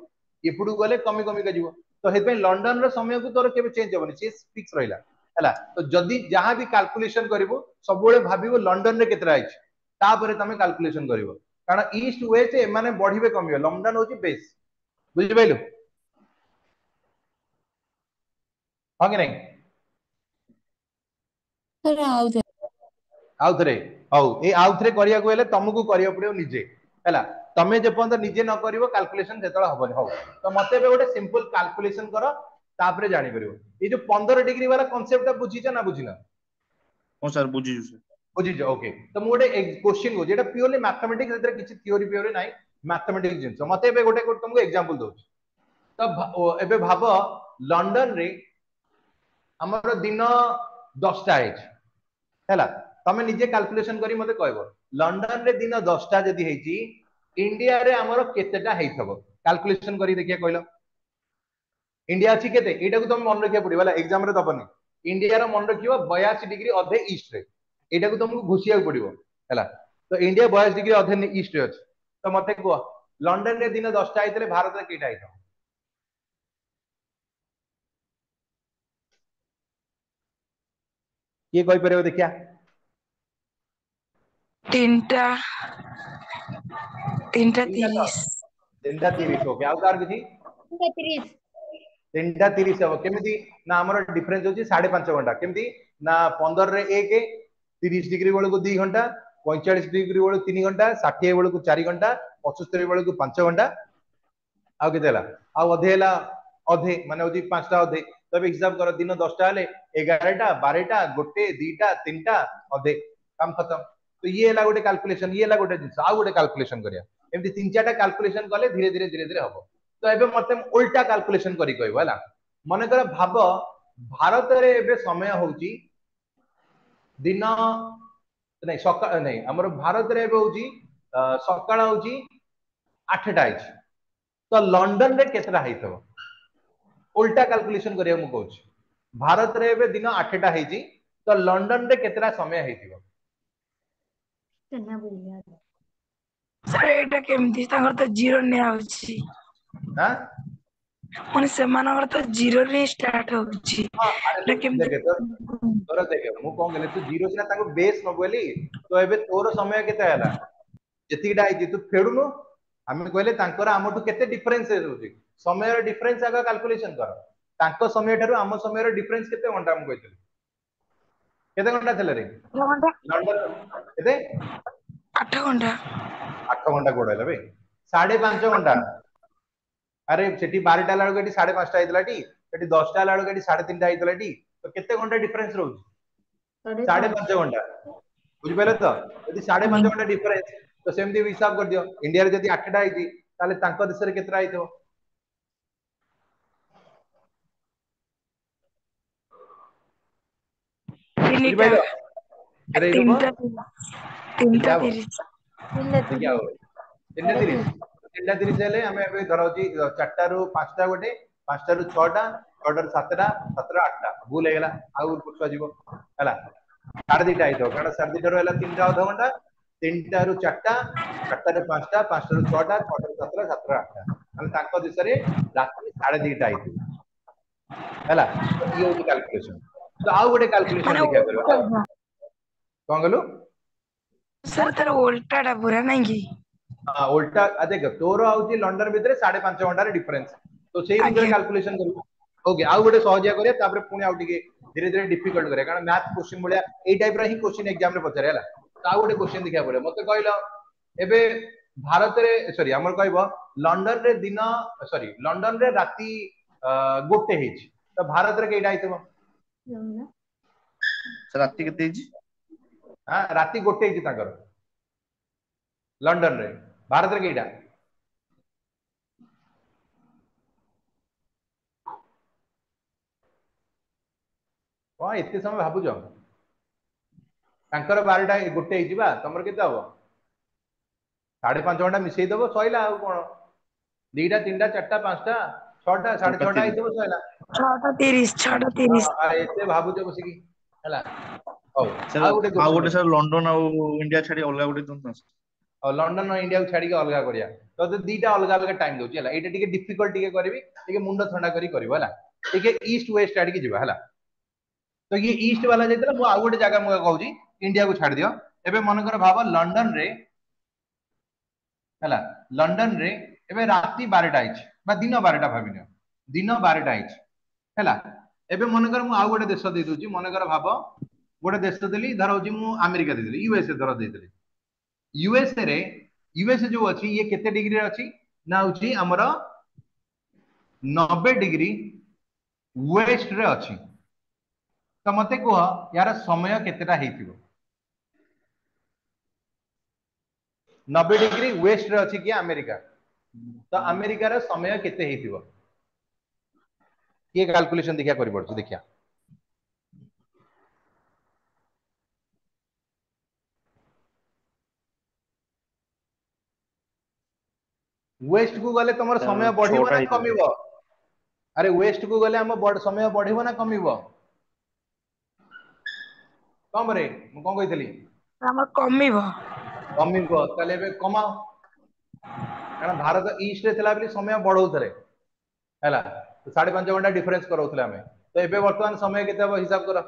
ଏପଟକୁ ଗଲେ କମି କମିକା ଯିବ। ତ ସେଥିପାଇଁ ଲଣ୍ଡନର ସମୟକୁ ତୋର କେବେ ଚେଞ୍ଜ ହବନି, ସିଏ ଫିକ୍ସ ରହିଲା, ହେଲା। ତ ଯଦି ଯାହା ବି କାଲକୁଲେସନ କରିବୁ, ସବୁବେଳେ ଭାବିବ ଲଣ୍ଡନରେ କେତେଟା ହେଇଛି, ତାପରେ ତମେ କାଲକୁଲେସନ କରିବ। କାରଣ ଇଷ୍ଟ ୱେଷ୍ଟ ଏମାନେ ବଢିବେ କମିବେ, ଲଣ୍ଡନ ହଉଛି ବେସ୍। ବୁଝିପାରିଲୁ, ହଁ କି ନାଇଁ? ସାର୍, ଆଉଥରେ। ଆଉଥରେ? ହଉ, ଏଇ ଆଉଥରେ କରିବାକୁ ହେଲେ ତମକୁ କରିବାକୁ ପଡିବ ନିଜେ, ହେଲା। ତମେ ଯେପର୍ଯ୍ୟନ୍ତ ନିଜେ ନ କରିବ କାଲକୁଲେସନ, ସେତେବେଳେ ହବନି। ହଉ, ତ ମତେ ଏବେ ଗୋଟେ ସିମ୍ପଲ କାଲକୁଲେସନ କର, ତାପରେ ଜାଣିପାରିବ। ଏଇ ଯୋଉ ପନ୍ଦର ଡିଗ୍ରୀ ବାଲା କନସେପ୍ଟ ଟା ବୁଝିଛ ନା ବୁଝିନ? ହଁ ସାର୍, ବୁଝିଛୁ ସାର୍। ବୁଝିଛ, ଓକେ। ତ ମୁଁ ଗୋଟେ କୋଶ୍ଚିନ୍ କହୁଛି, ଏଇଟା ପିଓରଲି ମ୍ୟାଥମେଟିକ୍ସ, ଏଥିରେ କିଛି ଥିଓରି ଫିଓରି ନାହିଁ, ମ୍ୟାଥମେଟିକ୍ସ ଜିନିଷ। ମତେ ଏବେ ଗୋଟେ ତମକୁ ଏକ୍ସାମ୍ପଲ ଦଉଛି। ତ ଏବେ ଭାବ ଲଣ୍ଡନରେ ଆମର ଦିନ ଦଶଟା ହେଇଛି, ହେଲା। ତମେ ନିଜେ କାଲକୁଲେସନ କରି ମତେ କହିବ, ଲଣ୍ଡନରେ ଦିନ ଦଶଟା ଯଦି ହେଇଛି, ଇଣ୍ଡିଆରେ ଆମର କେତେଟା ହେଇଥିବ? କାଲକୁଲେସନ କରି ଦେଖିବା, କହିଲ। ଇଣ୍ଡିଆ ଅଛି କେତେ? ଏଇଟାକୁ ତମେ ମନେ ରଖିବାକୁ ପଡିବ, ହେଲା, ଏକ୍ସାମ ରେ ଦବନି। ଇଣ୍ଡିଆର ମନେ ରଖିବ ବୟାଅଶୀ ଡିଗ୍ରୀ ଅଧେ ଇଷ୍ଟରେ, ଏଇଟାକୁ ତମକୁ ଘୋଷିବାକୁ ପଡିବ, ହେଲା। ତ ଇଣ୍ଡିଆ ବୟାଅଶୀ ଡିଗ୍ରୀ ଅଧେ ଇଷ୍ଟରେ ଅଛି। ତ ମତେ କୁହ, ଲଣ୍ଡନରେ ଦିନ ଦଶଟା ହେଇଥିଲେ ଭାରତରେ କେଇଟା ହେଇଥିବ? କିଏ କହିପାରିବ ଦେଖିଆ? ତିନିଟା, ତିନିଟା ତିରିଶ। ତିନିଟା ତିରିଶ, ଓକେ। ଆଉ କାହାର କିଛି? ତିନିଟା ତିରିଶ। ତିନିଟା ତିରିଶ ହବ। କେମିତି ନା ଆମର ଡିଫରେନ୍ସ ହଉଛି ସାଢେ ପାଞ୍ଚ ଘଣ୍ଟା। କେମିତି ନା ପନ୍ଦରରେ ଏକ, ତିରିଶ ଡିଗ୍ରୀ ବେଳକୁ ଦି ଘଣ୍ଟା, ପଇଁଚାଳିଶ ଡିଗ୍ରୀ ବେଳକୁ ତିନି ଘଣ୍ଟା, ଷାଠିଏ ବେଳକୁ ଚାରି ଘଣ୍ଟା, ପଚସ୍ତରୀ ବେଳକୁ ପାଞ୍ଚ ଘଣ୍ଟା। ଆଉ କେତେ ହେଲା? ଆଉ ଅଧେ ହେଲା, ଅଧେ ମାନେ ହଉଛି ପାଞ୍ଚଟା ଅଧେ। ତେବେ ହିସାବ କର, ଦିନ ଦଶଟା ହେଲେ ଏଗାରଟା, ବାରଟା, ଗୋଟେ, ଦିଟା, ତିନିଟା ଅଧେ, କାମ ଖତମ। ତ ଇଏ ହେଲା ଗୋଟେ କାଲକୁଲେସନ, ଇଏ ହେଲା ଗୋଟେ ଜିନିଷ। ଆଉ ଗୋଟେ କାଲକୁଲେସନ କରିବା। ଏମିତି ତିନି ଚାରିଟା କାଲକୁଲେସନ କଲେ ଧୀରେ ଧୀରେ ଧୀରେ ଧୀରେ ହବ। ତ ଏବେ ମତେ ଉଲ୍ଟା କାଲକୁଲେସନ କରି କହିବ, ହେଲା। ମନେକର ଭାବ ଭାରତରେ ଏବେ ସମୟ ହଉଛି ଦିନ ନାଇଁ, ସକାଳ ନାଇଁ, ଆମର ଭାରତରେ ଏବେ ହଉଛି ସକାଳ ହଉଛି ଆଠଟା ହେଇଛି। ତ ଲଣ୍ଡନରେ କେତେଟା ହେଇଥିବ? ଉଲ୍ଟା କାଲକୁଲେସନ କରିବାକୁ ମୁଁ କହୁଛି। ଭାରତରେ ଏବେ ଦିନ ଆଠଟା ହେଇଛି, ତ ଲଣ୍ଡନରେ କେତେଟା ସମୟ ହେଇଥିବ? ସାର୍, ଏଇଟା କେମିତି? ତାଙ୍କର ତ ଜିରୋ ନିଆ ହଉଛି। ଆଁ? ମାନେ ସେମାନଙ୍କର ତ ଜିରୋ ରେ ହିଁ ଷ୍ଟାର୍ଟ ହଉଛି। ହଁ, ଆରେ ଏଇଟା ତୁ କେମିତି? ଦେଖେ, ତୋର ତୋର ଦେଖେ, ମୁଁ କଣ କହିଲି? ତୁ ଜିରୋ ସିନା ତାଙ୍କୁ ବେସ୍ ନବୁ ବୋଲି। ତ ଏବେ ତୋର ସମୟ କେତେ ହେଲା? ଯେତିକିଟା ହେଇଛି ତୁ ଫେଡୁନୁ। ଆମେ କହିଲେ ତାଙ୍କର ଆମଠୁ କେତେ ଡିଫରେନ୍ସ ରହୁଛି, ସମୟର ଡିଫରେନ୍ସ ଆଗ କାଲକୁଲେସନ କର। ତାଙ୍କ ସମୟ ଠାରୁ ଆମ ସମୟର ଡିଫରେନ୍ସ କେତେ ଘଣ୍ଟା ମୁଁ କହିଥିଲି? କେତେ ଘଣ୍ଟା ଥିଲା ରେ ଆଠ ଘଣ୍ଟା ଲଣ୍ଡନ କେତେ ଆଠ ଘଣ୍ଟା ଆଠ ଘଣ୍ଟା କୋଉଠି ହେଲା ବେ ସାଢେ ପାଞ୍ଚ ଘଣ୍ଟା ଆରେ ସେଠି ବାରଟା ହେଲା ବେଳକୁ ଏଠି ସାଢେ ପାଞ୍ଚଟା ହେଇଥିଲା ଟି ସେଠି ଦଶଟା ହେଲା ବେଳକୁ ଏଠି ସାଢେ ତିନିଟା ହେଇଥିଲା ଟି ତ କେତେ ଘଣ୍ଟା ଡିଫରେନ୍ସ ରହୁଛି ସାଢେ ସାଢେ ପାଞ୍ଚ ପାଞ୍ଚ ଘଣ୍ଟା ବୁଝିପାରିଲେ ତ ଯଦି ସାଢେ ପାଞ୍ଚ ଆଜ୍ଞା ଘଣ୍ଟା ଡିଫରେନ୍ସ ତ ସେମିତି ବି ହିସାବ କରିଦିଅ ଇଣ୍ଡିଆରେ ଯଦି ଆଠଟା ହେଇଛି ତାହେଲେ ତାଙ୍କ ଦେଶରେ କେତେଟା ହେଇଥିବ ତିନିଟା ବୁଝିପାରିଲ କେତେ ହେଇଥିବ ତିନିଟା ତିନିଟା ତିନିଟା ହବ ତିରିଶ ତିନିଟା ଦେଖିଆ ତିରିଶ ଆଉ ତିନିଟା ସାଢେ ତିରିଶ ତିନି ତିନିଟା ତିରିଶ ହେଲେ ଆମେ ଏବେ ଧର ହଉଛି ଚାରିଟାରୁ ପାଞ୍ଚଟା ଗୋଟେ ପାଞ୍ଚଟାରୁ ଛଅଟା ଛଅଟାରୁ ସାତଟା ସାତଟା ଆଠଟା ଭୁଲ ହେଇଗଲା ଆଉ ପଛୁଆ ଯିବ ହେଲା ସାଢେ ଦିଟା ହେଇଥିବ କାରଣ ସାଢେ ଦିଟାରୁ ହେଲା ତିନିଟା ଅଧଘଣ୍ଟା ତିନିଟାରୁ ଚାରିଟା ଚାରିଟାରୁ ପାଞ୍ଚଟା ପାଞ୍ଚଟାରୁ ଛଅଟା ଛଅଟାରୁ ସାତଟା ସାତଟା ଆଠଟା ମାନେ ତାଙ୍କ ଦେଶରେ ରାତି ସାଢେ ଦିଟା ହେଇଥିବ ହେଲା ତ ଇଏ ହଉଛି କାଲକୁଲେସନ ତ ଆଉ ଗୋଟେ କାଲକୁଲେସନ ମାନେ ଦେଖିବାକୁ କରିବା ଆଉ ଓଲଟା କଣ କହିଲୁ ସାର୍ ତାର ଓଲଟା ଟା ପୁରା ନାଇଁ କି ହଁ ଓଲଟା ଆ ଦେଖ ତୋର ହଉଛି ଲଣ୍ଡନ ଭିତରେ ସାଢେ ପାଞ୍ଚ ଘଣ୍ଟାର ଡିଫରେନ୍ସ ତ ସେଇ ଅନୁସାରେ ଆଜ୍ଞା କାଲକୁଲେସନ କରିବୁ ଓକେ ଆଉ ଗୋଟେ ସହଜିଆ କରିବା ତାପରେ ପୁଣି ଆଉ ଟିକେ ଧୀରେ ଧୀରେ ଡିଫିକଲ୍ଟ କରିବା କାରଣ ମ୍ୟାଥ କୋଶ୍ଚିନ୍ ଭଳିଆ ଏଇ ଟାଇପ ର ହିଁ କୋଶ୍ଚିନ୍ ଏକ୍ସାମ ରେ ପଚାରେ ହେଲା ତ ଆଉ ଗୋଟେ କୋଶ୍ଚିନ୍ ଦେଖିବାକୁ ପଡିବ ମତେ କହିଲ ଏବେ ଭାରତରେ ସରି ଆମର କହିବ ଲଣ୍ଡନରେ ଦିନ ସରି ଲଣ୍ଡନରେ ରାତି ଅ, ଗୋଟେ ହେଇଛି ତ ଭାରତରେ କେଇଟା ହେଇଥିବ ସାର୍ ରାତି କେତେ ହେଇଛି ହଁ ରାତି ଗୋଟେ ହେଇଛି ତାଙ୍କର ଲଣ୍ଡନରେ ଭାରତରେ କେଇଟା କଣ ଏତେ ସମୟ ଭାବୁଛ ତାଙ୍କର ବାରଟା ଗୋଟେ ହେଇଛି ବା ତମର କେତେ ହବ ସାଢେ ପାଞ୍ଚ ଘଣ୍ଟା ମିଶେଇ ଦବ ସଇଲା ଆଉ କଣ ଦିଟା ତିନିଟା ଚାରିଟା ପାଞ୍ଚଟା ଛଅଟା ସାଢେ ଛଅଟା ଛଅଟା ତିରିଶ ହେଇଥିବ ସଇଲା ଛଅଟା ତିରିଶ ଛଅଟା ହଁ ତିରିଶ ଆଉ ଏତେ ଭାବୁଛ ବସିକି ହେଲା ହଉ ସାର୍ ଆଉ ଗୋଟେ ଆଉ କୋଶ୍ଚିନ୍ ଗୋଟେ ଦେଖ ସାର୍ ଲଣ୍ଡନ ଆଉ ଇଣ୍ଡିଆ ଛାଡି ଅଲଗା ଗୋଟେ ଦିଅନ୍ତୁ ନା ସାର୍। ଆଉ ଲଣ୍ଡନ ଆଉ ଇଣ୍ଡିଆକୁ ଛାଡିକି ଅଲଗା କରିବା ତ ଦିଟା ଅଲଗା ଅଲଗା ଟାଇମ ଦଉଛି ହେଲା ଏଇଟା ଟିକେ ଡିଫିକଲ୍ଟ ଟିକେ କରିବି ଟିକେ ମୁଣ୍ଡ ଥଣ୍ଡା କରି କରିବ ହେଲା ଟିକେ ଇଷ୍ଟ ୱେଷ୍ଟ ଆଡିକି ଯିବା ହେଲା ତ ଇଏ ଇଷ୍ଟ ବାଲା ଯାଇଥିଲା ମୁଁ ଆଉ ଗୋଟେ ଜାଗା ମୁଁ କହୁଛି ଇଣ୍ଡିଆକୁ ଛାଡି ଦିଅ ଏବେ ମନେକର ଭାବ ଲଣ୍ଡନ ରେ ହେଲା ଲଣ୍ଡନ ରେ ଏବେ ରାତି ବାରଟା ହେଇଛି ବା ଦିନ ବାରଟା ଭାବିନିଅ ଦିନ ବାରଟା ହେଇଛି ହେଲା ଏବେ ମନେକର ମୁଁ ଆଉ ଗୋଟେ ଦେଶ ଦେଇ ଦଉଛି ମନେକର ଭାବ ଗୋଟେ ଦେଶ ଦେଲି ଧର ହଉଛି ମୁଁ ଆମେରିକା ଦେଇଦେଲି ୟୁଏସଏ ଧର ଦେଇଦେଲି ୟୁଏସଏ ରେ ୟୁଏସଏ ଯୋଉ ଅଛି ଇଏ କେତେ ଡିଗ୍ରୀରେ ଅଛି ନା ହଉଛି ଆମର ନବେ ଡିଗ୍ରୀ ୱେଷ୍ଟ ରେ ଅଛି ତ ମତେ କୁହ ୟାର ସମୟ କେତେଟା ହେଇଥିବ ନବେ ଡିଗ୍ରୀ ୱେଷ୍ଟ ରେ ଅଛି କି ଆମେରିକା ତ ଆମେରିକାର ସମୟ କେତେ ହେଇଥିବ କିଏ କାଲକୁଲେସନ ଦେଖିଆ କରିପାରୁଛି ଦେଖିଆ ୱେଷ୍ଟ କୁ ଗଲେ ତମର ସାର୍ ସମୟ ବଢିବ ଛଅଟା ନା ହେଇଥିବ କମିବ ଆରେ ୱେଷ୍ଟ କୁ ଗଲେ ଆମ ବଡ- ସମୟ ବଢିବ ନା କମିବ କମ ରେ ମୁଁ କଣ କହିଥିଲି ଆମର କମିବ କମିବ ତାହେଲେ ଏବେ କମାଅ କାରଣ ଭାରତ ଇଷ୍ଟ ରେ ଥିଲା ବୋଲି ସମୟ ବଢଉଥିଲେ ହେଲା ତ ସାଢେ ପାଞ୍ଚ ଘଣ୍ଟା ଡିଫରେନ୍ସ କରାଉଥିଲେ ଆମେ ତ ଏବେ ବର୍ତ୍ତମାନ ସମୟ କେତେ ହବ ହିସାବ କର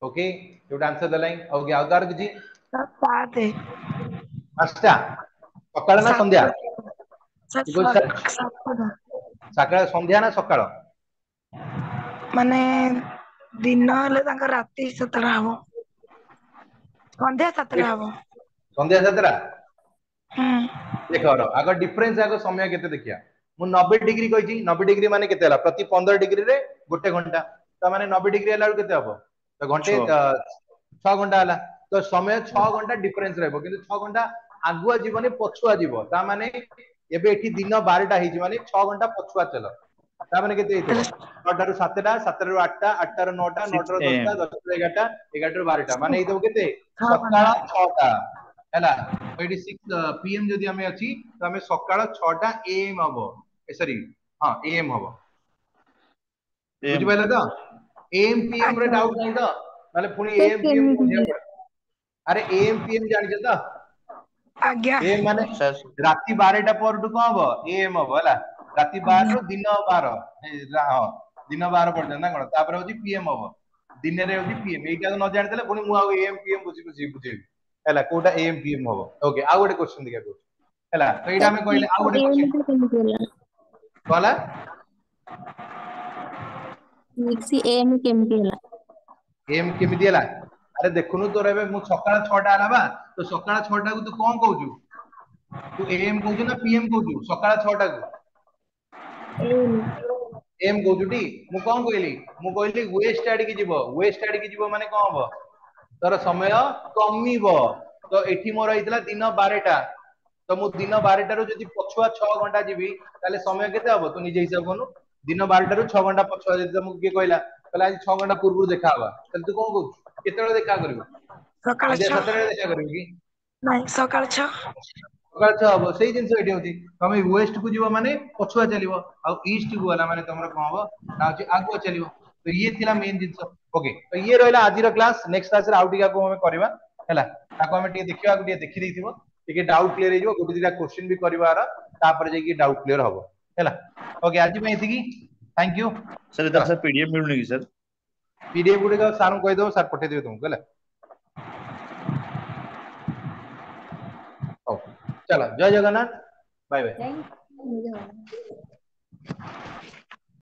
ଓକେ ଯୋଉଟା ଆନ୍ସର ଦେଲାଇଁ ଓକେ ଆଉ କାହାର କିଛି ସାର୍ ସାତେ ପାଞ୍ଚଟା ସକାଳ ନା ସନ୍ଧ୍ୟା ସାତ ସାର୍ କି କହୁଛି ସା- ସାତଟା ସକାଳ ସନ୍ଧ୍ୟା ନା ସକାଳ ମାନେ ଦିନ ହେଲେ ତାଙ୍କ ରାତି ସାତଟା ହବ ସନ୍ଧ୍ୟା ସାତଟା ହବ ସନ୍ଧ୍ୟା ସାତଟା ହୁଁ ଦେଖ ରହ, ଆଗ ଡିଫରେନ୍ସ ଆଗ ସମୟ କେତେ ଦେଖିବା ମୁଁ ନବେ ଡିଗ୍ରୀ କହିଛି ନବେ ଡିଗ୍ରୀ ମାନେ କେତେ ହେଲା ପ୍ରତି ପନ୍ଦର ଡିଗ୍ରୀରେ ଗୋଟେ ଘଣ୍ଟା ତା ମାନେ ନବେ ଡିଗ୍ରୀ ହେଲା ବେଳକୁ କେତେ ହବ ତ ଘଣ୍ଟେ ଛଅ ଅ, ଛଅ ଘଣ୍ଟା ହେଲା ତ ସମୟ ଛଅ ଘଣ୍ଟା ଡିଫରେନ୍ସ ରହିବ କିନ୍ତୁ ଛଅ ଘଣ୍ଟା ଆଗୁଆ ଯିବନି ପଛୁଆ ଯିବ ତା ମାନେ ଏବେ ଏଠି ଦିନ ବାରଟା ହେଇଛି ମାନେ ଛଅ ଘଣ୍ଟା ପଛୁଆ ଚାଲ ତା ମାନେ କେତେ ହେଇଥିବ ତାହେଲେ ଛଅଟାରୁ ସାତଟା ସାତଟାରୁ ଆଠଟା ଆଠଟାରୁ ନଅଟା ସିକ୍ସ ନଅଟାରୁ ଦଶଟା ଏମ୍ ଦଶଟାରୁ ଏଗାରଟା ଏଗାରଟାରୁ ବାରଟା ମାନେ ହେଇଥିବ କେତେ ଛଅ ସକାଳ ଘଣ୍ଟା ଛଅଟା ହେଲା ତ ଏଠି ସିକ୍ସ ପିଏମ ଯଦି ଆମେ ଅଛି ତ ଆମେ ସକାଳ ଛଅଟା ଏଏମ ହବ ସରି ହଁ ଏଏମ ହବ ଏମ୍ ବୁଝିପାରିଲେ ତ ଏଏମ ପିଏମ ରେ ଆଜ୍ଞା ଡାଉଟ ନାହିଁ ତ ନହେଲେ ପୁଣି ସାର୍ ଏଏମ ପିଏମ କେମିତି ବୁଝିବାକୁ ପଡିବ ଆରେ ଏଏମ ପିଏମ ଜାଣିଛ ତ ଆଜ୍ଞା ଏଏମ ମାନେ ସାର୍ ରାତି ବାରଟା ପରଠୁ କଣ ହବ ଏଏମ ହବ ହେଲା ରାତି ଆଜ୍ଞା ବାରରୁ ଦିନ ବାର ଏ, ରା- ହଁ ଦିନ ବାର ପର୍ଯ୍ୟନ୍ତ ନା କଣ ତାପରେ ହଉଛି ପିଏମ ହବ ଦିନରେ ହଉଛି ପିଏମ ଏଇଟା ନ ଜାଣିଦେଲେ ପୁଣି ମୁଁ ଆଉ ଏଏମ ପିଏମ ବୁଝି ବୁଝି ବୁଝେଇବି ହେଲା କୋଉଟା ଏଏମ ପିଏମ ହବ ଓକେ ଆଉ ଗୋଟେ କ୍ୱେଶ୍ଚନ ଦେଖିବା କହୁଛି ହେଲା ତ ଏଇଟା ଆମେ କହିଲେ ଆଉ ଗୋଟେ କ୍ୱେଶ୍ଚନ କେମିତି ହେଲା କଣ ହେଲା ସିକ୍ସ ଏଏମ୍ କେମିତି ହେଲା ଏମ୍ କେମିତି ହେଲା ଆରେ ଦେଖୁନୁ ତୋର ଏବେ ମୁଁ ସକାଳ ଛଅଟା ହେଲା ବା ତ ସକାଳ ଛଅଟାକୁ ତୁ କଣ କହୁଛୁ ତୁ ଏଏମ୍ କହୁଛୁ ନା ପିଏମ୍ କହୁଛୁ ସକାଳ ଛଅଟାକୁ ଏଏମ୍ ଏମ୍ କହୁଛୁ ଟି ମୁଁ କଣ କହିଲି ମୁଁ କହିଲି ୱେଷ୍ଟ ଆଡିକି ଯିବ ୱେଷ୍ଟ ଆଡିକି ଯିବ ମାନେ କଣ ହବ ତୋର ସମୟ କମିବ ତ ଏଠି ମୋର ହେଇଥିଲା ଦିନ ବାରଟା ତ ମୁଁ ଦିନ ବାରଟାରୁ ଯଦି ପଛୁଆ ଛଅ ଘଣ୍ଟା ଯିବି ତାହେଲେ ସମୟ କେତେ ହବ ତୁ ନିଜେ ହିସାବ କରୁନୁ ଦିନ ବାରଟାରୁ ଛଅ ଘଣ୍ଟା ପଛୁଆ ଯଦି ତମକୁ କିଏ କହିଲା ତାହେଲେ ଆଜି ଛଅ ଘଣ୍ଟା ପୂର୍ବରୁ ଦେଖା ହବା ତାହେଲେ ତୁ କଣ କହୁଛୁ କେତେବେଳେ ଦେଖା କରିବୁ ସକାଳ ସନ୍ଧ୍ୟା ଛଅ ସାତଟାରେ ଦେଖା କରିବୁ କି ନାଇଁ ସକାଳ ଛଅ ସକାଳ ଛଅ ହବ ସେଇ ଜିନିଷ ଏଠି ହଉଛି ତମେ ୱେଷ୍ଟ କୁ ଯିବ ମାନେ ପଛୁଆ ଚାଲିବ ଆଉ ଇଷ୍ଟ କୁ ଗଲା ମାନେ ତମର କଣ ହବ ନା ହଉଛି ଆଗୁଆ ଚାଲିବ ତ ଇଏ ଥିଲା ମେନ୍ ଜିନିଷ ଓକେ ତ ଇଏ ରହିଲା ଆଜିର କ୍ଲାସ ନେକ୍ସଟ କ୍ଲାସରେ ଆଉ ଟିକେ ଆଗକୁ ଆମେ କରିବା ହେଲା ତାକୁ ଆମେ ଟିକେ ଦେଖିବା ଟିକେ ଦେଖି ଦେଇଥିବ ଟିକେ ଡାଉଟ କ୍ଲିୟର ହେଇଯିବ ଗୋଟେ ଦିଟା କ୍ୱେଶ୍ଚିନ୍ ବି କରିବାର ତାପରେ ଯାଇକି ଡାଉଟ କ୍ଲିୟର ହବ ହେଲା ଓକେ ଆଜି ପାଇଁ ଏତିକି thank you sir ଏଥର ସାର୍ ପିଡିଏଫ ମିଳୁନି କି ସାର୍ ପିଡିଏଫ ଗୁଡିକ ସାରଙ୍କୁ କହିଦବ ସାର୍ ପଠେଇଦେବେ ତୁମକୁ ହେଲା ହଉ ଚାଲ ଜୟ Jagannath bye bye thank you